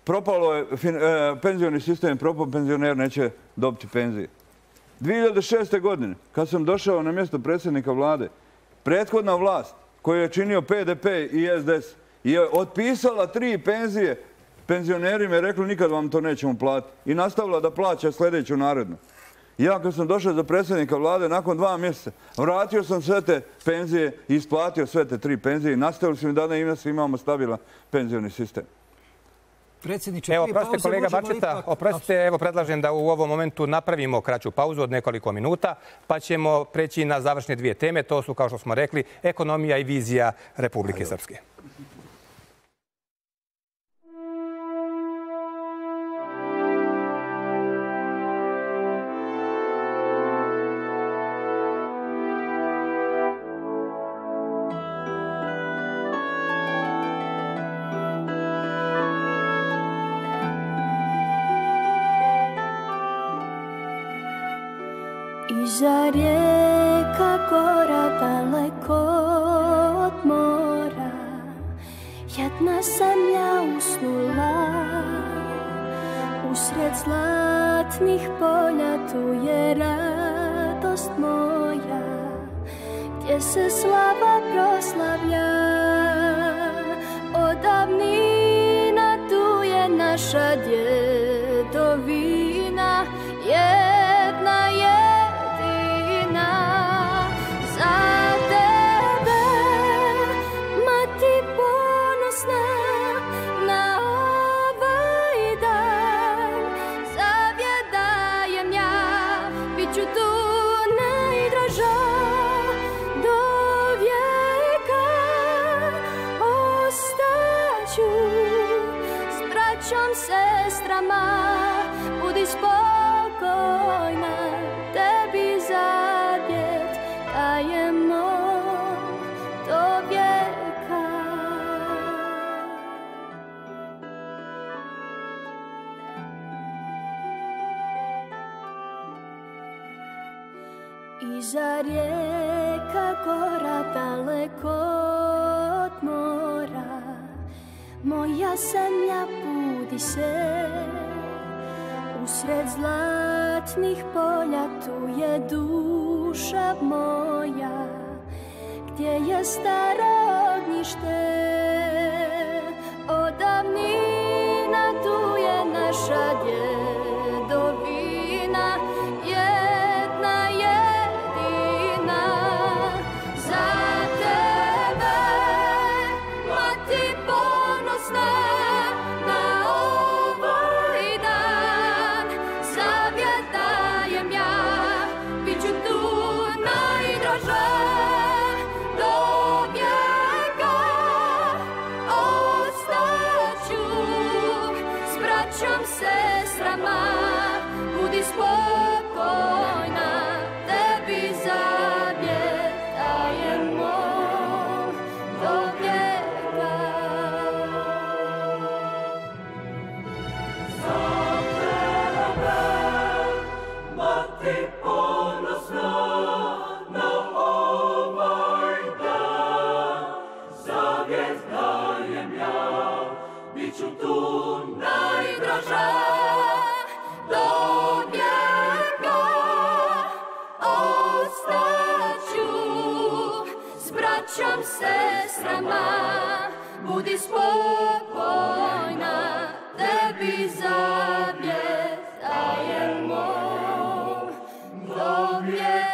propalo je penzioni sistem, propao penzioner neće dobiti penzije. dvije hiljade šeste. godine, kad sam došao na mjesto predsjednika vlade, prethodna vlast koju je činio P D P i S D S je otpisala tri penzije penzionerima i rekli nikad vam to nećemo platiti. I nastavila da plaća sljedeću narednu. Ja kad sam došao za predsjednika vlade, nakon dva mjeseca, vratio sam sve te penzije i isplatio sve te tri penzije i nastavili smo da ne imamo stabilan penzioni sistem. Predsjedniče, evo, oprostite kolega Bačeta, oprostite, evo predlažem da u ovom momentu napravimo kraću pauzu od nekoliko minuta, pa ćemo preći na završne dvije teme. To su, kao što smo rekli, ekonomija i vizija Republike Srpske. Iza rijeka gora daleko od mora, jedna sam ja usnula. Usred zlatnih polja tu je radost moja, gdje se slava proslavlja. Od davnina tu je naša djedovina, jedna je budi spokojna, tebi zavjet dajemo do vijeka. Iza rijeka gora daleko od mora, moja zemlja budi se. Usred zlatnih polja tu je duša moja, gdje je staro ognjište. Od davnina tu je naša djedovina, jedna jedina. Za tebe, mati ponosna, na ovaj dan zavjet dajem ja, bit ću tu najdraža. Do vijeka ostaću s braćom, sestrama, budi spokojna, tebi zavjet dajemo do vijeka. Za tebe, mati ponosna, na ovaj dan zavjet dajem ja, bit ću tu najdraža. Do vijeka ostaću s braćom, sestrama, budi spokojna, tebi zavjet dajemo do vijeka.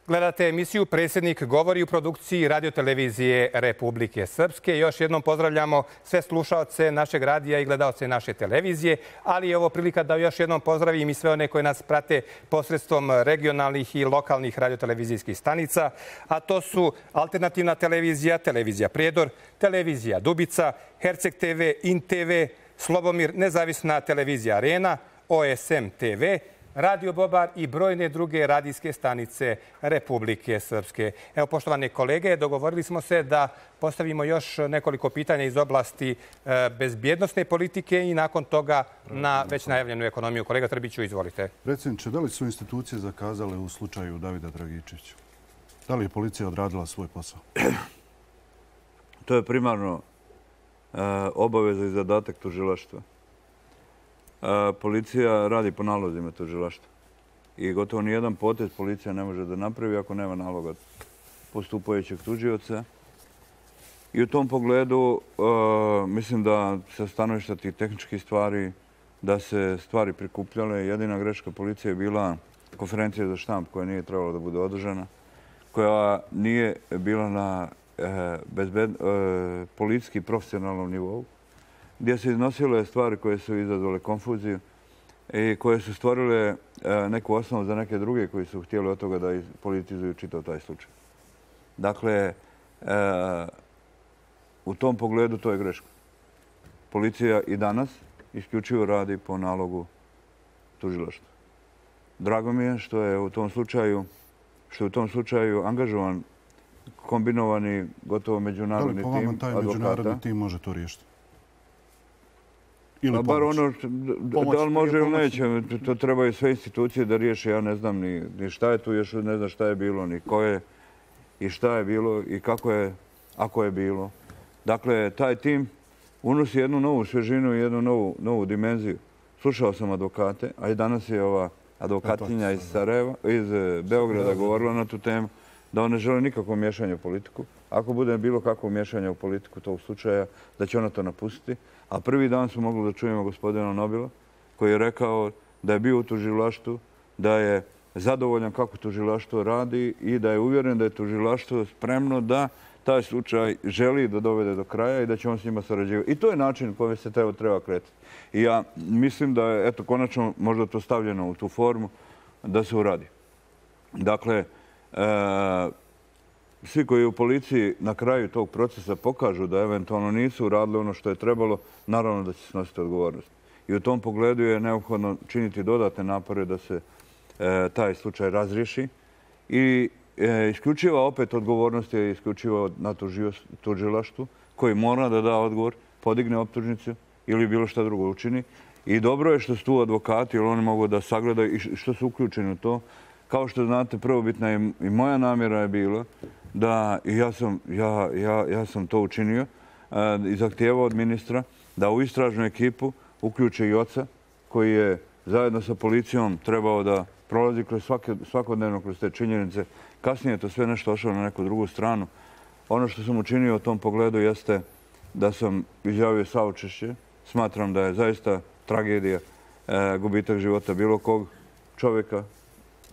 Gledate emisiju Predsjednik govori u produkciji radiotelevizije Republike Srpske. Još jednom pozdravljamo sve slušaoce našeg radija i gledaoce naše televizije, ali je ovo prilika da još jednom pozdravim i sve one koje nas prate posredstvom regionalnih i lokalnih radiotelevizijskih stanica, a to su Alternativna televizija, Televizija Prijedor, Televizija Dubica, Herceg te ve, In te ve, Slobomir, Nezavisna televizija Arena, O S M te ve, Radio Bobar i brojne druge radijske stanice Republike Srpske. Evo, poštovane kolege, dogovorili smo se da postavimo još nekoliko pitanja iz oblasti bezbjednosne politike i nakon toga na već najavljenu ekonomiju. Kolega Trbiću, izvolite. Predsjedniče, da li su institucije zakazale u slučaju Davida Dragičevića? Da li je policija odradila svoj posao? To je primarno obaveza i zadatak tužilaštva. Policija radi po nalozima tužilaštva i gotovo nijedan potez policija ne može da napravi ako nema naloga postupajućeg tužioca. I u tom pogledu mislim da sa stanovišta tih tehničkih stvari da se stvari prikupljale. Jedina greška policije je bila konferencija za štamp koja nije trebala da bude održana, koja nije bila na policijski profesionalnom nivou, gdje se iznosile stvari koje su izazvale konfuziju i koje su stvorile neku osnovu za neke druge koji su htjeli od toga da politizuju čitav taj slučaj. Dakle, u tom pogledu to je greška. Policija i danas isključivo radi po nalogu tužilaštva. Drago mi je što je u tom slučaju, što je u tom slučaju angažovan kombinovani gotovo međunarodni tim advokata. Da li po vama taj međunarodni tim može to riješiti? Pa bar ono, da li može ili neće, to trebaju sve institucije da riješe. Ja ne znam ni šta je tu, još ne znam šta je bilo, ni ko je i šta je bilo i kako je, ako je bilo. Dakle, taj tim unosi jednu novu svežinu i jednu novu dimenziju. Slušao sam advokate, a i danas je ova advokatkinja iz Sarajeva, iz Beograda govorila na tu temu, da on ne žele nikakvo miješanje u politiku. Ako bude bilo kakvo miješanje u politiku tog slučaja, da će ona to napustiti. A prvi dan smo mogli da čujemo gospodina Nobila, koji je rekao da je bio u tužilaštvu, da je zadovoljan kako tužilaštvo radi i da je uvjeren da je tužilaštvo spremno da taj slučaj želi da dovede do kraja i da će on s njima sarađivati. I to je način kojim se treba kretati. I ja mislim da je, eto, konačno možda to stavljeno u tu formu da se uradi. Dakle, svi koji u policiji na kraju tog procesa pokažu da eventualno nisu uradili ono što je trebalo, naravno da će snositi odgovornost. i u tom pogledu je neophodno činiti dodatne napore da se taj slučaj razriješi. I isključiva opet odgovornost je isključiva na tužilaštvu koji mora da da odgovor, podigne optužnicu ili bilo šta drugo učini. I dobro je što su tu advokati, jer oni mogu da sagledaju i što su uključeni u to. Kao što znate, prvobitna i moja namjera je bila da, i ja sam, ja, ja, ja sam to učinio, i zahtijevao od ministra da u istražnu ekipu uključe i oca koji je zajedno sa policijom trebao da prolazi kroz svake, svakodnevno kroz te činjenice. Kasnije je to sve nešto ošlo na neku drugu stranu. Ono što sam učinio u tom pogledu jeste da sam izjavio saučešće. Smatram da je zaista tragedija e, gubitak života bilo kog čovjeka,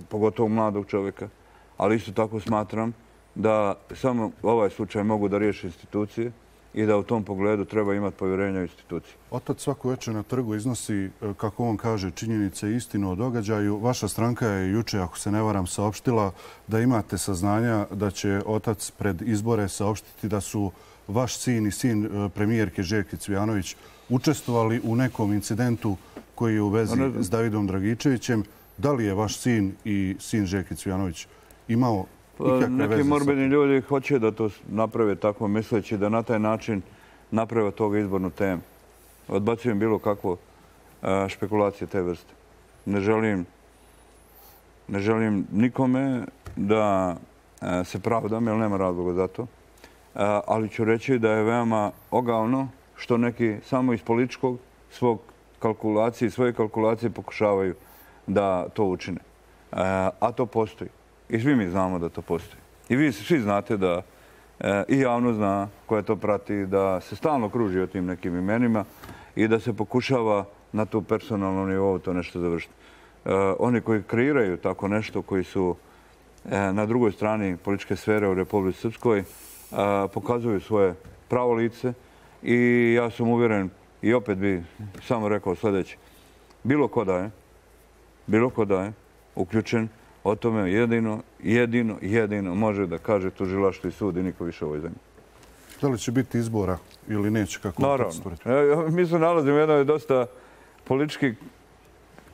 pogotovo mladog čovjeka. Ali isto tako smatram da samo ovaj slučaj mogu da riješi institucije i da u tom pogledu treba imati povjerenja u institucije. Otac svako večer na trgu iznosi, kako on kaže, činjenice i istinu o događaju. Vaša stranka je juče, ako se ne varam, saopštila da imate saznanja da će otac pred izbore saopštiti da su vaš sin i sin premijerke Željke Cvijanović učestvovali u nekom incidentu koji je u vezi s Davidom Dragičevićem. Da li je vaš sin i sin Željke Cvijanović imao ikakve veze? Neki morbidni ljudi hoće da to naprave tako misleći da na taj način naprave toga izbornu temu. Odbacujem bilo kakvo špekulacije te vrste. Ne želim, ne želim nikome da se pravdam, jer nema razloga za to. Ali ću reći da je veoma ogavno što neki samo iz političkog svog kalkulacije, svoje kalkulacije pokušavaju da to učine. A to postoji. I svi mi znamo da to postoji. I vi svi znate da i javno zna koja to prati, da se stalno kruži o tim nekim imenima i da se pokušava na tu personalnom nivou to nešto završiti. Oni koji kreiraju tako nešto, koji su na drugoj strani političke sfere u Republici Srpskoj, pokazuju svoje pravo lice i ja sam uvjeren i opet bi samo rekao sljedeće. Bilo ko da je, bilo ko da je uključen, o tome jedino, jedino, jedino može da kaže tužilaštvo i sud i niko više u ovoj zemlji. Da li će biti izbora ili neće? Kako naravno. Mi se nalazimo u jednoj dosta politički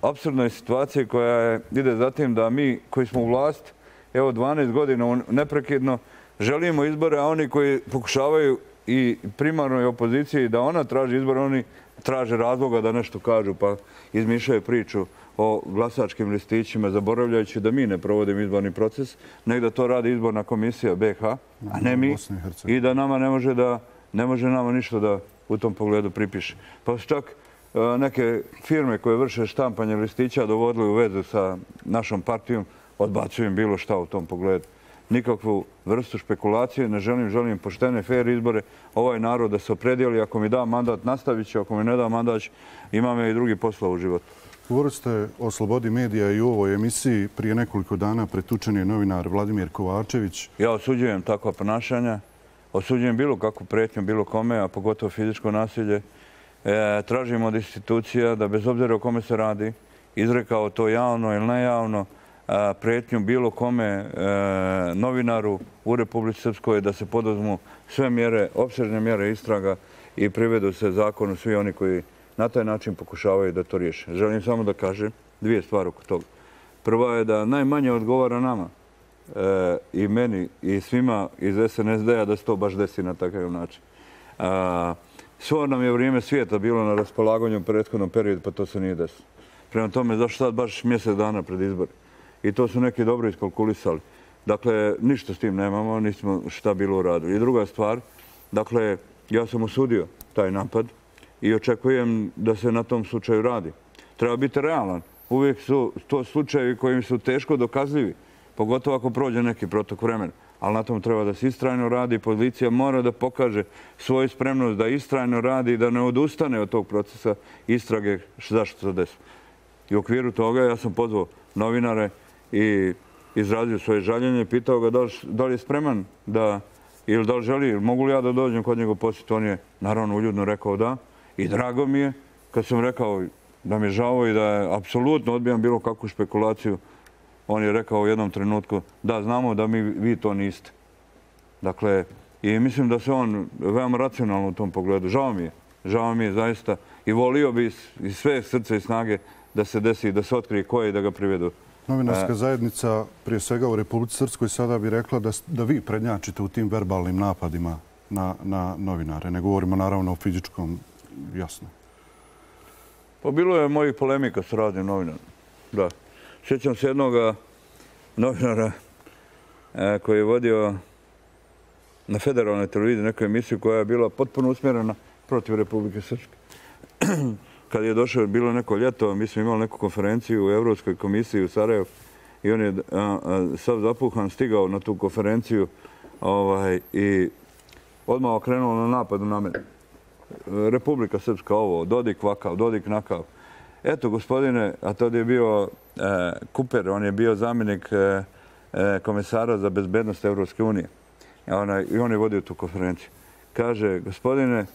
apsurdnoj situaciji koja je, ide za tim da mi koji smo u vlast, evo dvanaest godina neprekidno, želimo izbore, a oni koji pokušavaju i primarnoj opoziciji da ona traži izbore, oni traže razloga da nešto kažu pa izmišljaju priču o glasačkim listićima, zaboravljajući da mi ne provodimo izborni proces, nego da to radi izborna komisija B H, a ne mi, i da nama ne može da ne može nama ništa da u tom pogledu pripiše. Pa su čak neke firme koje vrše štampanje listića dovodili u vezu sa našom partijom, odbacujem bilo šta u tom pogledu. Nikakvu vrstu špekulacije, ne želim, želim poštene, fair izbore. Ovaj narod da se opredijeli, ako mi da mandat, nastavit će, ako mi ne da mandat, imam i drugi posla u životu. Govorili ste o slobodi medija i u ovoj emisiji. Prije nekoliko dana pretučen je novinar Vladimir Kovačević. Ja osuđujem takva ponašanja. Osuđujem bilo kakvu pretnju, bilo kome, a pogotovo fizičko nasilje. E, tražimo od institucija da bez obzira o kome se radi, izrekao to javno ili nejavno, a, pretnju bilo kome e, novinaru u Republici Srpskoj da se poduzmu sve mjere, opsežne mjere istraga i privedu se zakonu svi oni koji na taj način pokušavaju da to riješe. Želim samo da kažem dvije stvari oko toga. Prva je da najmanje odgovara nama e, i meni i svima iz S N S D-a da se to baš desi na takav način. A, svo nam je vrijeme svijeta bilo na raspolaganju u prethodnom periodu, pa to se nije desilo. Prema tome, zašto sad baš mjesec dana pred izbore? I to su neki dobro iskalkulisali. Dakle, ništa s tim nemamo, nismo šta bilo uradili. I druga stvar, dakle, ja sam osudio taj napad i očekujem da se na tom slučaju radi. Treba biti realan. Uvijek su to slučajevi kojim su teško dokazljivi, pogotovo ako prođe neki protok vremena. Ali na tom treba da se istrajno radi. Policija mora da pokaže svoju spremnost da istrajno radi i da ne odustane od tog procesa istrage zašto se desilo. I u okviru toga ja sam pozvao novinare i izrazio svoje žaljenje i pitao ga da li, da li je spreman da, ili da li želi, mogu li ja da dođem kod njega posjeti. On je naravno uljudno rekao da. I drago mi je kad sam rekao da mi je žao i da je apsolutno odbijam bilo kakvu špekulaciju. On je rekao u jednom trenutku da znamo da mi, vi to niste. Dakle, i mislim da se on veoma racionalno u tom pogledu. Žao mi je. Žao mi je zaista. I volio bi iz sve srce i snage da se desi, da se otkrije ko je i da ga privedu. Novinarska zajednica, prije svega u Republici Srpskoj, sada bi rekla da vi prednjačite u tim verbalnim napadima na novinare. Ne govorimo naravno o fizičkom, jasno. Pa bilo je mojih polemika s raznim novinarima. Da. Sjećam se jednog novinara koji je vodio na federalnoj televiziji neku emisiju koja je bila potpuno usmjerena protiv Republike Srpske. Kad je došao, bilo neko ljeto, mi smo imali neku konferenciju u Evropskoj komisiji u Sarajevu i on je sav zapuhan stigao na tu konferenciju i odmah okrenuo na napadu na mene. Republika Srpska ovo, Dodik vakav, Dodik nakav. Eto, gospodine, a tada je bio Kuper, on je bio zamjenik komesara za bezbednost Evropske unije. I on je vodio tu konferenciju. Kaže, gospodine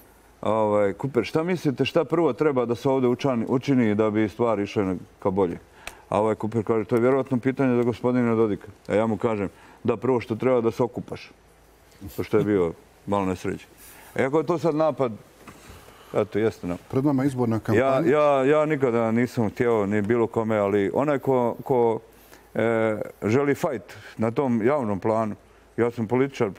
Kuper, šta mislite, šta prvo treba da se ovdje učini da bi stvari išle ka bolje? A ovaj Kuper kaže, to je vjerovatno pitanje za gospodina Dodika. A ja mu kažem, da prvo što treba da se okupaš. To što je bio malo nesređen. Iako je to sad napad, eto, jeste napad. Pred nama izborna kampanja. Ja nikada nisam htio ni bilo kome, ali onaj ko želi fajt na tom javnom planu, ja sam političar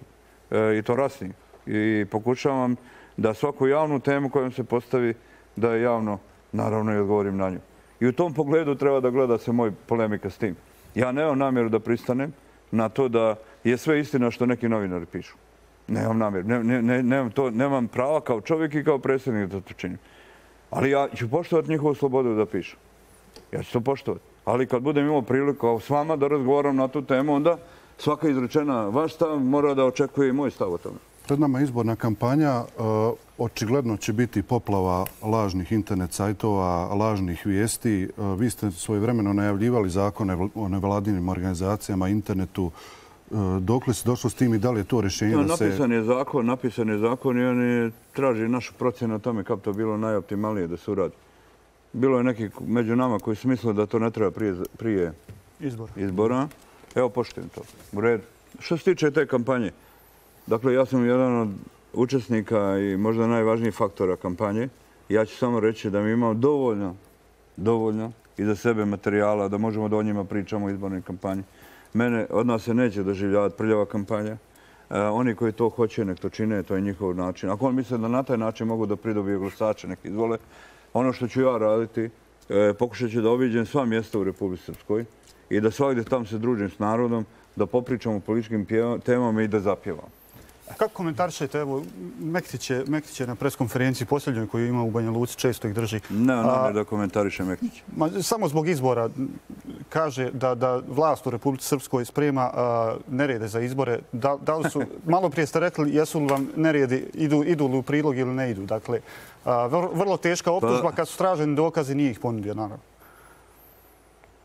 i to rasni i pokušavam da svaku javnu temu kojom se postavi, da je javno, naravno, i odgovorim na nju. I u tom pogledu treba da gleda se moj polemika s tim. Ja nemam namjeru da pristanem na to da je sve istina što neki novinari pišu. Nemam namjeru. Nemam prava kao čovjek i kao predsjednik da to činim. Ali ja ću poštovati njihovu slobodu da pišu. Ja ću to poštovati. Ali kad budem imao priliku s vama da razgovaram na tu temu, onda svaka izrečena vaš stav mora da očekuje i moj stav o tome. Pred nama izborna kampanja. Očigledno će biti poplava lažnih internet sajtova, lažnih vijesti. Vi ste svojevremeno najavljivali zakone o nevladinim organizacijama, internetu. Dokle se došlo s tim i da li je to rješenje da se... Napisan je zakon, napisan je zakon i oni traži našu procjenu o tome kako to bilo najoptimalnije da se uradi. Bilo je neki među nama koji su mislili da to ne treba prije izbora. Evo, poštujem to. U redu. Što se tiče te kampanje, dakle, ja sam jedan od učesnika i možda najvažnijih faktora kampanje. Ja ću samo reći da mi imamo dovoljno, dovoljno iza sebe materijala da možemo da o njima pričamo u izbornoj kampanji. Mene od nas se neće doživljavati prljava kampanja. Oni koji to hoće, nek to čine, to je njihov način. Ako on misle da na taj način mogu da pridobiju glasače, nek izvole. Ono što ću ja raditi, pokušat ću da obiđem sva mjesta u Republici Srpskoj i da svakdje tam se družim s narodom, da popričam o političkim temama i da zapjevam. Kako komentarišete, evo, Mektić je na preskonferenciji posljednjoj koju ima u Banja Luci, često ih drži. Ne, ne da komentariše Mektić. Samo zbog izbora kaže da vlast u Republici Srpskoj sprema nerede za izbore. Da li su, malo prije ste rekli, jesu li vam neredi, idu li u prilog ili ne idu? Dakle, vrlo teška optužba kad su straženi dokazi, nije ih ponudio, naravno.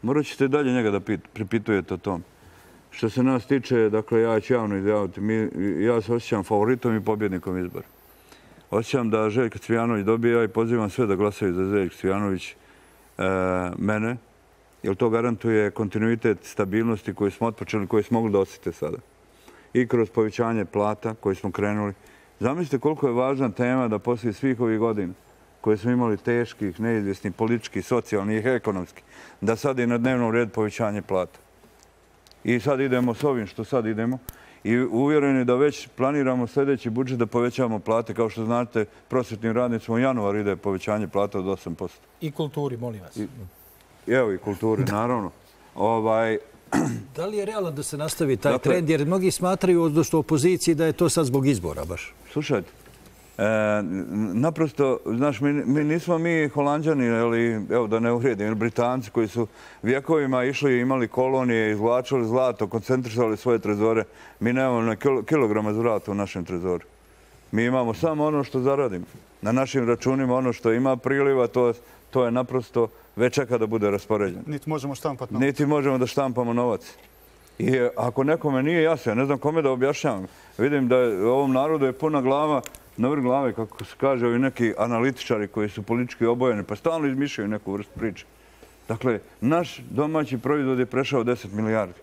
Morat ćete dalje njega da pripitujete o tom. Što se nas tiče, dakle, ja ću javno izjaviti, ja se osjećam favoritom i pobjednikom izbora. Osjećam da Željko Cvijanović dobija i pozivam sve da glasaju za Željko Cvijanović mene, jer to garantuje kontinuitet stabilnosti koju smo otpočeli, koju smo mogli da osjete sada. I kroz povećanje plata koje smo krenuli. Zamislite koliko je važna tema da poslije svih ovih godina koje smo imali teških, neizvjesnih, političkih, socijalnih i ekonomskih, da sad je na dnevnom redu povećanje plata. I sad idemo s ovim što sad idemo i uvjereni da već planiramo sljedeći budžet da povećavamo plate. Kao što znate, prosvjetnim radnicima u januar ide povećanje plata od osam posto. I kulturi, molim vas. Evo i kulturi, naravno. Da li je realno da se nastavi taj trend? Jer mnogi smatraju odnosno opoziciji da je to sad zbog izbora baš. Slušajte, naprosto, znaš, mi nismo mi Holanđani, evo da ne uvrijedim, Britanci koji su vjekovima išli i imali kolonije, izvlačili zlato, koncentrisali svoje trezore. Mi nemamo na kilograma zlata u našem trezoru. Mi imamo samo ono što zaradimo. Na našim računima ono što ima priliva, to je naprosto već čeka da bude raspoređeno. Niti možemo štampati novac. Niti možemo da štampamo novac. I ako nekome nije jasno, ja ne znam kome da objašnjavam. Vidim da ovom narodu je puna glava na vrh glave, kako se kaže, ovi neki analitičari koji su politički obojeni, pa stalno izmišljaju neku vrstu priče. Dakle, naš domaći proizvod je prešao deset milijardi.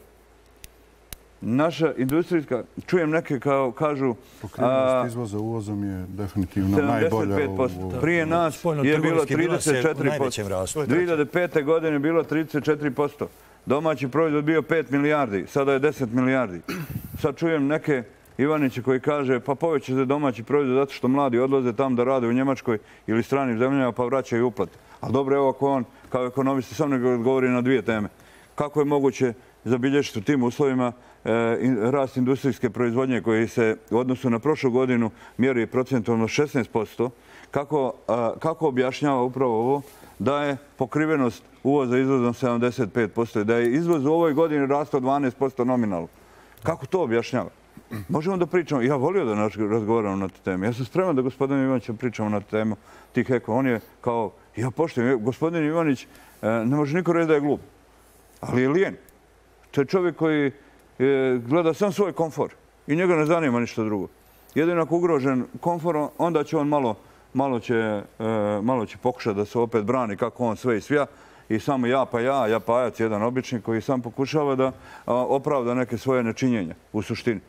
naša industrijska, čujem neke kao kažu... Pokrivenost izvoza uvozom je definitivno najbolja. sedamdeset pet posto. Prije nas je bilo trideset četiri posto. dvije hiljade pete. godine je bilo trideset četiri posto. Domaći proizvod bio pet milijardi, sada je deset milijardi. Sad čujem neke Ivaniće koji kaže pa poveća se domaći proizvod zato što mladi odlaze tam da rade u Njemačkoj ili stranim zemljama pa vraćaju uplate. Ali dobro, evo ako on kao ekonomista sam nego odgovori na dvije teme. Kako je moguće zabilježiti u tim uslovima rast industrijske proizvodnje koji se u odnosu na prošlu godinu mjeri procentualno šesnaest posto, kako, kako objašnjava upravo ovo da je pokrivenost uvoza izvozom sedamdeset pet posto i da je izvoz u ovoj godini rastao dvanaest posto nominalno. Kako to objašnjava? Možemo da pričamo, ja volio da razgovaramo na tu temu. Ja sam spreman da gospodin Ivanić pričamo na tu temu tih eko. On je kao, ja poštujem, gospodin Ivanić ne može niko reći da je glup, ali je lijen. To je čovjek koji gleda sam svoj komfor i njega ne zanima ništa drugo. Jedino ako ugrožen komforom, onda će on malo, malo, će, malo će pokušati da se opet brani kako on sve i svija. I samo ja pa ja, ja pa ajac, jedan obični koji sam pokušava da opravda neke svoje nečinjenja u suštini.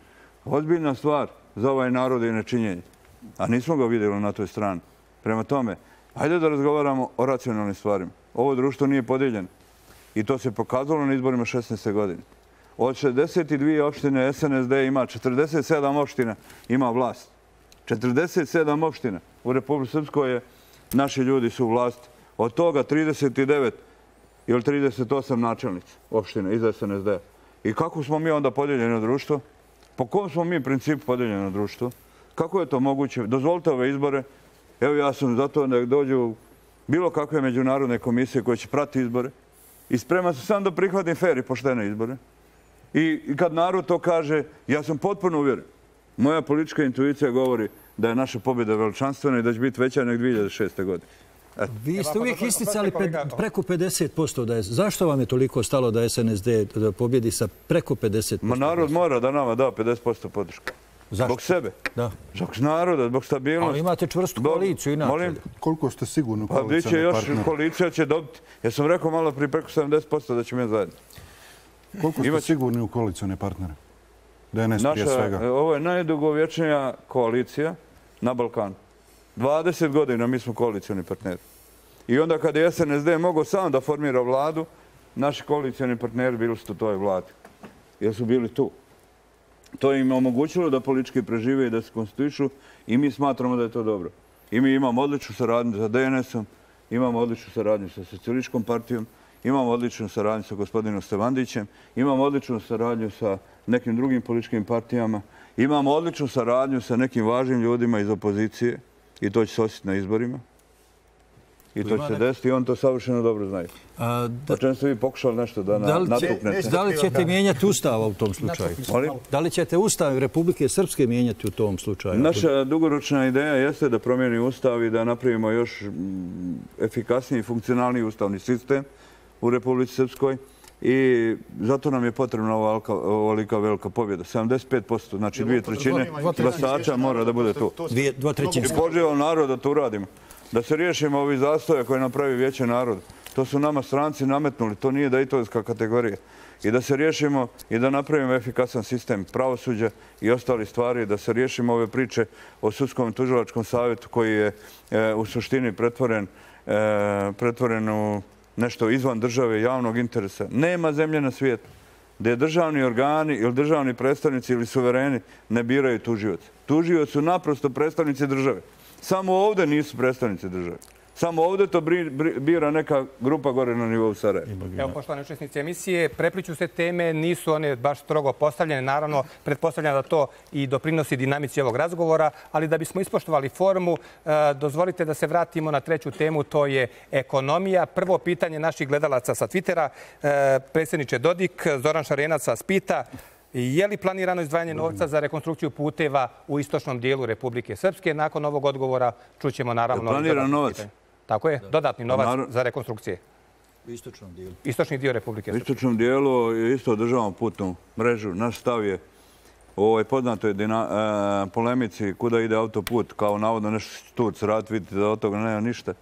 Ozbiljna stvar za ovaj narod je nečinjenje. A nismo ga vidjeli na toj strani. Prema tome, hajde da razgovaramo o racionalnim stvarima. Ovo društvo nije podijeljeno. I to se pokazalo na izborima šesnaeste. godine. Od šezdeset dvije opštine S N S D ima četrdeset sedam opština ima vlast. četrdeset sedam opština u Republici Srpskoj je, naši ljudi su u vlasti. Od toga trideset devet ili trideset osam načelnica opštine iz S N S D. I kako smo mi onda podijeljeno društvo? Po kom smo mi principu podijeljeno društvo? Kako je to moguće? Dozvolite ove izbore. Evo ja sam zato da dođu bilo kakve međunarodne komisije koje će pratiti izbore. I spreman sam sam da prihvatim fer i poštene izbore. I kad narod to kaže, ja sam potpuno uvjeren. Moja politička intuicija govori da je naša pobjeda veličanstvena i da će biti veća nek dvije hiljade šeste. godine. Vi ste uvijek isticali preko pedeset posto. Zašto vam je toliko stalo da S N S D pobjedi sa preko pedeset posto? Ma narod mora da nama da pedeset posto podrške. Zbog sebe. Zbog naroda, zbog stabilnosti. Ali imate čvrstu koaliciju inače. Koliko ste sigurni u koalicijalne partnere? Još koalicija će dobiti. Ja sam rekao malo prije preko sedamdeset posto da ćemo je zajedno. Koliko ste sigurni u koalicijalne partnere? D N S prije svega. Ovo je najdugovječnija koalicija na Balkanu. dvadeset godina mi smo koalicijani partneri. I onda kad je S N S D mogao sam da formira vladu, naši koalicijani partneri bili su u toj vladi. Jer su bili tu. To im je omogućilo da politički prežive i da se konstituišu i mi smatramo da je to dobro. I mi imamo odličnu saradnju sa D N S-om, imamo odličnu saradnju sa Socijalističkom partijom, imamo odličnu saradnju sa gospodinom Stevandićem, imamo odličnu saradnju sa nekim drugim političkim partijama, imamo odličnu saradnju sa nekim važnim ljudima iz opozicije i to će se osjetiti na izborima. I to će se desiti i on to savršeno dobro znaju. O čem ste vi pokušali nešto da natuknete? Da li ćete mijenjati ustava u tom slučaju? Da li ćete ustav Republike Srpske mijenjati u tom slučaju? Naša dugoročna ideja jeste da promijeni ustav i da napravimo još efikasniji i funkcionalniji ustavni sistem u Republici Srpskoj. I zato nam je potrebna ovolika velika pobjeda. sedamdeset pet posto, znači dvije trećine glasača mora da bude tu. Dvo trećine. I pozivam narod da to uradimo. Da se riješimo ovih zastoja koje napravi Vijeće naroda. To su nama stranci nametnuli, to nije dejtonska kategorija. I da se riješimo i da napravimo efikasan sistem pravosuđa i ostali stvari, da se riješimo ove priče o sudskom i tužilačkom savjetu koji je u suštini pretvoren, pretvoren u nešto izvan države i javnog interesa. Nema zemlje na svijetu gdje državni organi ili državni predstavnici ili suvereni ne biraju tužioce. Tužioci su naprosto predstavnici države. Samo ovdje nisu predstavnici države. Samo ovdje to bira neka grupa gore na nivou Sarajeva. Evo, poštovani učesnici emisije, prepliču se teme, nisu one baš strogo postavljene. Naravno, pretpostavljam da to i doprinosi dinamici ovog razgovora, ali da bismo ispoštovali formu, dozvolite da se vratimo na treću temu, to je ekonomija. Prvo pitanje naših gledalaca sa Twittera. Predsjedniče Dodik, Zoran Šarenac vas pita: je li planirano izdvajanje novca za rekonstrukciju puteva u istočnom dijelu Republike Srpske? Nakon ovog odgovora čućemo naravno... Planiran novac? Tako je, dodatni novac za rekonstrukcije. U istočnom dijelu? Istočni dio Republike Srpske. U istočnom dijelu isto održavamo putnu mrežu. Naš stav je u ovoj poznatoj polemici kuda ide autoput, kao navodno nešto Turci rad, vidite da od toga nema ništa.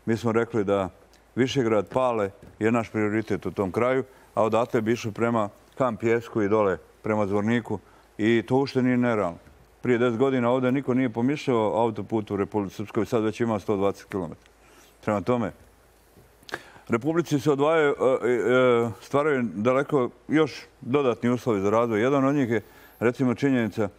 Mi smo rekli da Višegrad, Pale je naš prioritet u tom kraju, a odatle bi išli prema Kam Pjesku i dole prema Zvorniku i to ušte nije nerealno. Prije deset godina ovdje niko nije pomišljao autoput u Republici Srpskoj, sad već ima sto dvadeset kilometara. Prema tome, Republici se odvajaju, stvaraju daleko još dodatni uslovi za razvoj. Jedan od njih je, recimo, činjenica,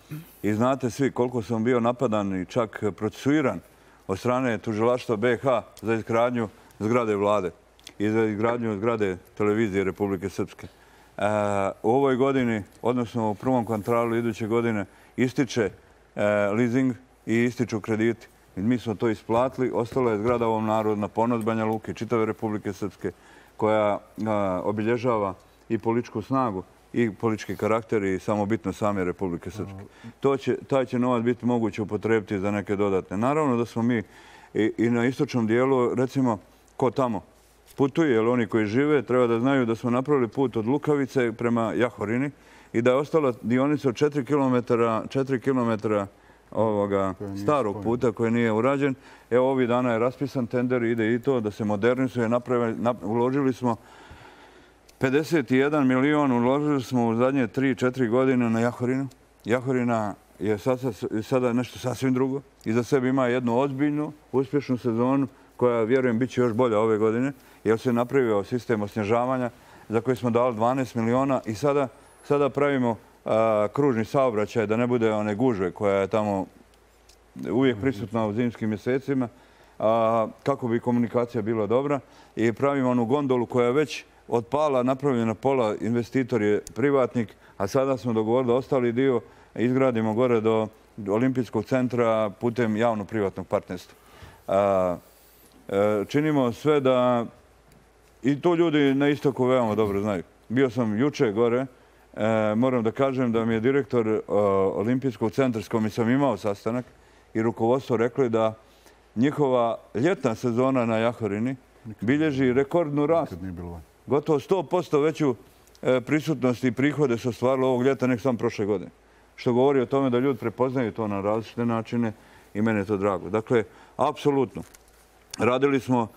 i znate svi koliko sam bio napadan i čak procesuiran od strane tužilaštva B iH za izgradnju zgrade vlade i za izgradnju zgrade televizije Republike Srpske. U ovoj godini, odnosno u prvom kvartalu iduće godine, ističe leasing i ističu krediti. Mi smo to isplatili. Ostala je zgrada ovom narodu na ponos Banja Luke, čitave Republike Srpske, koja obilježava i političku snagu i politički karakter i samobitno same Republike Srpske. Taj će novac biti moguće upotrebiti za neke dodatne. Naravno da smo mi i na istočnom dijelu, recimo, ko tamo putuje, jer oni koji žive treba da znaju da smo napravili put od Lukavice prema Jahorini i da je ostala dionica od četiri kilometra ovoga starog puta koji nije urađen. Evo, ovih dana je raspisan tender, ide i to da se modernizuje. Uložili smo pedeset jedan milion, uložili smo u zadnje tri četiri godine na Jahorinu. Jahorina je sada nešto sasvim drugo. Iza sebe ima jednu ozbiljnu, uspješnu sezonu koja, vjerujem, bit će još bolja ove godine, jer se napravio sistem osnježavanja za koji smo dali dvanaest miliona i sada pravimo kružni saobraćaj, da ne bude one gužve koja je tamo uvijek prisutna u zimskim mjesecima, kako bi komunikacija bila dobra. I pravimo onu gondolu koja je već od pala napravljena pola, investitor je privatnik, a sada smo dogovorili da ostali dio izgradimo gore do Olimpijskog centra putem javno-privatnog partnerstva. Činimo sve da, i to ljudi na istoku veoma dobro znaju. Bio sam juče gore, moram da kažem da mi je direktor Olimpijskog centra s kojim sam imao sastanak i rukovodstvo rekli da njihova ljetna sezona na Jahorini bilježi rekordnu rast. Gotovo sto posto veću prisutnost i prihode su ostvarili ovog ljeta nek sam prošle godine. Što govori o tome da ljudi prepoznaju to na različite načine i mene je to drago. Dakle, apsolutno. Radili smo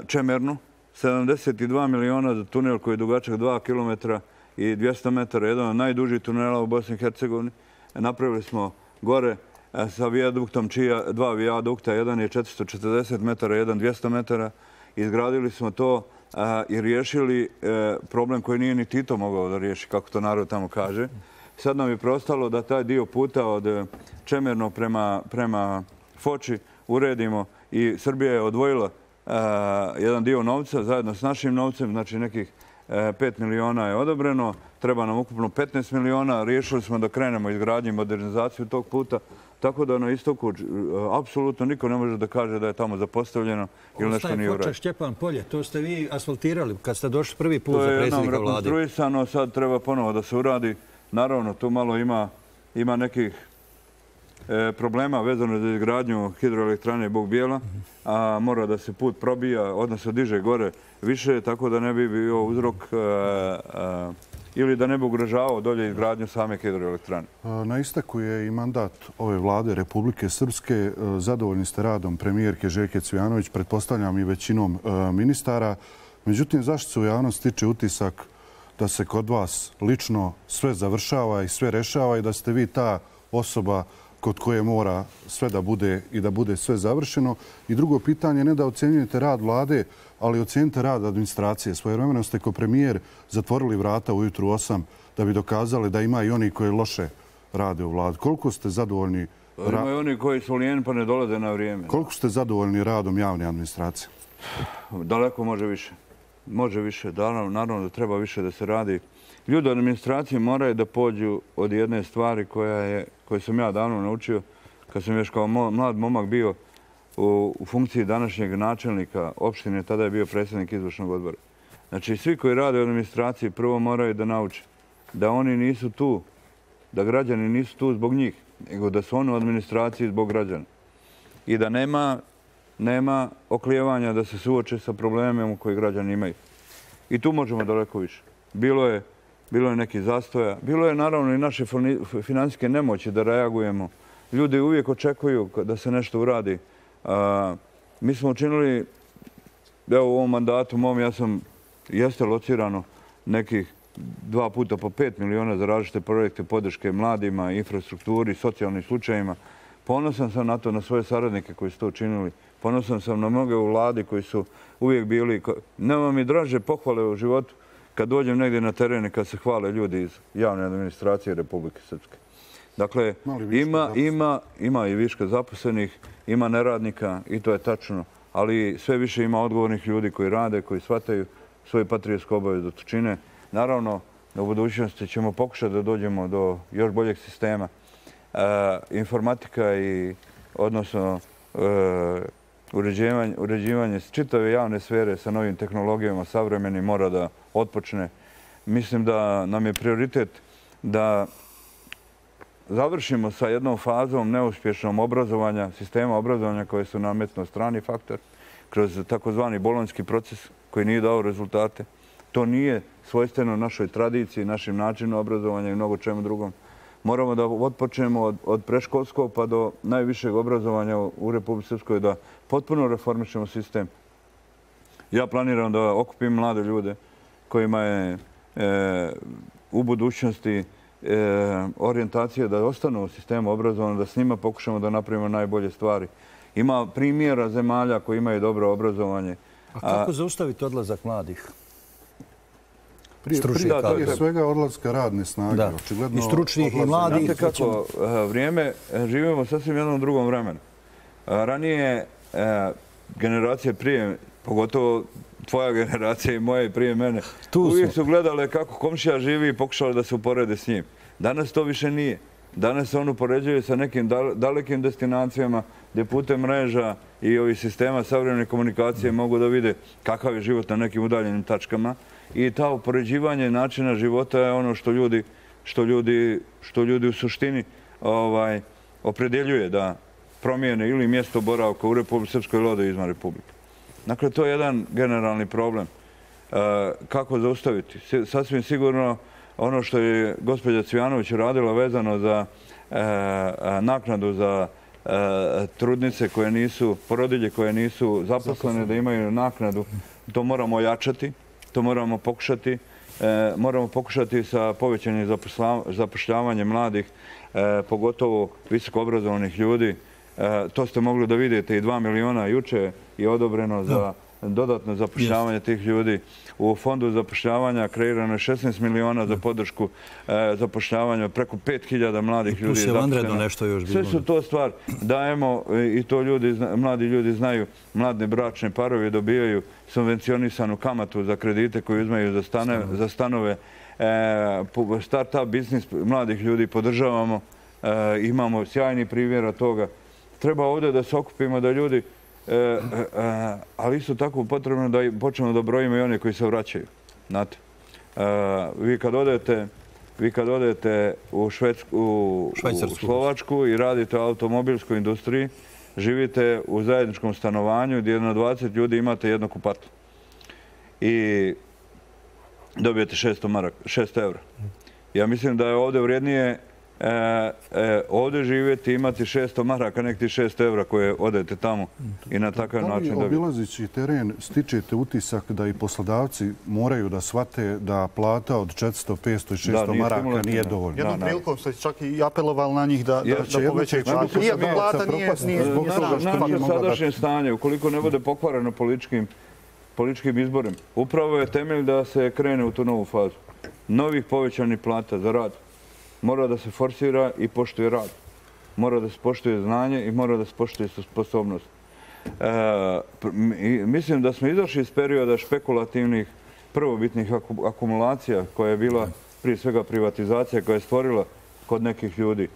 Čemernu, sedamdeset dva miliona za tunel koji je dugačak dva kilometra i dvjesto metara, jedan od najdužih tunela u Bosni i Hercegovini. Napravili smo gore sa vijaduktom, čija dva vijadukta, jedan je četiristo četrdeset metara, jedan dvjesto metara. Izgradili smo to i riješili problem koji nije ni Tito mogao da riješi, kako to narod tamo kaže. Sad nam je preostalo da taj dio puta od Čemerno prema Foči uredimo i Srbija je odvojila jedan dio novca zajedno s našim novcem, znači nekih pet miliona je odobreno, treba nam ukupno petnaest miliona, riješili smo da krenemo izgradnju i modernizaciju tog puta, tako da na istoku apsolutno niko ne može da kaže da je tamo zapostavljeno ili nešto nije urađeno. Ostaje Foča, Šćepan polje, to ste vi asfaltirali kad ste došli prvi put za predsjednika vlade. To je nam rekonstruisano, sad treba ponovo da se uradi. Naravno, tu malo ima nekih problema vezano za izgradnju hidroelektrane Bog Bijela, a mora da se put probija, odnosno diže gore više, tako da ne bi bio uzrok ili da ne bi ugrožavao dolje izgradnju same hidroelektrane. Na isteku je i mandat ove vlade Republike Srpske. Zadovoljni ste radom premijerke Željke Cvijanović, pretpostavljam i većinom ministara. Međutim, zašto se u javnosti stiče utisak da se kod vas lično sve završava i sve rešava i da ste vi ta osoba kod koje mora sve da bude i da bude sve završeno? I drugo pitanje, ne da ocjenjujete rad vlade, ali ocijenite rad administracije. Svojevremeno ste kao premijer zatvorili vrata ujutru osam da bi dokazali da ima i oni koji loše rade u vladi. Koliko ste zadovoljni? Ima i oni koji su lijeni pa ne dolaze na vrijeme. Koliko ste zadovoljni radom javne administracije? Daleko može više. Može više. Naravno da treba više da se radi. Ljudi u administraciji moraju da pođu od jedne stvari koje sam ja davno naučio kad sam još kao mlad momak bio u funkciji današnjeg načelnika opštine, tada je bio predsjednik izvršnog odbora. Znači, svi koji rade u administraciji prvo moraju da nauče da oni nisu tu, da građani nisu tu zbog njih, nego da su oni u administraciji zbog građana. I da nema oklijevanja da se suoče sa problemima koje građani imaju. I tu možemo daleko više. Bilo je Bilo je neki zastoja. Bilo je naravno i naše finansijske nemoći da reagujemo. Ljudi uvijek očekuju da se nešto uradi. Mi smo učinili, evo u ovom mandatu mom, ja sam, jeste locirano nekih dva puta po pet miliona za različite projekte podrške mladima, infrastrukturi, socijalnim slučajima. Ponosan sam na to, na svoje saradnike koji su to učinili. Ponosan sam na mnoge u vladi koji su uvijek bili... Nema mi draže pohvale u životu kad dođem negdje na teren i kad se hvale ljudi iz javne administracije Republike Srpske. Dakle, ima, ima, ima i viška zaposlenih, ima neradnika i to je tačno, ali sve više ima odgovornih ljudi koji rade, koji shvataju svoju patriotsko obavezu da to čine. Naravno, u budućnosti ćemo pokušati da dođemo do još boljeg sistema. E, informatika i odnosno e, uređivanje, uređivanje čitave javne sfere sa novim tehnologijama savremenim mora da otpočne. Mislim da nam je prioritet da završimo sa jednom fazom neuspješnom obrazovanja, sistema obrazovanja koje su nametno strani faktor kroz takozvani bolonjski proces koji nije dao rezultate. To nije svojstveno našoj tradiciji, našim načinu obrazovanja i mnogo čemu drugom. Moramo da otpočnemo od, od preškolskog pa do najvišeg obrazovanja u Republici Srpskoj da potpuno reformišemo sistem. Ja planiram da okupim mlade ljude kojima je e, u budućnosti e, orijentacija da ostanu u sistemu obrazovanja, da s njima pokušamo da napravimo najbolje stvari. Ima primjera zemalja koji imaju dobro obrazovanje. A kako zaustaviti odlazak mladih? Prije, prije, prije svega odlaska radne snage. Da. I stručnih i mladih. Znate kako, vrijeme, živimo sasvim jednom drugom vremenu. Ranije generacije prije, pogotovo tvoja generacija i moja i prije mene, uvijek su gledale kako komšija živi i pokušali da se uporede s njim. Danas to više nije. Danas se on upoređuje sa nekim dalekim destinacijama gdje putem mreža i ovih sistema savremene komunikacije mogu da vide kakav je život na nekim udaljenim tačkama. I ta upoređivanje načina života je ono što ljudi, što ljudi, što ljudi u suštini ovaj, opredjeljuje da promijene ili mjesto boravka u Republici Srpskoj ili ode izvan Republike. Dakle, to je jedan generalni problem. E, kako zaustaviti? Sasvim sigurno ono što je gospođa Cvijanović radila vezano za e, naknadu za e, trudnice koje nisu, porodilje koje nisu zaposlene, da imaju naknadu, to moramo ojačati. To moramo pokušati. E, moramo pokušati sa povećanjem zapošljavanja mladih, e, pogotovo visokoobrazovanih ljudi. E, to ste mogli da vidite i dva miliona juče je odobreno za dodatno zapošljavanje yes. tih ljudi. U fondu zapošljavanja kreirano je šesnaest miliona za podršku e, zapošljavanja preko pet hiljada mladih ljudi. Tu se vanredno nešto još bilo. Sve su to stvar. Dajemo i to ljudi, mladi ljudi znaju, mladne bračne parovi dobijaju subvencionisanu kamatu za kredite koje uzmaju za, stane, za stanove. E, start-up biznis mladih ljudi podržavamo. E, imamo sjajni primjera toga. Treba ovdje da se okupimo da ljudi E, e, ali isto tako potrebno da počnemo da brojimo i one koji se vraćaju. Znate, e, vi kad odete, vi kad odete u, Švedsku, u, u Slovačku i radite u automobilskoj industriji, živite u zajedničkom stanovanju gdje na dvadeset ljudi imate jedno kupatlo. I dobijete šest eura. Ja mislim da je ovdje vrijednije E, e, ovdje živjeti, imati šesto maraka, nek ti šest evra koje odete tamo i na takav način dobiti. Da li obilazići teren stičete utisak da i poslodavci moraju da shvate da plata od četiristo, petsto i šesto maraka nije dovoljno? Jednom prilikom ste čak i apelovali na njih da, da, da povećaju platu. Iako plata nije... nije Naše sadašnje stanje, ukoliko ne bude pokvareno političkim, političkim izborima, upravo je temelj da se krene u tu novu fazu. Novih povećanih plata za rad. Mora da se forsira i poštuje rad. Mora da se poštuje znanje i mora da se poštuje sposobnost. E, mislim da smo izašli iz perioda špekulativnih prvobitnih akumulacija koja je bila prije svega privatizacija koja je stvorila kod nekih ljudi.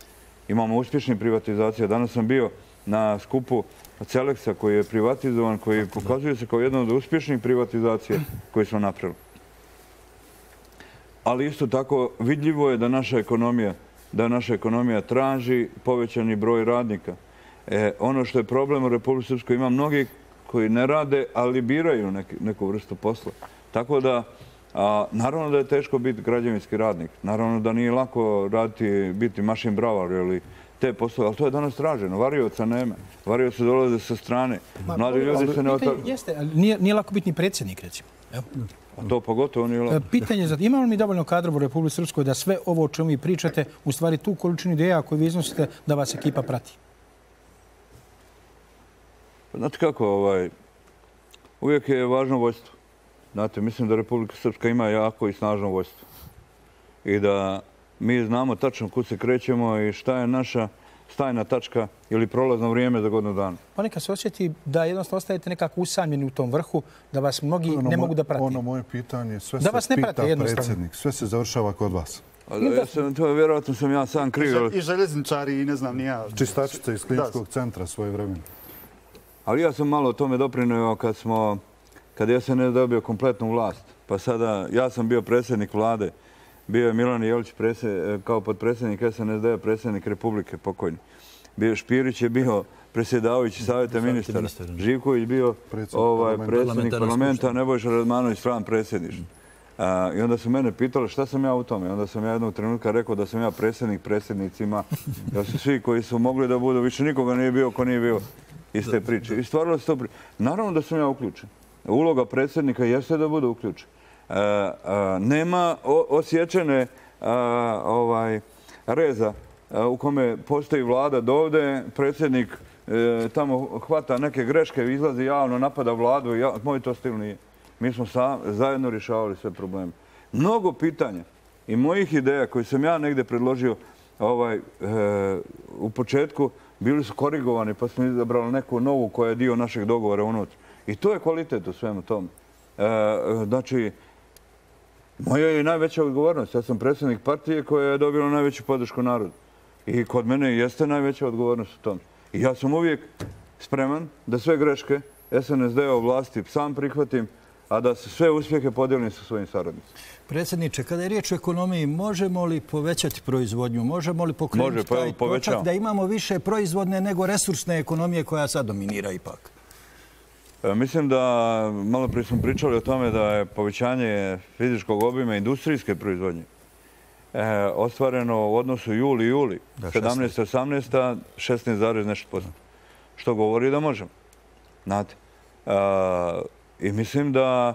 Imamo uspješne privatizacije. Danas sam bio na skupu Celeksa koji je privatizovan, koji pokazuje se kao jedna od uspješnih privatizacija koje smo napravili. Ali isto tako vidljivo je da naša ekonomija, da naša ekonomija traži povećani broj radnika. E, ono što je problem u Republici Srpskoj, ima mnogi koji ne rade, ali biraju neki, neku vrstu posla. Tako da, a, naravno da je teško biti građevinski radnik. Naravno da nije lako raditi, biti mašin bravar ili te poslove, ali to je danas traženo. Varioca nema. Varioca dolaze sa strane. Mladi ljudi se ne otak... Jeste, ali nije, nije lako biti ni predsjednik, recimo. Evo. A to pogotovo nije lako. Pitanje za imamo li mi dovoljno kadrova u Republici Srpskoj da sve ovo o čemu vi pričate, u stvari tu količinu ideja koju vi iznosite, da vas ekipa prati? Znate kako, ovaj, uvijek je važno vojstvo. Znate, mislim da Republika Srpska ima jako i snažno vojstvo. I da mi znamo tačno kud se krećemo i šta je naša stajna tačka ili prolazno vrijeme za godinu dana. Pa neka se osjeti da jednostavno ostajete nekako usamljeni u tom vrhu, da vas mnogi ono ne mogu da prati. Ono moje pitanje, sve da se pita predsjednik, sve se završava kod vas. Ja sam, to je vjerojatno sam ja sam kriv. I željezničari i ne znam, nija... Čistačice iz kliničkog centra svoje vremena. Ali ja sam malo o tome doprinio kad smo, kad je S N S dobio kompletnu vlast. Pa sada, ja sam bio predsjednik vlade, bio je Milan Jelić kao podpredsjednik S N S D-a, predsjednik Republike pokojni. Bio Špirić je bio predsjedavajući savjeta ministara. Živković bio predsjednik parlamenta, Nebojša Radmanović stran predsjedništva. I onda su mene pitali šta sam ja u tome. Onda sam ja jednog trenutka rekao da sam ja predsjednik predsjednicima. Da su svi koji su mogli da budu, više nikoga nije bio ko nije bio iz te priče. I stvarno se to priče. Naravno da sam ja uključen. Uloga predsjednika jeste da bude uključen. Nema osjećene reza u kome postoji vlada dovde, predsjednik tamo hvata neke greške, izlazi javno, napada vladu. Moj to stil nije. Mi smo zajedno rješavali sve probleme. Mnogo pitanja i mojih ideja koje sam ja negdje predložio u početku bili su korigovani pa smo izabrali neku novu koja je dio našeg dogovora unutra. I to je kvalitet u svemu tome. Znači, moja je najveća odgovornost. Ja sam predsjednik partije koja je dobila najveću podršku narodu. I kod mene jeste najveća odgovornost u tome. I ja sam uvijek spreman da sve greške S N S D-a vlasti sam prihvatim, a da se sve uspjehe podijelim sa svojim saradnicima. Predsjedniče, kada je riječ o ekonomiji, možemo li povećati proizvodnju? Možemo li pokrenuti taj točak da imamo više proizvodne nego resursne ekonomije koja sad dominira ipak? Mislim da, malo prije smo pričali o tome da je povećanje fizičkog obima industrijske proizvodnje ostvareno u odnosu juli-juli, sedamnaesta osamnaesta šesnaest zarez nešto posto. Što govori da možemo. Znate. I mislim da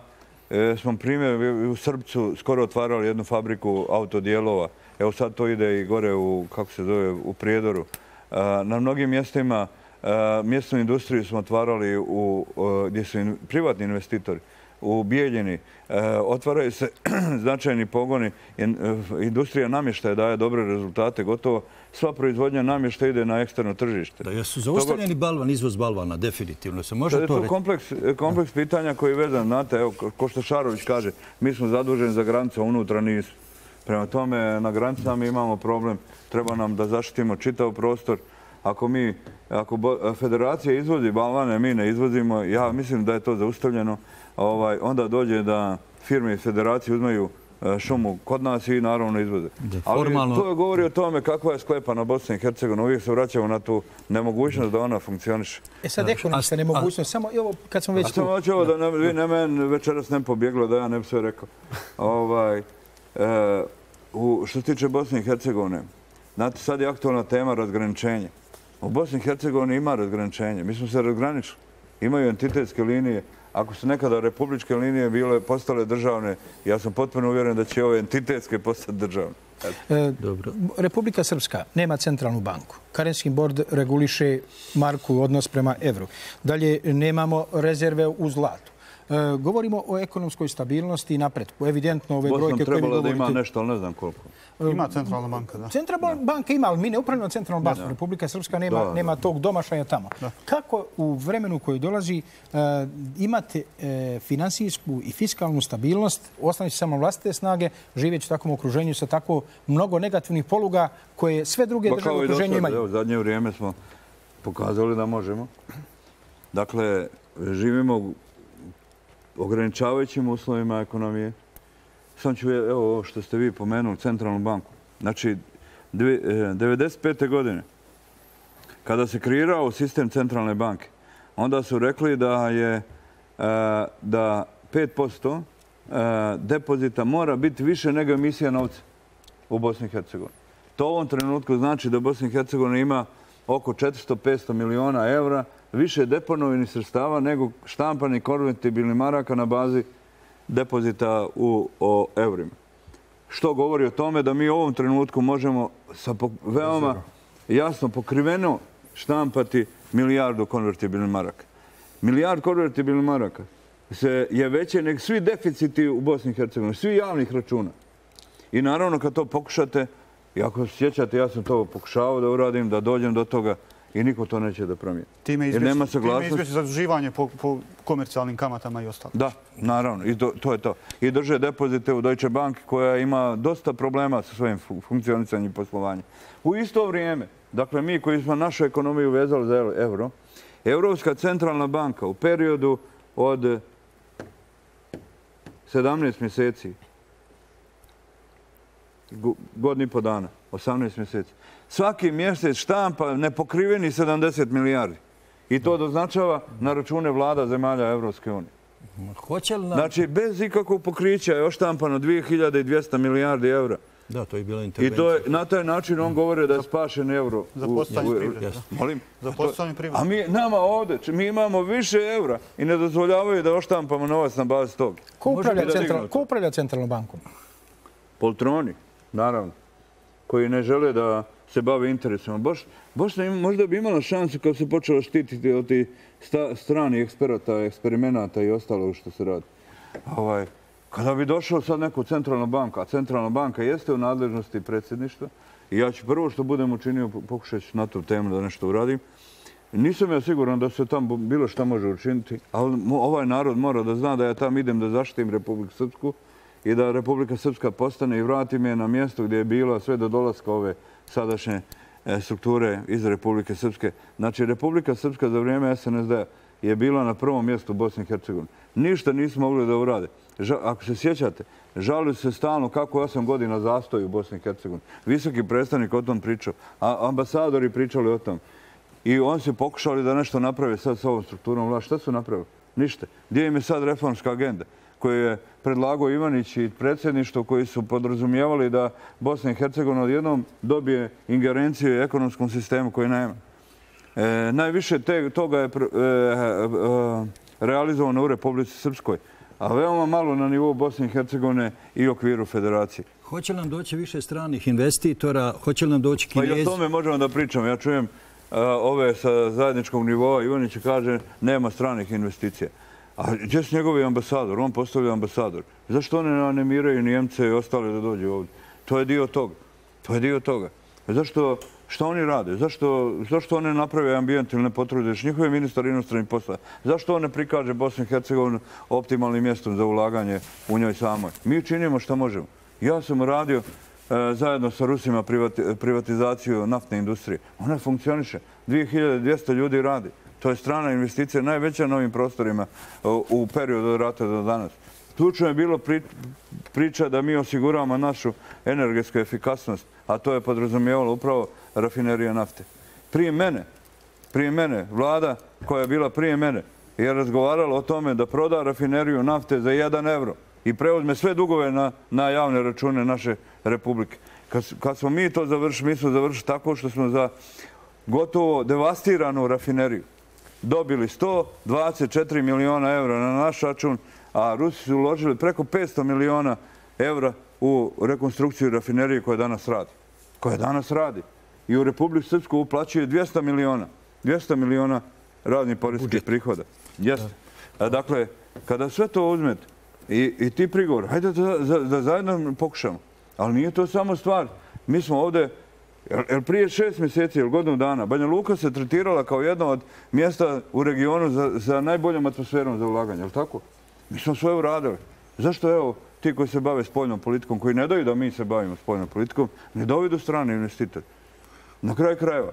smo primjer u Srbcu skoro otvarali jednu fabriku autodijelova. Evo sad to ide i gore u, kako se zove, u Prijedoru. Na mnogim mjestima mjesnu industriju smo otvarali gdje su privatni investitori. U Bijeljini otvaraju se značajni pogoni. Industrija namještaja daje dobre rezultate. Gotovo sva proizvodnja namještaja ide na eksterno tržište. Da, jesu zaustavljeni balvan, izvoz balvana, definitivno se može to reći. To je kompleks pitanja koji je vezan, znate, evo, ko što Šarović kaže, mi smo zaduženi za granice, unutra nisu. Prema tome, na granicama mi imamo problem, treba nam da zaštitimo čitav prostor. Ako mi, ako federacija izvozi balvane, mi ne izvozimo, ja mislim da je to zaustavljeno, onda dođe da firme iz federacije uzmaju šumu kod nas i naravno izvoze. Ali to govori o tome kakva je sklepana Bosna i Hercegovina. Uvijek se vraćamo na tu nemogućnost da ona funkcioniše. E sad ekonomska nemogućnost, samo ovo kad smo već tu. Samo hoću ovo da vi ne meni večeras ne pobjeglo da ja ne bi sve rekao. Što se tiče Bosne i Hercegovine, znate, sad je aktualna tema razgraničenja. U Bosni i Hercegovini ima razgraničenje. Mi smo se razgraničili. Imaju entitetske linije. Ako su nekada republičke linije bile postale državne, ja sam potpuno uvjeren da će ove entitetske postati državne. Republika Srpska nema centralnu banku. Karenski bord reguliše marku u odnos prema evru. Dalje, nemamo rezerve u zlatu. Govorimo o ekonomskoj stabilnosti i napretku. Evidentno ove brojke koje mi govorite... Bosna trebala da ima nešto, ali ne znam koliko. Ima centralna banka, da. Centralna banka ima, ali mi ne upravljamo centralnom bankom. Republika Srpska nema tog domašaja tamo. Kako u vremenu koji dolazi imate finansijsku i fiskalnu stabilnost, ostaviti samo vlastite snage, živeći u takvom okruženju sa tako mnogo negativnih poluga koje sve druge države u okruženju imaju? U zadnje vrijeme smo pokazali da možemo. Dakle, živimo ograničavajućim uslovima ekonomije. Sam ću, evo ovo što ste vi pomenuli, centralnu banku. Znači, devedeset pete godine, kada se kreirao sistem centralne banke, onda su rekli da je da pet posto depozita mora biti više nego emisija novca u Bosni i Hercegovini. To u ovom trenutku znači da Bosna i Hercegovina ima oko četiristo do petsto miliona evra više deponovanih sredstava nego štampanih konvertibilnih maraka na bazi depozita u eurima. Što govori o tome da mi u ovom trenutku možemo sa veoma jasno pokriveno štampati milijardu konvertibilnih maraka. Milijard konvertibilnih maraka je veće nek svi deficiti u Bosni i Hercegovini, svi javnih računa. I naravno kad to pokušate, i ako se sjećate, ja sam to pokušavao da uradim, da dođem do toga i niko to neće da promijeni. Time izbjeći zaduživanje po komercijalnim kamatama i ostalo. Da, naravno. I to je to. I drže depozite u Deutsche Bank koja ima dosta problema sa svojim funkcionisanjem i poslovanjem. U isto vrijeme, dakle mi koji smo našu ekonomiju vezali za euro, Europska centralna banka u periodu od sedamnaest mjeseci, godinu i po dana, osamnaest mjeseci, svaki mjesec štampa nepokriveni sedamdeset milijardi. I to doznačava na račune vlada zemalja Evropske unije. Znači, bez ikakvog pokrića je oštampano dvije hiljade dvjesto milijardi eura. Da, to je bila intervencija. I na taj način on govori da je spašen euro. Za postanje privrede. Molim? Za postanje privrede. A mi, nama ovdje, mi imamo više eura i ne dozvoljavaju da oštampamo novac na bazi toga. Ko upravlja centralnom bankom? Poltroni, naravno, koji ne žele da se bave interesima. Bosna možda bi imala šansu kad se počela štititi od tih stranih eksperata, eksperimenata i ostalo što se radi. Kada bi došao sad neku centralnu banku, a centralna banka jeste u nadležnosti predsjedništva, i ja ću prvo što budem učinio, pokušat ću na tu temu da nešto uradim, nisam ja siguran da se tamo bilo šta može učiniti, ali ovaj narod mora da zna da ja tam idem da zaštitim Republiku Srpsku i da Republika Srpska postane i vratim je na mjesto gdje je bila sve do dolaska ove sadašnje strukture iz Republike Srpske. Znači, Republika Srpska za vrijeme es en es de je bila na prvom mjestu u Bosni i Hercegovini. Ništa nismo mogli da urade. Ako se sjećate, žalili se stalno kako osam godina zastoji u Bosni i Hercegovini. Visoki predstavnik o tom pričao, a ambasadori pričali o tom. I oni su pokušali da nešto naprave sad s ovom strukturom vlasti. Šta su napravili? Ništa. Gdje im je sad reformska agenda koju je predlagao Ivanić i predsjedništvo koji su podrazumijevali da Bosna i Hercegovina odjednom dobije ingerenciju u ekonomskom sistemu koji nema. Najviše toga je realizovano u Republici Srpskoj, a veoma malo na nivou Bosne i Hercegovine i okviru federacije. Hoće li nam doći više stranih investitora? Hoće li nam doći Kinezi? Pa i o tome možemo da pričamo. Ja čujem ove sa zajedničkog nivoa. Ivanić kaže nema stranih investicija. A gdje su njegovi ambasador? On postavlja ambasador. Zašto oni ne animiraju Njemce i ostale da dođu ovdje? To je dio toga. To je dio toga. Zašto... Što oni rade? Zašto oni naprave ambijent ili ne potrude? Njihov je ministar inostranih posla. Zašto on ne prikaže Bosnu i Hercegovinu optimalnim mjestom za ulaganje u njoj samoj? Mi činimo što možemo. Ja sam uradio zajedno sa Rusima privatizaciju naftne industrije. Ona funkcioniše. dvije hiljade dvjesto ljudi radi. To je strana investicija, najveća na ovim prostorima u periodu od rata do danas. Ključno je bilo priča da mi osiguravamo našu energetsku efikasnost, a to je podrazumijevalo upravo rafinerija nafte. Prije mene, prije mene, vlada koja je bila prije mene, je razgovarala o tome da proda rafineriju nafte za jedan euro i preuzme sve dugove na javne račune naše republike. Kad smo mi to završili, mi smo završili tako što smo za gotovo devastiranu rafineriju dobili sto dvadeset četiri miliona eura na naš račun, a Rusi su uložili preko petsto miliona eura u rekonstrukciju rafinerije koja danas radi. Koja danas radi. I u Republiku Srpsku uplaćuje dvjesto miliona. dvjesto miliona radnih poreskih prihoda. Jeste. Dakle, kada sve to uzmete i ti prigovor, hajde da zajedno pokušamo. Ali nije to samo stvar. Mi smo ovdje, jer prije šest mjeseci ili godinu dana, Banja Luka se tretirala kao jedno od mjesta u regionu za najboljom atmosferom za ulaganje. Je li tako? Mi smo sve uradili. Zašto, evo, ti koji se bave spoljnom politikom, koji ne daju da mi se bavimo spoljnom politikom, ne dovedu strane investitori? Na kraju krajeva.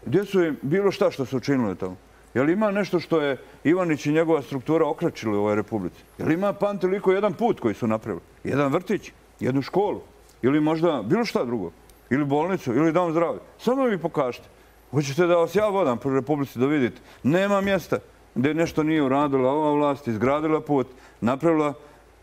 Gdje su im bilo šta što su učinili tamo? Je li ima nešto što je Ivanić i njegova struktura okračili u ovoj republici? Je li ima pamtiliko jedan put koji su napravili? Jedan vrtić? Jednu školu? Ili možda bilo šta drugo? Ili bolnicu? Ili dom zdravlja? Samo mi pokažite. Hoćete da vas ja vodam po republici da vidite? Nema mjesta gdje nešto nije uradila ova vlast, izgradila put, napravila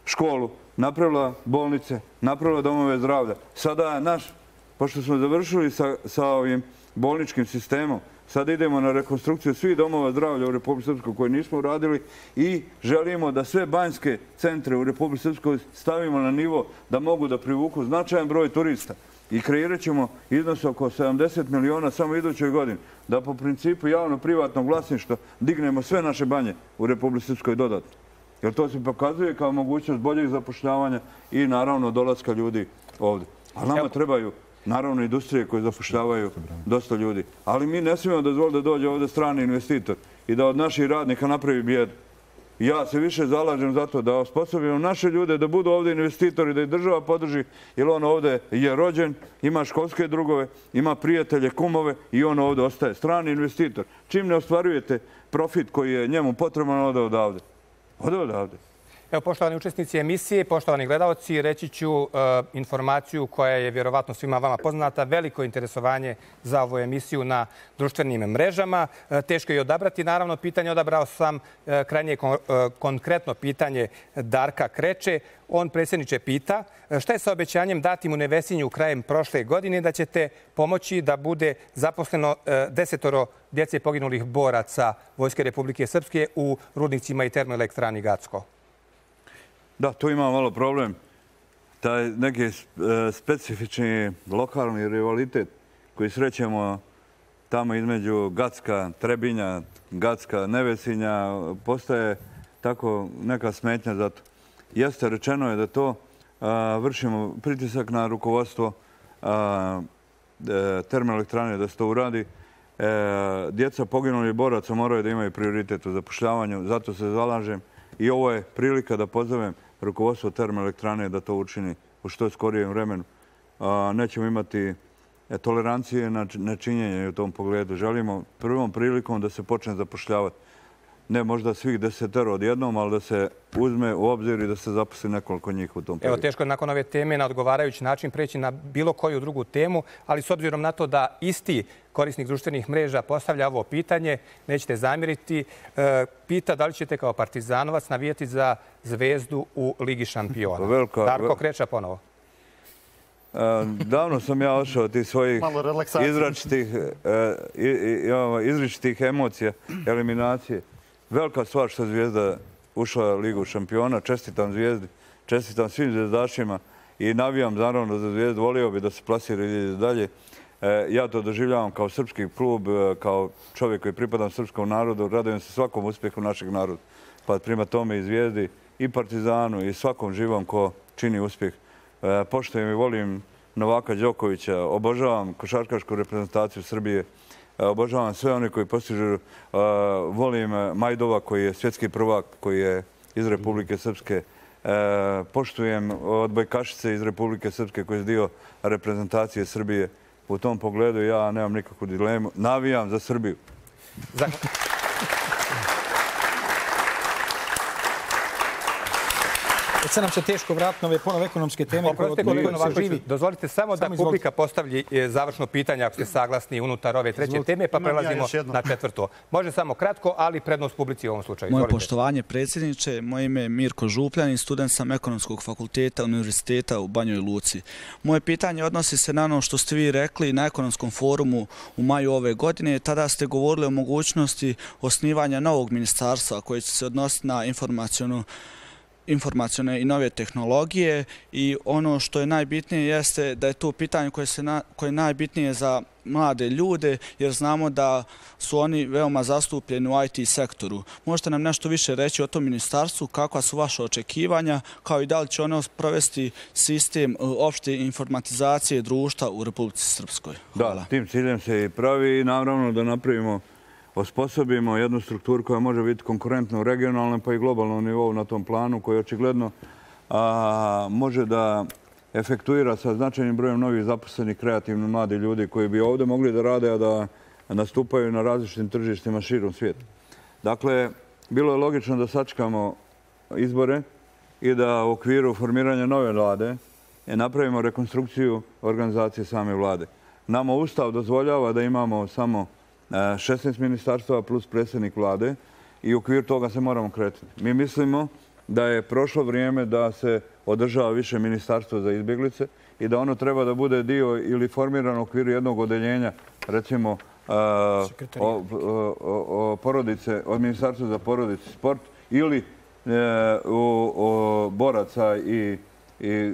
školu, napravila bolnice, napravila domove zdravlja. Sada naš, pošto smo završili sa ovim bolničkim sistemom, Sad idemo na rekonstrukciju svih domova zdravlja u Republici Srpskoj koje nismo uradili i želimo da sve banjske centre u Republici Srpskoj stavimo na nivo da mogu da privuku značajan broj turista. I kreirat ćemo iznos oko sedamdeset miliona samo idućoj godini, da po principu javno-privatnog vlasništva dignemo sve naše banje u Republici Srpskoj dodatno. Jer to se pokazuje kao mogućnost boljeg zapošljavanja i naravno dolaska ljudi ovdje. Ali nama trebaju naravno industrije koje zapošljavaju dosta ljudi. Ali mi ne smijemo dozvoliti da dođe ovdje strani investitor i da od naših radnika napravi bijedu. Ja se više zalažem za to da osposobimo naše ljude da budu ovdje investitori, da ih država podrži, jer on ovdje je rođen, ima školske drugove, ima prijatelje, kumove i on ovdje ostaje. Strani investitor. Čim ne ostvarujete profit koji je njemu potreban, ode odavde. Ode odavde. Evo, poštovani učesnici emisije, poštovani gledalci, reći ću informaciju koja je vjerovatno svima vama poznata. Veliko interesovanje za ovu emisiju na društvenim mrežama. Teško je odabrati. Naravno, pitanje odabrao sam krajnje konkretno pitanje Darka Kreče. On, predsjedniče, pita šta je sa obećanjem datim u Nevesinju krajem prošle godine da ćete pomoći da bude zaposleno desetoro djece poginulih boraca Vojske Republike Srpske u rudnicima i termoelektrani Gacko? Da, tu ima malo problem. Taj neki specifični lokalni rivalitet koji srećemo tamo između Gacka, Trebinja, Gacka, Nevesinja, postaje tako neka smetnja za to. Jeste, rečeno je da to vršimo pritisak na rukovodstvo termoelektrane da se to uradi. Djeca poginulih boraca moraju da imaju prioritet u zapošljavanju, zato se zalažem. I ovo je prilika da pozovem rukovodstvo termoelektrane da to učini u što skorijem vremenu. Nećemo imati tolerancije na nečinjenje u tom pogledu. Želimo prvom prilikom da se počne zapošljavati. Ne možda svih desetero odjednom, ali da se uzme u obzir i da se zaposli nekoliko njih u tom periodu. Evo, teško je nakon ove teme na odgovarajući način preći na bilo koju drugu temu, ali s obzirom na to da isti korisnik društvenih mreža postavlja ovo pitanje, nećete zamjeriti, pita da li ćete kao partizanovac navijati za Zvezdu u Ligi šampiona. Darko Kreča ponovo. Davno sam ja ošao od tih svojih izričitih emocija, eliminacije. Velika stvar što je Zvijezda ušla u Ligu šampiona. Čestitam Zvijezdi, čestitam svim zvezdašima i navijam naravno za Zvijezdu. Volio bi da se plasira i dalje. Ja to doživljavam kao srpski klub, kao čovjek koji pripadam srpskom narodu. Radujem se svakom uspjehu našeg naroda. Pa prima tome i Zvijezdi, i Partizanu, i svakom živom ko čini uspjeh. Poštujem i volim Novaka Đokovića, obožavam košarkašku reprezentaciju Srbije, obožavam sve one koji postižu, volim Majdova koji je svjetski prvak, koji je iz Republike Srpske, poštujem odbojkašice iz Republike Srpske koji je dio reprezentacije Srbije. U tom pogledu ja nemam nikakvu dilemu, navijam za Srbiju. Sad nam se teško vratiti na ove ponovo ekonomske teme. Dozvolite samo da publika postavlji završno pitanje ako ste saglasni unutar ove treće teme, pa prelazimo na četvrto. Može samo kratko, ali prednost publici u ovom slučaju. Moje poštovanje, predsjedniče. Moje ime je Mirko Župljanin, student sam Ekonomskog fakulteta Univerziteta u Banjoj Luci. Moje pitanje odnosi se na ono što ste vi rekli na ekonomskom forumu u maju ove godine. Tada ste govorili o mogućnosti osnivanja novog ministarstva koje će se odnositi na informacijonu informacijone i nove tehnologije i ono što je najbitnije jeste da je to pitanje koje, se na, koje je najbitnije za mlade ljude jer znamo da su oni veoma zastupljeni u I T sektoru. Možete nam nešto više reći o tom ministarstvu, kakva su vaše očekivanja, kao i da li će ono provesti sistem opšte informatizacije društva u Republici Srpskoj? Hvala. Da, tim ciljem se i pravi i naravno da napravimo osposobimo jednu strukturu koja može biti konkurentna u regionalnom pa i globalnom nivou na tom planu koji očigledno a, može da efektuira sa značajnim brojem novih zaposlenih kreativno mladi ljudi koji bi ovdje mogli da rade, a da nastupaju na različitim tržištima širom svijeta. Dakle, bilo je logično da sačekamo izbore i da u okviru formiranja nove vlade napravimo rekonstrukciju organizacije same vlade. Nama Ustav dozvoljava da imamo samo šesnaest ministarstava plus predsjednik vlade i u okviru toga se moramo kretati. Mi mislimo da je prošlo vrijeme da se održava više ministarstva za izbjeglice i da ono treba da bude dio ili formirano u okviru jednog odeljenja, recimo porodice, od Ministarstva za porodicu i sport ili u boraca i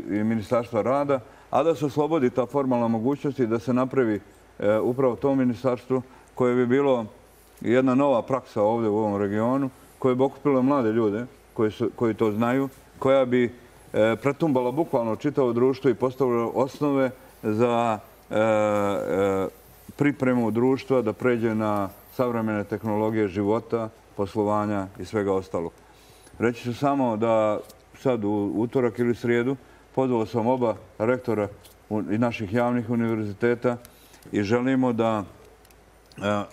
Ministarstva rada, a da se oslobodi ta formalna mogućnost i da se napravi upravo to ministarstvo koje bi bilo jedna nova praksa ovdje u ovom regionu, koje bi okupilo mlade ljude koji to znaju, koja bi pretumbala bukvalno čitavo društvo i postavila osnove za pripremu društva da pređe na savremene tehnologije života, poslovanja i svega ostalog. Reći ću samo da sad u utorak ili srijedu pozvao sam oba rektora i naših javnih univerziteta i želimo da,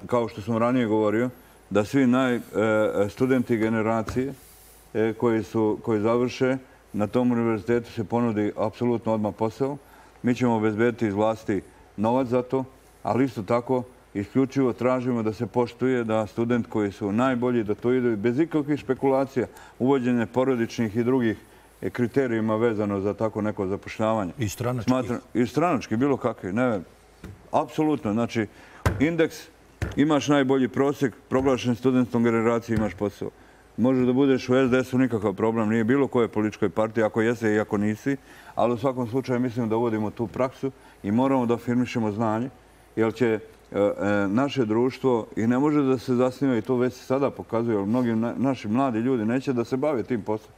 kao što sam ranije govorio, da svi studenti generacije koji završe na tom univerzitetu se ponudi apsolutno odmah posao. Mi ćemo obezbediti iz vlasti novac za to, ali isto tako isključivo tražimo da se poštuje da student koji su najbolji da to idu bez ikakvih špekulacija, uvođenje porodičnih i drugih kriterijima vezano za tako neko zapošljavanje. I stranački? I stranački, bilo kakvi. Ne, apsolutno. Znači, indeks, imaš najbolji prosjek, proglašen studentskom generaciji imaš posao. Može da budeš u es de esu, nikakav problem, nije bilo koje političkoj partiji, ako jese i ako nisi, ali u svakom slučaju mislim da uvodimo tu praksu i moramo da afirmišemo znanje, jer će naše društvo i ne može da se zasniva, i to već se sada pokazuje, jer mnogi naši mladi ljudi neće da se bave tim poslom.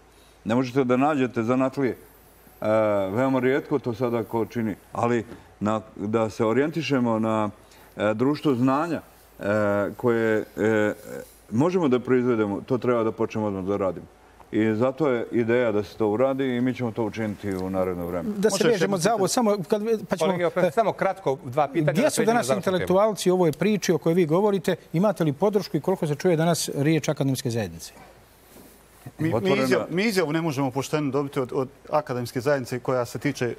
Ne možete da nađete zanatlije. Veoma rijetko to sada ko čini, ali da se orijentišemo na društvo znanja koje možemo da proizvedemo, to treba da počnemo odmah da radimo. I zato je ideja da se to uradi i mi ćemo to učiniti u naredno vreme. Da se vežemo za ovo, samo... Samo kratko, dva pitanja. Gdje su danas intelektualci u ovoj priči o kojoj vi govorite? Imate li podršku i koliko se čuje danas riječ akademske zajednice? Mi izjavu ne možemo pošteno dobiti od akademske zajednice koja se tiče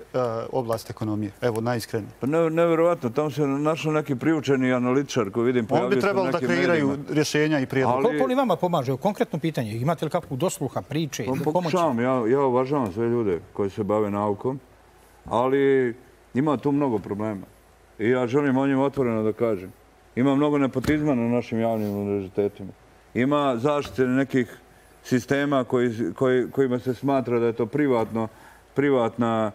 oblasti ekonomije. Evo, najiskrenije. Pa nevjerovatno. Tamo se našao neki priučeni analitičar koji vidim pojavio se u nekim medijima. On bi trebalo da kreiraju rješenja i prijedloga. Koliko oni vama pomaže? Konkretno pitanje. Imate li kakvu dosluha, priče i pomoći? Pokušavam. Ja uvažavam sve ljude koji se bave naukom, ali ima tu mnogo problema. I ja želim o njima otvoreno da kažem. Ima mnogo nepotizma na našim javnim univerzitetima. Ima zaštite nekih sistema kojima se smatra da je to privatna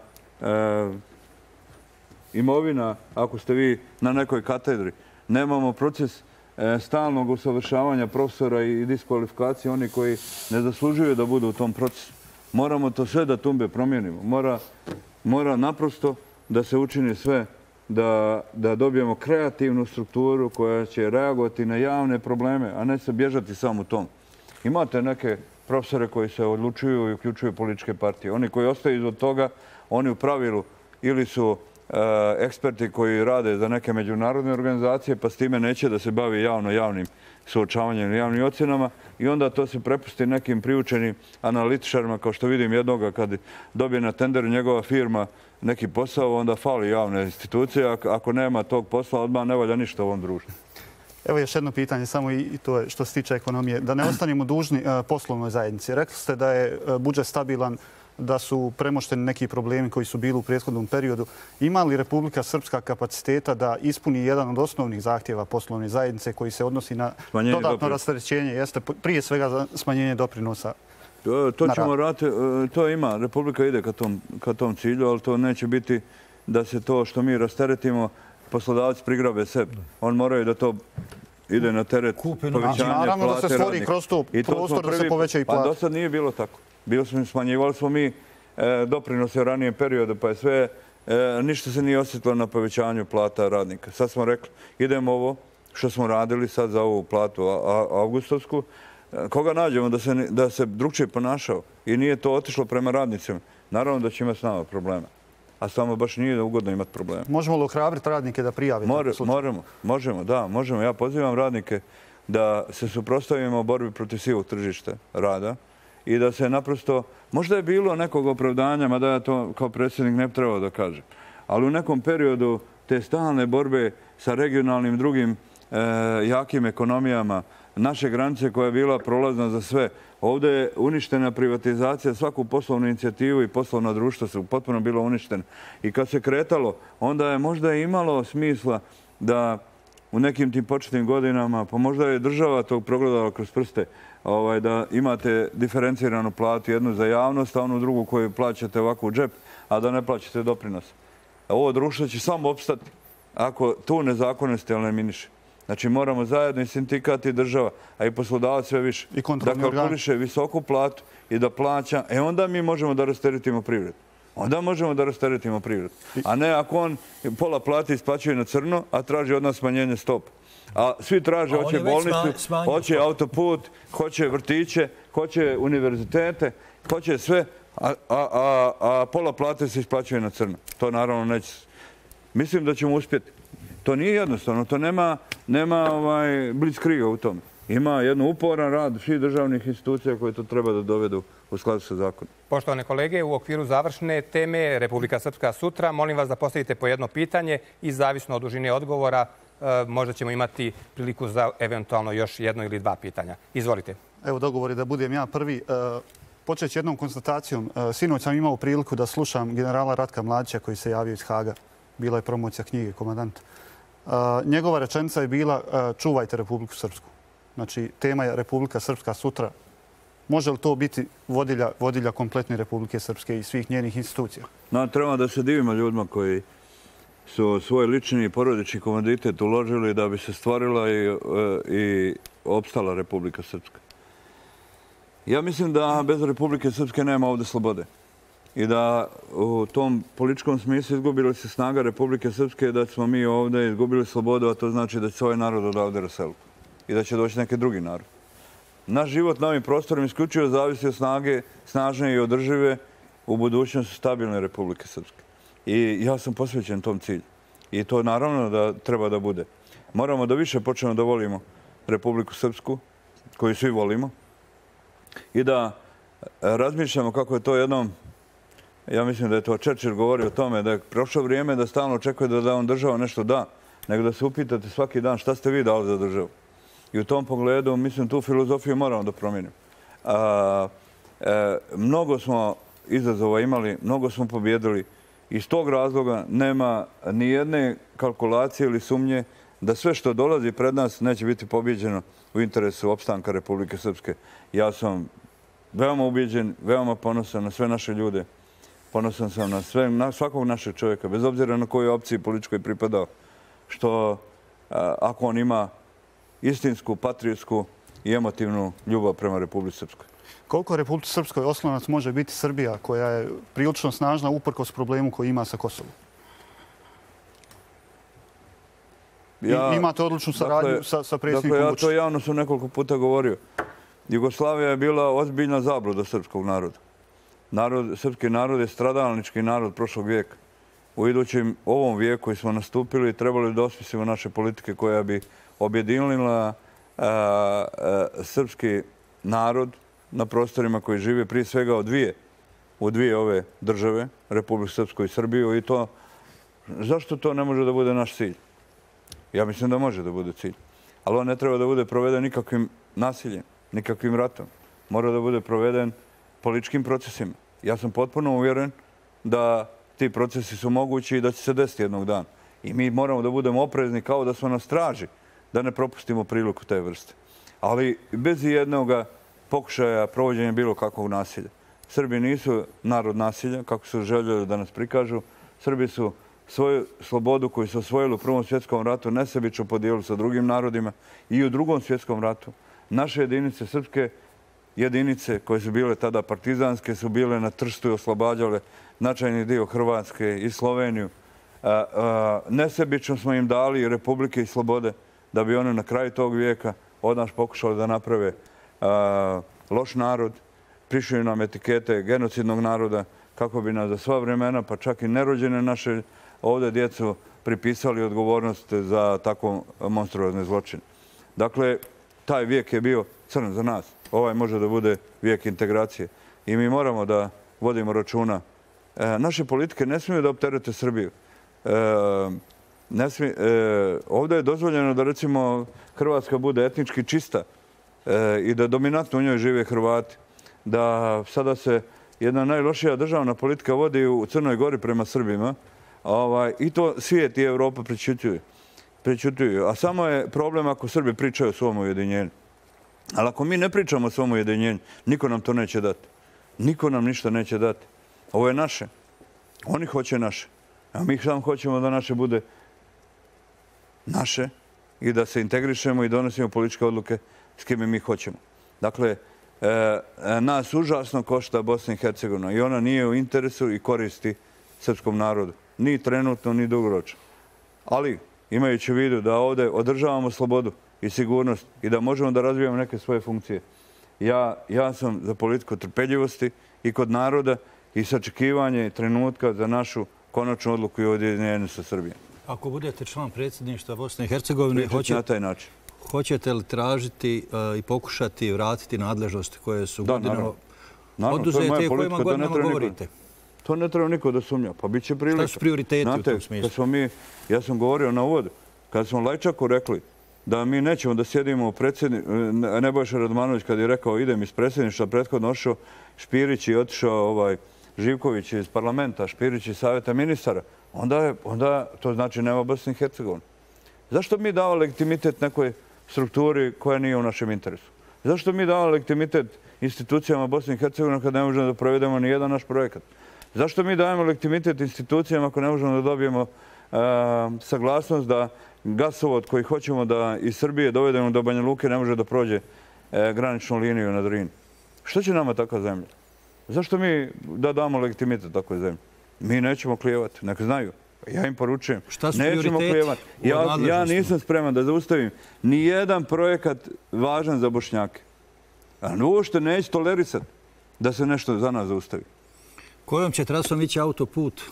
imovina ako ste vi na nekoj katedri. Nemamo proces stalnog usavršavanja profesora i diskvalifikacije oni koji ne zaslužuju da budu u tom procesu. Moramo to sve da tumbe promijenimo. Mora naprosto da se učini sve da dobijemo kreativnu strukturu koja će reagovati na javne probleme, a ne se bježati samo u tom. Imate neke profesore koji se odlučuju i uključuju političke partije. Oni koji ostaju izod toga, oni u pravilu ili su eksperti koji rade za neke međunarodne organizacije, pa s time neće da se bavi javno-javnim suočavanjem i javnim ocjenama i onda to se prepusti nekim priučenim analitičarima, kao što vidim jednoga kad dobije na tenderu njegova firma neki posao, onda fali javne institucije. Ako nema tog posla, odmah ne valja ništa u ovom društvu. Evo još jedno pitanje, samo i to je što se tiče ekonomije. Da ne ostanemo dužni poslovnoj zajednici. Rekli ste da je budžet stabilan, da su premošteni neki problemi koji su bili u prethodnom periodu. Ima li Republika Srpska kapaciteta da ispuni jedan od osnovnih zahtjeva poslovne zajednice koji se odnosi na dodatno rasterećenje, jeste prije svega smanjenje doprinosa? To ćemo raditi, to ima. Republika ide ka tom cilju, ali to neće biti da se to što mi rasteretimo poslodavac prigrabe sebi. On moraju da to ide na teret povećanja plate radnika. Naravno da se stvori kroz to prostor da se poveća i plate. Pa do sad nije bilo tako. Smanjivali smo mi doprinose u ranijem periodu, pa je sve, ništa se nije osjetilo na povećanju plata radnika. Sad smo rekli, idemo ovo što smo radili sad za ovu platu avgustovsku. Koga nađemo da se drugčije ponašao i nije to otišlo prema radnicima, naravno da će imati s nama problema. A samo baš nije ugodno imati problema. Možemo li ohrabriti radnike da prijave? Možemo, možemo, da, možemo. Ja pozivam radnike da se suprotstavimo u borbi protiv sivog tržišta rada i da se naprosto, možda je bilo nekog opravdanja, mada ja to kao predsjednik ne trebao da kažem, ali u nekom periodu te stalne borbe sa regionalnim drugim jakim ekonomijama, naše granice koja je bila prolazna za sve. Ovdje je uništena privatizacija, svaku poslovnu inicijativu i poslovna društva su potpuno bilo uništene. I kad se kretalo, onda je možda imalo smisla da u nekim tim početnim godinama, pa možda je država tog progledala kroz prste, da imate diferenciranu platu, jednu za javnost, a onu drugu koju plaćate ovako u džep, a da ne plaćate doprinos. Ovo društvo će samo opstati ako tu nezakonnosti eliminiše. Znači moramo zajedno i sindikat i država, a i poslodavac sve više, da kalkuliše visoku platu i da plaća, e onda mi možemo da rasteretimo privredu. Onda možemo da rasteretimo privredu. A ne ako on pola plati isplaćuje na crno, a traži od nas smanjenje stopa. A svi traže, hoće bolnicu, hoće autoput, hoće vrtiće, hoće univerzitete, hoće sve, a pola plate se isplaćuje na crno. To naravno neće. Mislim da ćemo uspjeti. To nije jednostavno, to nema blitzkriega u tome. Ima jednu uporan rad svih državnih institucija koje to treba da dovedu u skladu sa zakonom. Poštovane kolege, u okviru završne teme Republika Srpska sutra, molim vas da postavite po jedno pitanje i zavisno od dužine odgovora možda ćemo imati priliku za eventualno još jedno ili dva pitanja. Izvolite. Evo dogovor je da budem ja prvi. Počeći jednom konstatacijom. Sinoć sam imao priliku da slušam generala Ratka Mladića koji se javio iz Haga. Bila je promocija knjige Komandant. Njegova rečenica je bila čuvajte Republiku Srpsku. Znači, tema je Republika Srpska sutra. Može li to biti vodilja kompletne Republike Srpske i svih njenih institucija? Treba da se divimo ljudima koji su svoj lični i porodični komanditet uložili da bi se stvorila i opstala Republika Srpska. Ja mislim da bez Republike Srpske nema ovdje slobode. I da u tom političkom smislu izgubila se snaga Republike Srpske, da smo mi ovdje izgubili slobodu, a to znači da će se ovaj narod odavde raseliti i da će doći neki drugi narod. Naš život na ovim prostorima isključivo zavisi od snage, snažne i održive u budućnosti stabilne Republike Srpske. I ja sam posvećen tom cilju. I to naravno da treba da bude. Moramo da više počnemo da volimo Republiku Srpsku, koju svi volimo, i da razmišljamo kako je to jednom, ja mislim da je to Churchill govorio o tome, da je prošlo vrijeme da stalno očekuje da vam država nešto da, nego da se upitate svaki dan šta ste vi dali za državu. I u tom pogledu, mislim, tu filozofiju moramo da promijenimo. Mnogo smo izazova imali, mnogo smo pobjedili. Iz tog razloga nema ni jedne kalkulacije ili sumnje da sve što dolazi pred nas neće biti pobjeđeno u interesu opstanka Republike Srpske. Ja sam veoma ubijeđen, veoma ponosan na sve naše ljude. Ponosan sam na, sve, na svakog našeg čovjeka, bez obzira na kojoj opciji političkoj pripadao, što ako on ima istinsku, patriotsku i emotivnu ljubav prema Republici Srpskoj. Koliko Republici Srpskoj oslonac može biti Srbija, koja je prilično snažna uprkos problemu koji ima sa Kosovom? Ja, imate odličnu saradnju dakle, sa, sa predsjednikom Vučićem. Dakle, ja to javno sam nekoliko puta govorio. Jugoslavija je bila ozbiljna zabluda srpskog naroda. Narod, srpski narod je stradalnički narod prošlog vijeka. U idućem ovom vijeku koji smo nastupili trebali da osmislimo naše politike koja bi objedinila a, a, srpski narod na prostorima koji žive prije svega od dvije, u dvije ove države, Republiku Srpsku i Srbiju. I to, zašto to ne može da bude naš cilj? Ja mislim da može da bude cilj. Ali on ne treba da bude proveden nikakvim nasiljem, nikakvim ratom. Mora da bude proveden političkim procesima. Ja sam potpuno uvjeren da ti procesi su mogući i da će se desiti jednog dana. I mi moramo da budemo oprezni kao da smo na straži, da ne propustimo priliku te vrste. Ali bez jednog pokušaja provođenja bilo kakvog nasilja. Srbi nisu narod nasilja, kako su željeli da nas prikažu. Srbi su svoju slobodu koju su osvojili u Prvom svjetskom ratu nesebično podijelili sa drugim narodima i u Drugom svjetskom ratu. Naše jedinice, srpske jedinice koje su bile tada partizanske, su bile na Trstu i oslobađale značajni dio Hrvatske i Sloveniju. Nesebično smo im dali republike i slobode da bi one na kraju tog vijeka od nas pokušali da naprave loš narod, prišli nam etikete genocidnog naroda kako bi nas za sva vremena, pa čak i nerođene naše ovdje djecu pripisali odgovornost za tako monstruozne zločine. Dakle, taj vijek je bio crn za nas. Ovaj može da bude vijek integracije. I mi moramo da vodimo računa. E, naše politike ne smiju da opterete Srbiju. E, ne smije, e, ovdje je dozvoljeno da, recimo, Hrvatska bude etnički čista e, i da dominantno u njoj žive Hrvati. Da sada se jedna najlošija državna politika vodi u Crnoj Gori prema Srbima. Ovaj, I to svijet i Evropa prečućuju. Prećutuju. A samo je problem ako Srbi pričaju o svom ujedinjenju. Ali ako mi ne pričamo o svom ujedinjenju, niko nam to neće dati. Niko nam ništa neće dati. Ovo je naše. Oni hoće naše. A mi samo hoćemo da naše bude naše i da se integrišemo i donosimo političke odluke s kime mi hoćemo. Dakle, e, nas užasno košta Bosna i Hercegovina i ona nije u interesu i koristi srpskom narodu. Ni trenutno, ni dugoročno. Ali, imajući u vidu da ovdje održavamo slobodu i sigurnost i da možemo da razvijamo neke svoje funkcije, ja, ja sam za politiku trpeljivosti i kod naroda i sačekivanje trenutka za našu konačnu odluku i ujedinjenje sa Srbijom. Ako budete član predsjedništva Bosne i Hercegovine, hoće, na taj način. hoćete li tražiti uh, i pokušati vratiti nadležnosti koje su da, godinama oduzete i kojima godinama govorite? To ne treba niko da sumnja. Pa bit će prilika. Šta su prioriteti Znate, u tom smislu? Smo mi, ja sam govorio na uvodu, kada smo Lajčaku rekli da mi nećemo da sjedimo u predsjedni... Nebojša Radmanović kad je rekao idem iz predsjedništva, prethodno ošao Špirić i otišao ovaj, Živković iz parlamenta, Špirić iz savjeta ministara, onda, je, onda to znači nema Bosne i Hercegovine. Zašto mi dava legitimitet nekoj strukturi koja nije u našem interesu? Zašto mi dava legitimitet institucijama Bosne i Hercegovine kad ne možemo da provedemo ni jedan naš projekat? Zašto mi dajemo legitimitet institucijama ako ne možemo da dobijemo uh, saglasnost da gasovod koji hoćemo da iz Srbije dovedemo do Banja Luke ne može da prođe uh, graničnu liniju na Drini? Što će nama takva zemlja? Zašto mi da damo legitimitet takvoj zemlji? Mi nećemo klijevati, nek znaju. Ja im poručujem. Šta su nećemo klijevati. Ja, ja nisam spreman da zaustavim ni jedan projekat važan za Bošnjake. A uopšte neće tolerisati da se nešto za nas zaustavi. Kojom će trasom ići autoput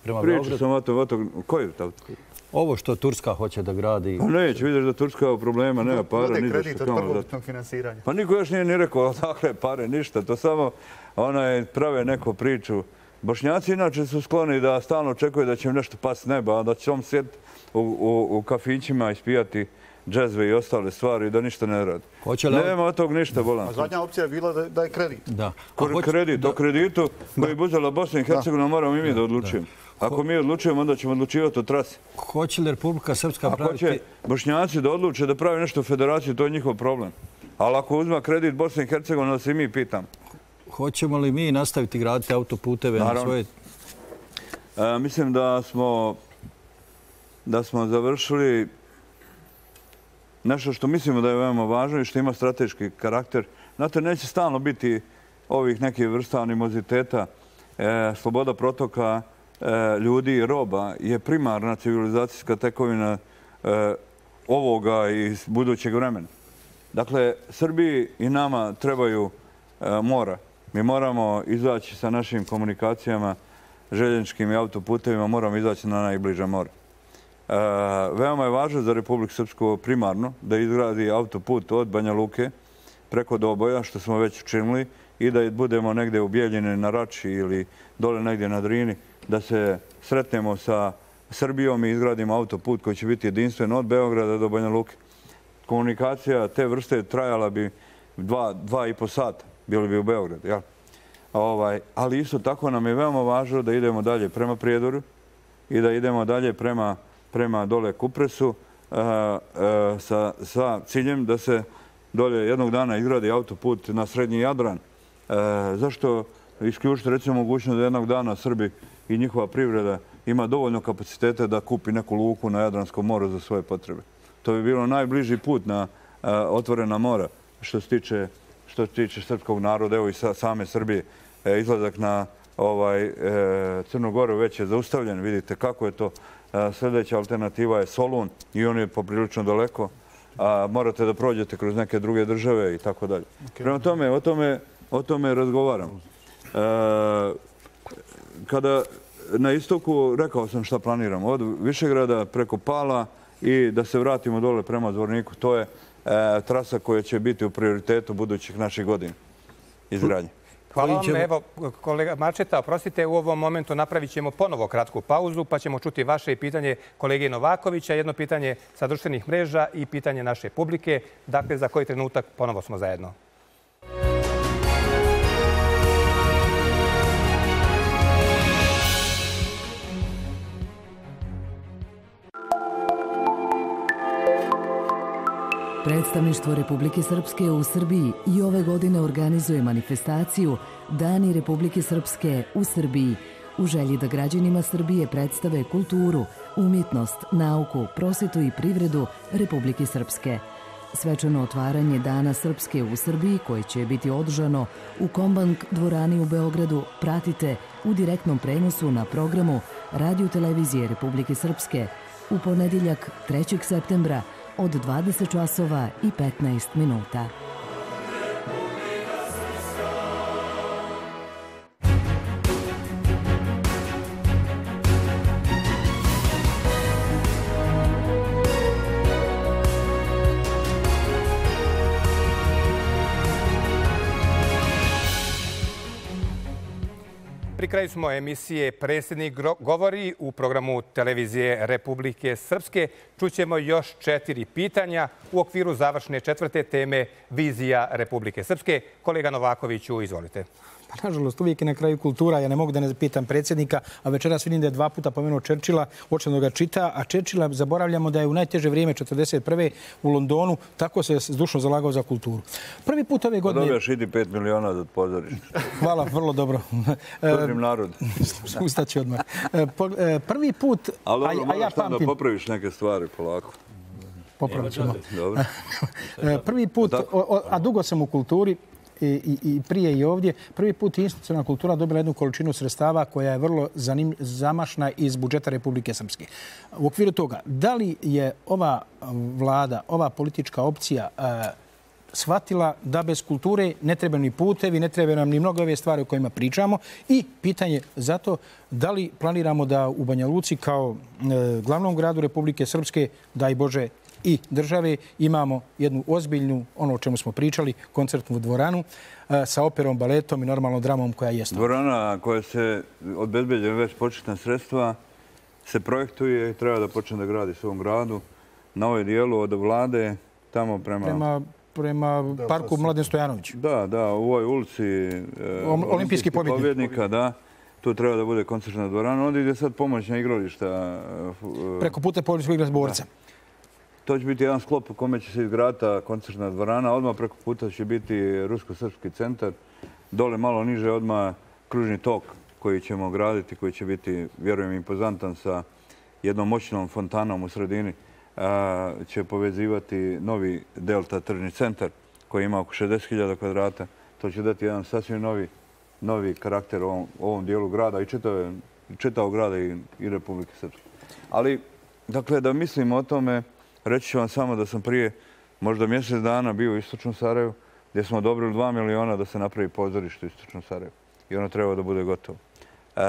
prema Priču Beogradu? sam o to, o to, koji je autoput? Ovo što Turska hoće da gradi... Pa neće, vidiš da Turska ima problema, nema para. Bude kredit od prvobitnog finansiranja. Pa niko još nije ni rekao, dakle, pare, ništa. To samo onaj, prave neku priču. Bošnjaci inače su skloni da stalno očekuju da će im nešto pasti s neba, a da će on sjeti u, u, u kafićima ispijati džezve i ostale stvari i da ništa ne radi. Li... Nema od tog ništa, bolan. A zadnja opcija je bila da, da je kredit. Da. Hoće... Kredit, o kreditu koji bi uzela Bosna i Hercegovina moramo i mi da odlučujemo. Ako mi odlučujemo, onda ćemo odlučivati o trasi. Hoće li Republika Srpska praviti... Ako će Bošnjaci da odluče da pravi nešto u federaciji, to je njihov problem. Ali ako uzma kredit Bosna i Hercegovina, da se i mi pitam. Hoćemo li mi nastaviti graditi autoputeve na svoje... E, mislim da smo, da smo završili nešto što mislimo da je veoma važno i što ima strateški karakter. Znate, neće stalno biti ovih nekih vrsta animoziteta. E, sloboda protoka e, ljudi i roba je primarna civilizacijska tekovina e, ovoga i budućeg vremena. Dakle, Srbiji i nama trebaju e, mora. Mi moramo izaći sa našim komunikacijama, željezničkim i autoputevima, moramo izaći na najbliža mora. E, veoma je važno za Republiku Srpsku primarno da izgradi autoput od Banja Luke preko Doboja, što smo već učinili, i da budemo negdje u Bijeljini na Rači ili dole negdje na Drini, da se sretnemo sa Srbijom i izgradimo autoput koji će biti jedinstven od Beograda do Banja Luke. Komunikacija te vrste trajala bi dva, dva i po sata. Bili bi u Beogradu, jel? Ovaj, ali isto tako nam je veoma važno da idemo dalje prema Prijedoru i da idemo dalje prema, prema dole Kupresu uh, uh, sa, sa ciljem da se dolje jednog dana izgradi autoput na Srednji Jadran. Uh, zašto isključiti recimo mogućnost da jednog dana Srbi i njihova privreda ima dovoljno kapacitete da kupi neku luku na Jadranskom moru za svoje potrebe? To bi bilo najbliži put na uh, otvorena mora što se tiče što se tiče srpskog naroda, evo i sa, same Srbije. E, izlazak na ovaj, e, Crnu Goru već je zaustavljen. Vidite kako je to. E, sljedeća alternativa je Solun i on je poprilično daleko. A, morate da prođete kroz neke druge države i tako dalje. Prema tome, o tome, o tome razgovaram. E, kada na istoku rekao sam šta planiramo. Od Višegrada preko Pala i da se vratimo dole prema Zvorniku. To je E, trasa koja će biti u prioritetu budućih naših godina izgradnje. Hvala vam. Evo, kolega Mačeta, oprostite, u ovom momentu napravit ćemo ponovo kratku pauzu, pa ćemo čuti vaše pitanje kolege Novakovića, jedno pitanje sa društvenih mreža i pitanje naše publike. Dakle, za koji trenutak ponovo smo zajedno. Predstavništvo Republike Srpske u Srbiji i ove godine organizuje manifestaciju Dani Republike Srpske u Srbiji u želji da građanima Srbije predstave kulturu, umjetnost, nauku, prosvetu i privredu Republike Srpske. Svečano otvaranje Dana Srpske u Srbiji, koje će biti održano u Kombank dvorani u Beogradu, pratite u direktnom prenosu na programu Radio-televizije Republike Srpske u ponedjeljak trećeg septembra od dvadeset časova i petnaest minuta. Pri kraju smo emisije Predsjednik govori u programu Televizije Republike Srpske. Čućemo još četiri pitanja u okviru završne četvrte teme Vizija Republike Srpske. Kolega Novakoviću, izvolite. Pa, nažalost, uvijek je na kraju kultura. Ja ne mogu da ne pitam predsjednika, a večeras vidim da je dva puta pomenuo Churchilla, očeno ga čita, a Churchilla zaboravljamo da je u najteže vrijeme četrdeset prve u Londonu tako se zdušno zalagao za kulturu. Prvi put ove godine... Dobio šiti pet miliona da pozoriš. Hvala, vrlo dobro. Služim narod. Ustaći odmah. Prvi put... Ali dobro, moraš tam da popraviš neke stvari polako. Popravit ćemo. Prvi put, a dugo sam u kulturi, I, i prije i ovdje. Prvi put je institucionalna kultura dobila jednu količinu sredstava koja je vrlo zanim, zamašna iz budžeta Republike Srpske. U okviru toga, da li je ova vlada, ova politička opcija uh, shvatila da bez kulture ne treba ni putevi, ne treba nam ni mnogo ove stvari o kojima pričamo i pitanje zato da li planiramo da u Banja Luci kao uh, glavnom gradu Republike Srpske, daj Bože, i države imamo jednu ozbiljnu, ono o čemu smo pričali, koncertnu dvoranu sa operom, baletom i normalnom dramom koja je. Dvorana koja se obezbeđuje već početna sredstva se projektuje i treba da počne da gradi svom gradu na ovoj dijelu od vlade tamo prema... Prema, prema parku Mladen Stojanović. Da, da, u ovoj ulici Olimpijski pobjednika, da. Tu treba da bude koncertna dvorana. Onda ide sad pomoćna igrališta. Preko puta Policijskog igra Zborca. To će biti jedan sklop u kome će se izgraditi koncertna dvorana. Odmah preko puta će biti Rusko-Srpski centar. Dole malo niže odmah kružni tok koji ćemo graditi, koji će biti, vjerujem, impozantan sa jednom moćnom fontanom u sredini. Će povezivati novi Delta tržni centar koji ima oko šezdeset hiljada kvadrata. To će dati jedan sasvim novi, novi karakter ovom, ovom dijelu grada i čitave, čitavog grada i, i Republike Srpske. Ali, dakle, da mislimo o tome, reći ću vam samo da sam prije možda mjesec dana bio u Istočnom Sarajevu gdje smo odobrili dva miliona da se napravi pozorište u Istočnom Sarajevu. I ono treba da bude gotovo. E,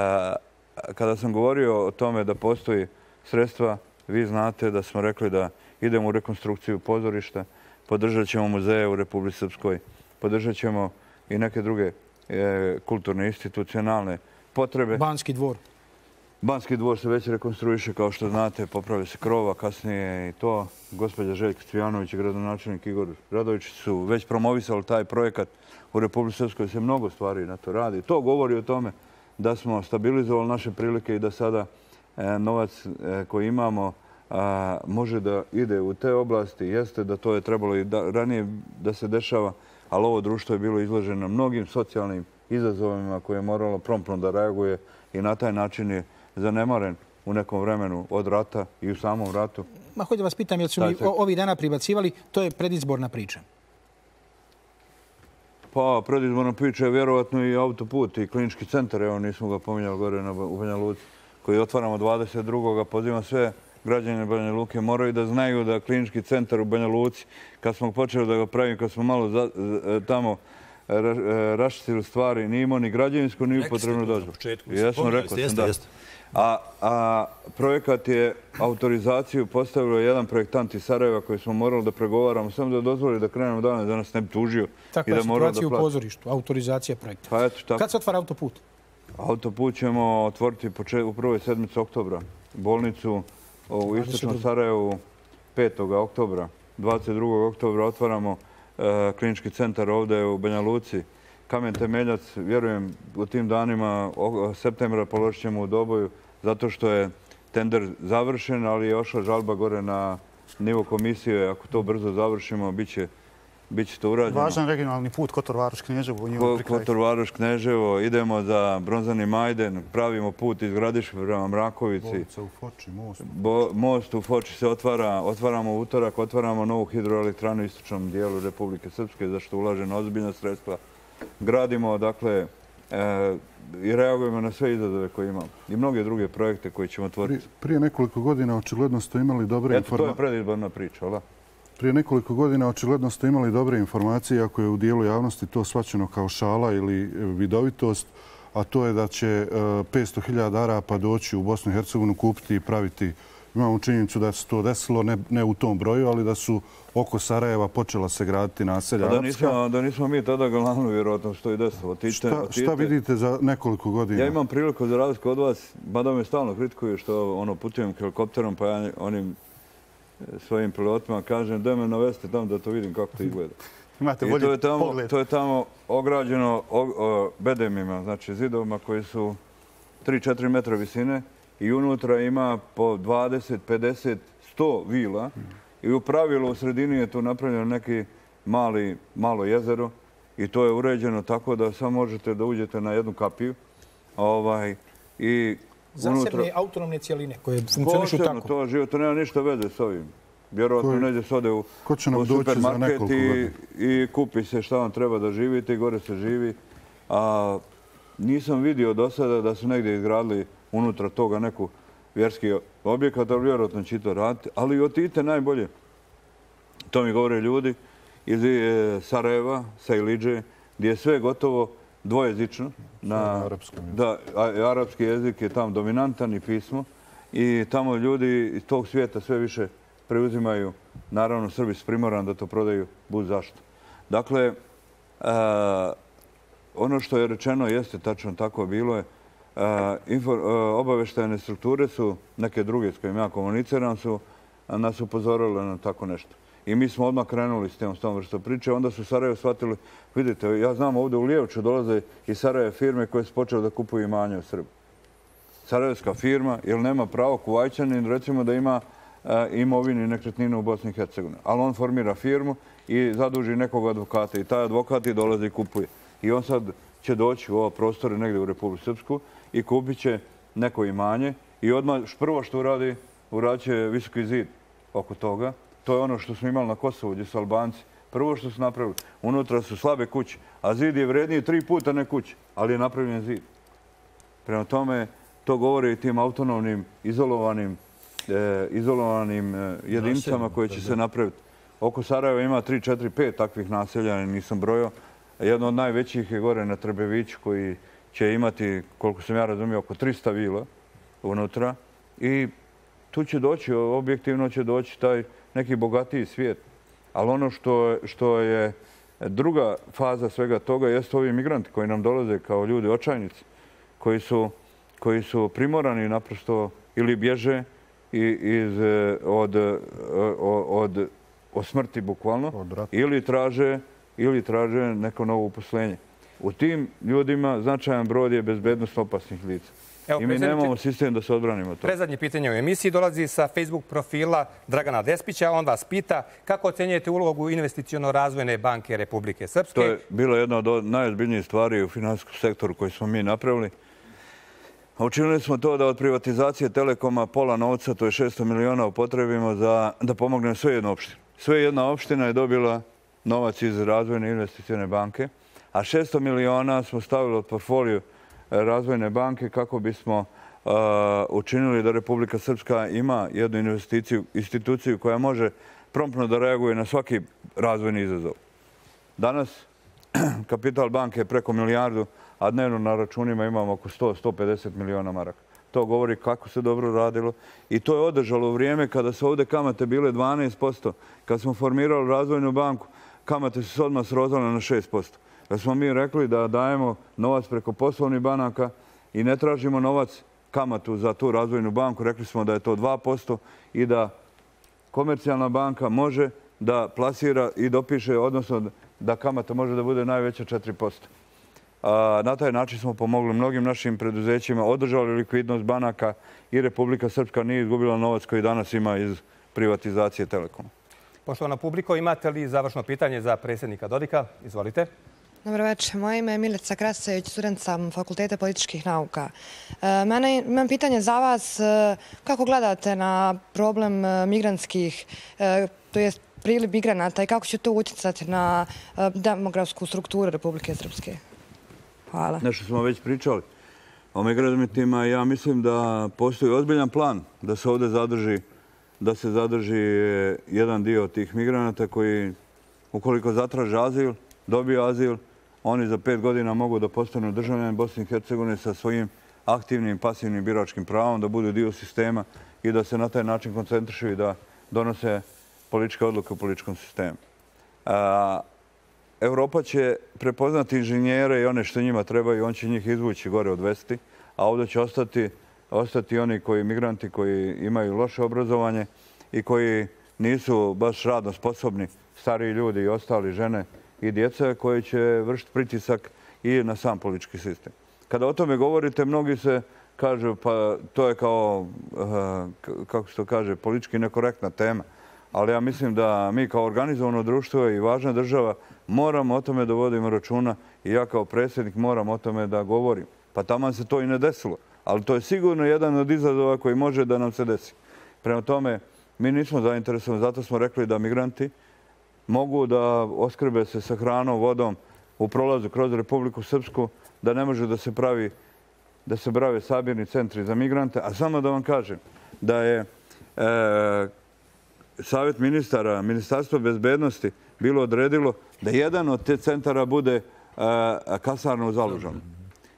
kada sam govorio o tome da postoji sredstva, vi znate da smo rekli da idemo u rekonstrukciju pozorišta, podržat ćemo muzeje u Republici Srpskoj, podržat ćemo i neke druge e, kulturne, institucionalne potrebe. Banski dvor. Banski dvor se već rekonstruiše, kao što znate, popravlja se krova, kasnije i to. Gospođa Željka Cvijanović i gradonačelnik Igor Radović su već promovisali taj projekat. U Republici Srpskoj se mnogo stvari na to radi. To govori o tome da smo stabilizovali naše prilike i da sada e, novac e, koji imamo a, može da ide u te oblasti. Jeste da to je trebalo i da, ranije da se dešava, ali ovo društvo je bilo izloženo mnogim socijalnim izazovima koje je moralo promptno da reaguje i na taj način je zanemaren u nekom vremenu od rata i u samom ratu. Ma, hoću da vas pitam, jer su mi ovih dana pribacivali, to je predizborna priča. Pa, predizborna priča je vjerovatno i autoput i klinički centar, evo nismo ga pominjali gore na, u Banja Luci, koji otvaramo dvadeset drugog Pozivam sve građane Banja Luke, moraju da znaju da klinički centar u Banja Luci, kad smo počeli da ga pravimo, kad smo malo za, tamo ra, raščistili stvari, nije imao ni građevinsku, ni upotrebnu dozvolu. Jesmo, rekao sam da. A, a projekat je autorizaciju postavilo jedan projektant iz Sarajeva koji smo morali da pregovaramo, samo da dozvoli da krenemo danas, da nas ne bi tužio. Takva je situacija u pozorištu, autorizacija projekta. Pa eto, tako. Kad se otvara autoput? Autoput ćemo otvoriti u prvoj sedmici oktobra. Bolnicu u Istočnom Sarajevu petog oktobra. dvadeset drugog oktobra otvaramo e, klinički centar ovdje u Banja Luci. Kamen temeljac, vjerujem, u tim danima septembra položit ćemo u Doboju, zato što je tender završen, ali je ošla žalba gore na nivo komisije, ako to brzo završimo, bit će Biće to urađeno. Važan regionalni put Kotor-Varoš-Kneževo. Kotor-Varoš-Kneževo, idemo za Bronzani Majden, pravimo put iz Gradiške prema Mrakovici. Bolnica u Foči, most. Most u Foči se otvara, otvaramo utorak, otvaramo novu hidroelektranu u istočnom dijelu Republike Srpske, za što ulažemo ozbiljna sredstva. Gradimo, dakle, i reagujemo na sve izazove koje imamo. I mnoge druge projekte koje ćemo otvoriti. Prije nekoliko godina očigledno ste imali dobre informacije. Eto, to je predizborna priča, ali? Prije nekoliko godina očigledno ste imali dobre informacije, ako je u dijelu javnosti to shvaćeno kao šala ili vidovitost, a to je da će petsto hiljada Arapa doći u Bosnu i Hercegovinu, kupiti i praviti. Imamo činjenicu da se to desilo, ne u tom broju, ali da su oko Sarajeva počela se graditi naselja arapska. Da nismo mi tada glavno vjerojatno što i desilo. Šta vidite za nekoliko godina? Ja imam priliku za razliku od vas, mada me stalno kritikuju što putujem helikopterom, pa ja onim svojim pilotima kažem da me naveste tamo da to vidim kako to izgleda. Imate bolji pogled. To je tamo ograđeno bedemima, znači zidovima koji su tri do četiri metra visine i unutra ima po dvadeset, pedeset, sto vila i u pravilu u sredini je tu napravljeno neki malo jezero i to je uređeno tako da samo možete da uđete na jednu kapiju i zasebne autonomne cijeline koje funkcionišu tako. Posebno to život, to nema ništa veze s ovim. Vjerojatno neđe se ode u supermarket i kupi se šta vam treba da živite i gore se živi. A nisam vidio do sada da su negdje izgradili unutra toga neku vjerski objekat, ali vjerojatno će to raditi. Ali otidite najbolje. To mi govore ljudi iz Sarajeva, sa Ilidže, gdje je sve gotovo dvojezično. Da, arapski jezik je tamo dominantan i pismo i tamo ljudi iz tog svijeta sve više preuzimaju. Naravno, Srbi su primorani da to prodaju bud zašto. Dakle, ono što je rečeno jeste tačno tako bilo je. Obaveštajne strukture su, neke druge s kojim ja komuniciram, su nas upozorile na tako nešto. I mi smo odmah krenuli s tem, s tom vrstom priče. Onda su Sarajevo shvatili, vidite, ja znam ovdje u Lijevču dolaze iz Sarajeva firme koje su počele da kupuju imanje u Srbiji. Sarajevska firma, jer nema pravo Kuvajčanin, recimo da ima imovini nekretninu u Bosni i Hercegovini. Ali on formira firmu i zaduži nekog advokata i taj advokat i dolazi i kupuje. I on sad će doći u ovo prostore negdje u Republiku Srpsku i kupit će neko imanje i odmah prvo što uradi, uradit će visoki zid oko toga. To je ono što smo imali na Kosovu, gdje su Albanci. Prvo što su napravili, unutra su slabe kuće, a zid je vredniji tri puta ne kuće, ali je napravljen zid. Prema tome, to govori i tim autonomnim, izolovanim, izolovanim jedinicama koje će se napraviti. Oko Sarajeva ima tri, četiri, pet takvih naselja, nisam brojao. Jedno od najvećih je gore na Trbeviću koji će imati, koliko sam ja razumio, oko trista vila unutra. I tu će doći, objektivno će doći taj neki bogatiji svijet. Ali ono što je druga faza svega toga jeste ovi migranti koji nam dolaze kao ljudi očajnici, koji su primorani naprosto ili bježe od smrti bukvalno ili traže neko novo uposlenje. U tim ljudima značajan broj je bezbednost opasnih lica. I mi nemamo sistem da se odbranimo to. Predzadnje pitanje u emisiji dolazi sa Facebook profila Dragana Despića. On vas pita kako ocenjujete ulogu Investiciono-razvojne banke Republike Srpske. To je bilo jedna od najozbiljnijih stvari u finansijskom sektoru koju smo mi napravili. Učinili smo to da od privatizacije Telekoma pola novca, to je šesto miliona, upotrebimo da pomogne sve jedna opština. Sve jedna opština je dobila novac iz Razvojne investicione banke, a šesto miliona smo stavili od portfoliju Razvojne banke kako bismo učinili da Republika Srpska ima jednu investiciju, instituciju koja može promptno da reaguje na svaki razvojni izazov. Danas kapital banke je preko milijardu, a dnevno na računima imamo oko sto do sto pedeset miliona maraka. To govori kako se dobro radilo i to je održalo u vrijeme kada su ovdje kamate bile dvanaest posto. Kad smo formirali Razvojnu banku, kamate su se odmah srozale na šest posto. Kad smo mi rekli da dajemo novac preko poslovnih banaka i ne tražimo novac kamatu za tu Razvojnu banku, rekli smo da je to dva posto i da komercijalna banka može da plasira i dopiše, odnosno da kamata može da bude najveća četiri posto. Na taj način smo pomogli mnogim našim preduzećima, održali likvidnost banaka i Republika Srpska nije izgubila novac koji danas ima iz privatizacije Telekoma. Poštovana publiko, imate li završno pitanje za predsjednika Dodika? Izvolite. Dobro večer. Moje ime je Milica Krasajević, student sam Fakulteta političkih nauka. Mene, imam pitanje za vas. Kako gledate na problem migrantskih, to je priliv migranata i kako će to utjecati na demografsku strukturu Republike Srpske? Hvala. Nešto smo već pričali o migrantima. Ja mislim da postoji ozbiljan plan da se ovdje zadrži, da se zadrži jedan dio tih migranata koji, ukoliko zatraže azil, dobiju azil, oni za pet godina mogu da postanu državljani Bosne i Hercegovine sa svojim aktivnim, pasivnim biračkim pravom, da budu dio sistema i da se na taj način koncentrišu i da donose političke odluke u političkom sistemu. Europa će prepoznati inženjere i one što njima trebaju, on će njih izvući gore odvesti, a ovdje će ostati, ostati oni koji migranti koji imaju loše obrazovanje i koji nisu baš radno sposobni, stariji ljudi i ostali, žene i djeca, koji će vršiti pritisak i na sam politički sistem. Kada o tome govorite, mnogi se kažu pa to je kao, kako se to kaže, politički nekorektna tema. Ali ja mislim da mi kao organizovano društvo i važna država moramo o tome da vodimo računa i ja kao predsjednik moram o tome da govorim. Pa taman se to i ne desilo. Ali to je sigurno jedan od izazova koji može da nam se desi. Prema tome, mi nismo zainteresovani, zato smo rekli da migranti mogu da oskrbe se sa hranom, vodom u prolazu kroz Republiku Srpsku, da ne može da se pravi, da se prave sabirni centri za migrante. A samo da vam kažem da je e, Savjet ministara, Ministarstvo bezbednosti bilo odredilo da jedan od te centara bude e, kasarna u Zalužanu.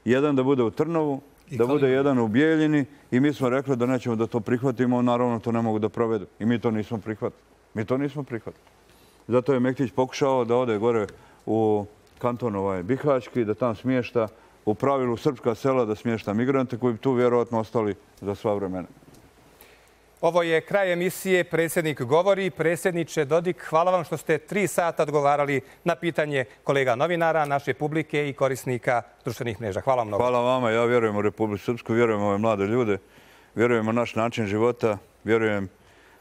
Jedan da bude u Trnovu, da bude jedan u Bijeljini i mi smo rekli da nećemo da to prihvatimo, naravno to ne mogu da provedu. I mi to nismo prihvatili. Mi to nismo prihvatili. Zato je Mektić pokušao da ode gore u kanton ovaj Bihaćki, da tam smješta u pravilu srpska sela, da smješta migrante koji bi tu vjerojatno ostali za sva vremena. Ovo je kraj emisije Predsjednik govori. Predsjedniče Dodik, hvala vam što ste tri sata odgovarali na pitanje kolega novinara, naše publike i korisnika društvenih mreža. Hvala vam mnogo. Hvala vama. Ja vjerujem u Republiku Srpsku, vjerujem u ove mlade ljude, vjerujem u naš način života, vjerujem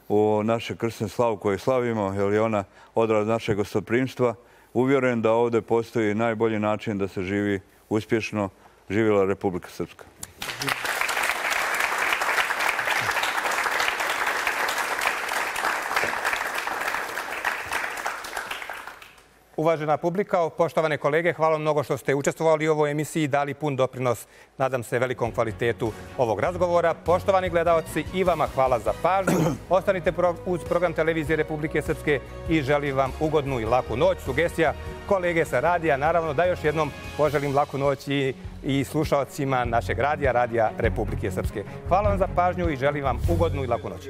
u naše krsne slavu koje slavimo, jer je ona odraz našeg gostoprimstva. Uvjeren da ovdje postoji najbolji način da se živi uspješno. Živjela Republika Srpska. Uvažena publika, poštovane kolege, hvala mnogo što ste učestvovali u ovoj emisiji i dali pun doprinos, nadam se, velikom kvalitetu ovog razgovora. Poštovani gledalci, i vama hvala za pažnju. Ostanite uz program Televizije Republike Srpske i želim vam ugodnu i laku noć. Sugestija kolege sa radija, naravno da još jednom poželim laku noć i, i slušalcima našeg radija, Radija Republike Srpske. Hvala vam za pažnju i želim vam ugodnu i laku noć.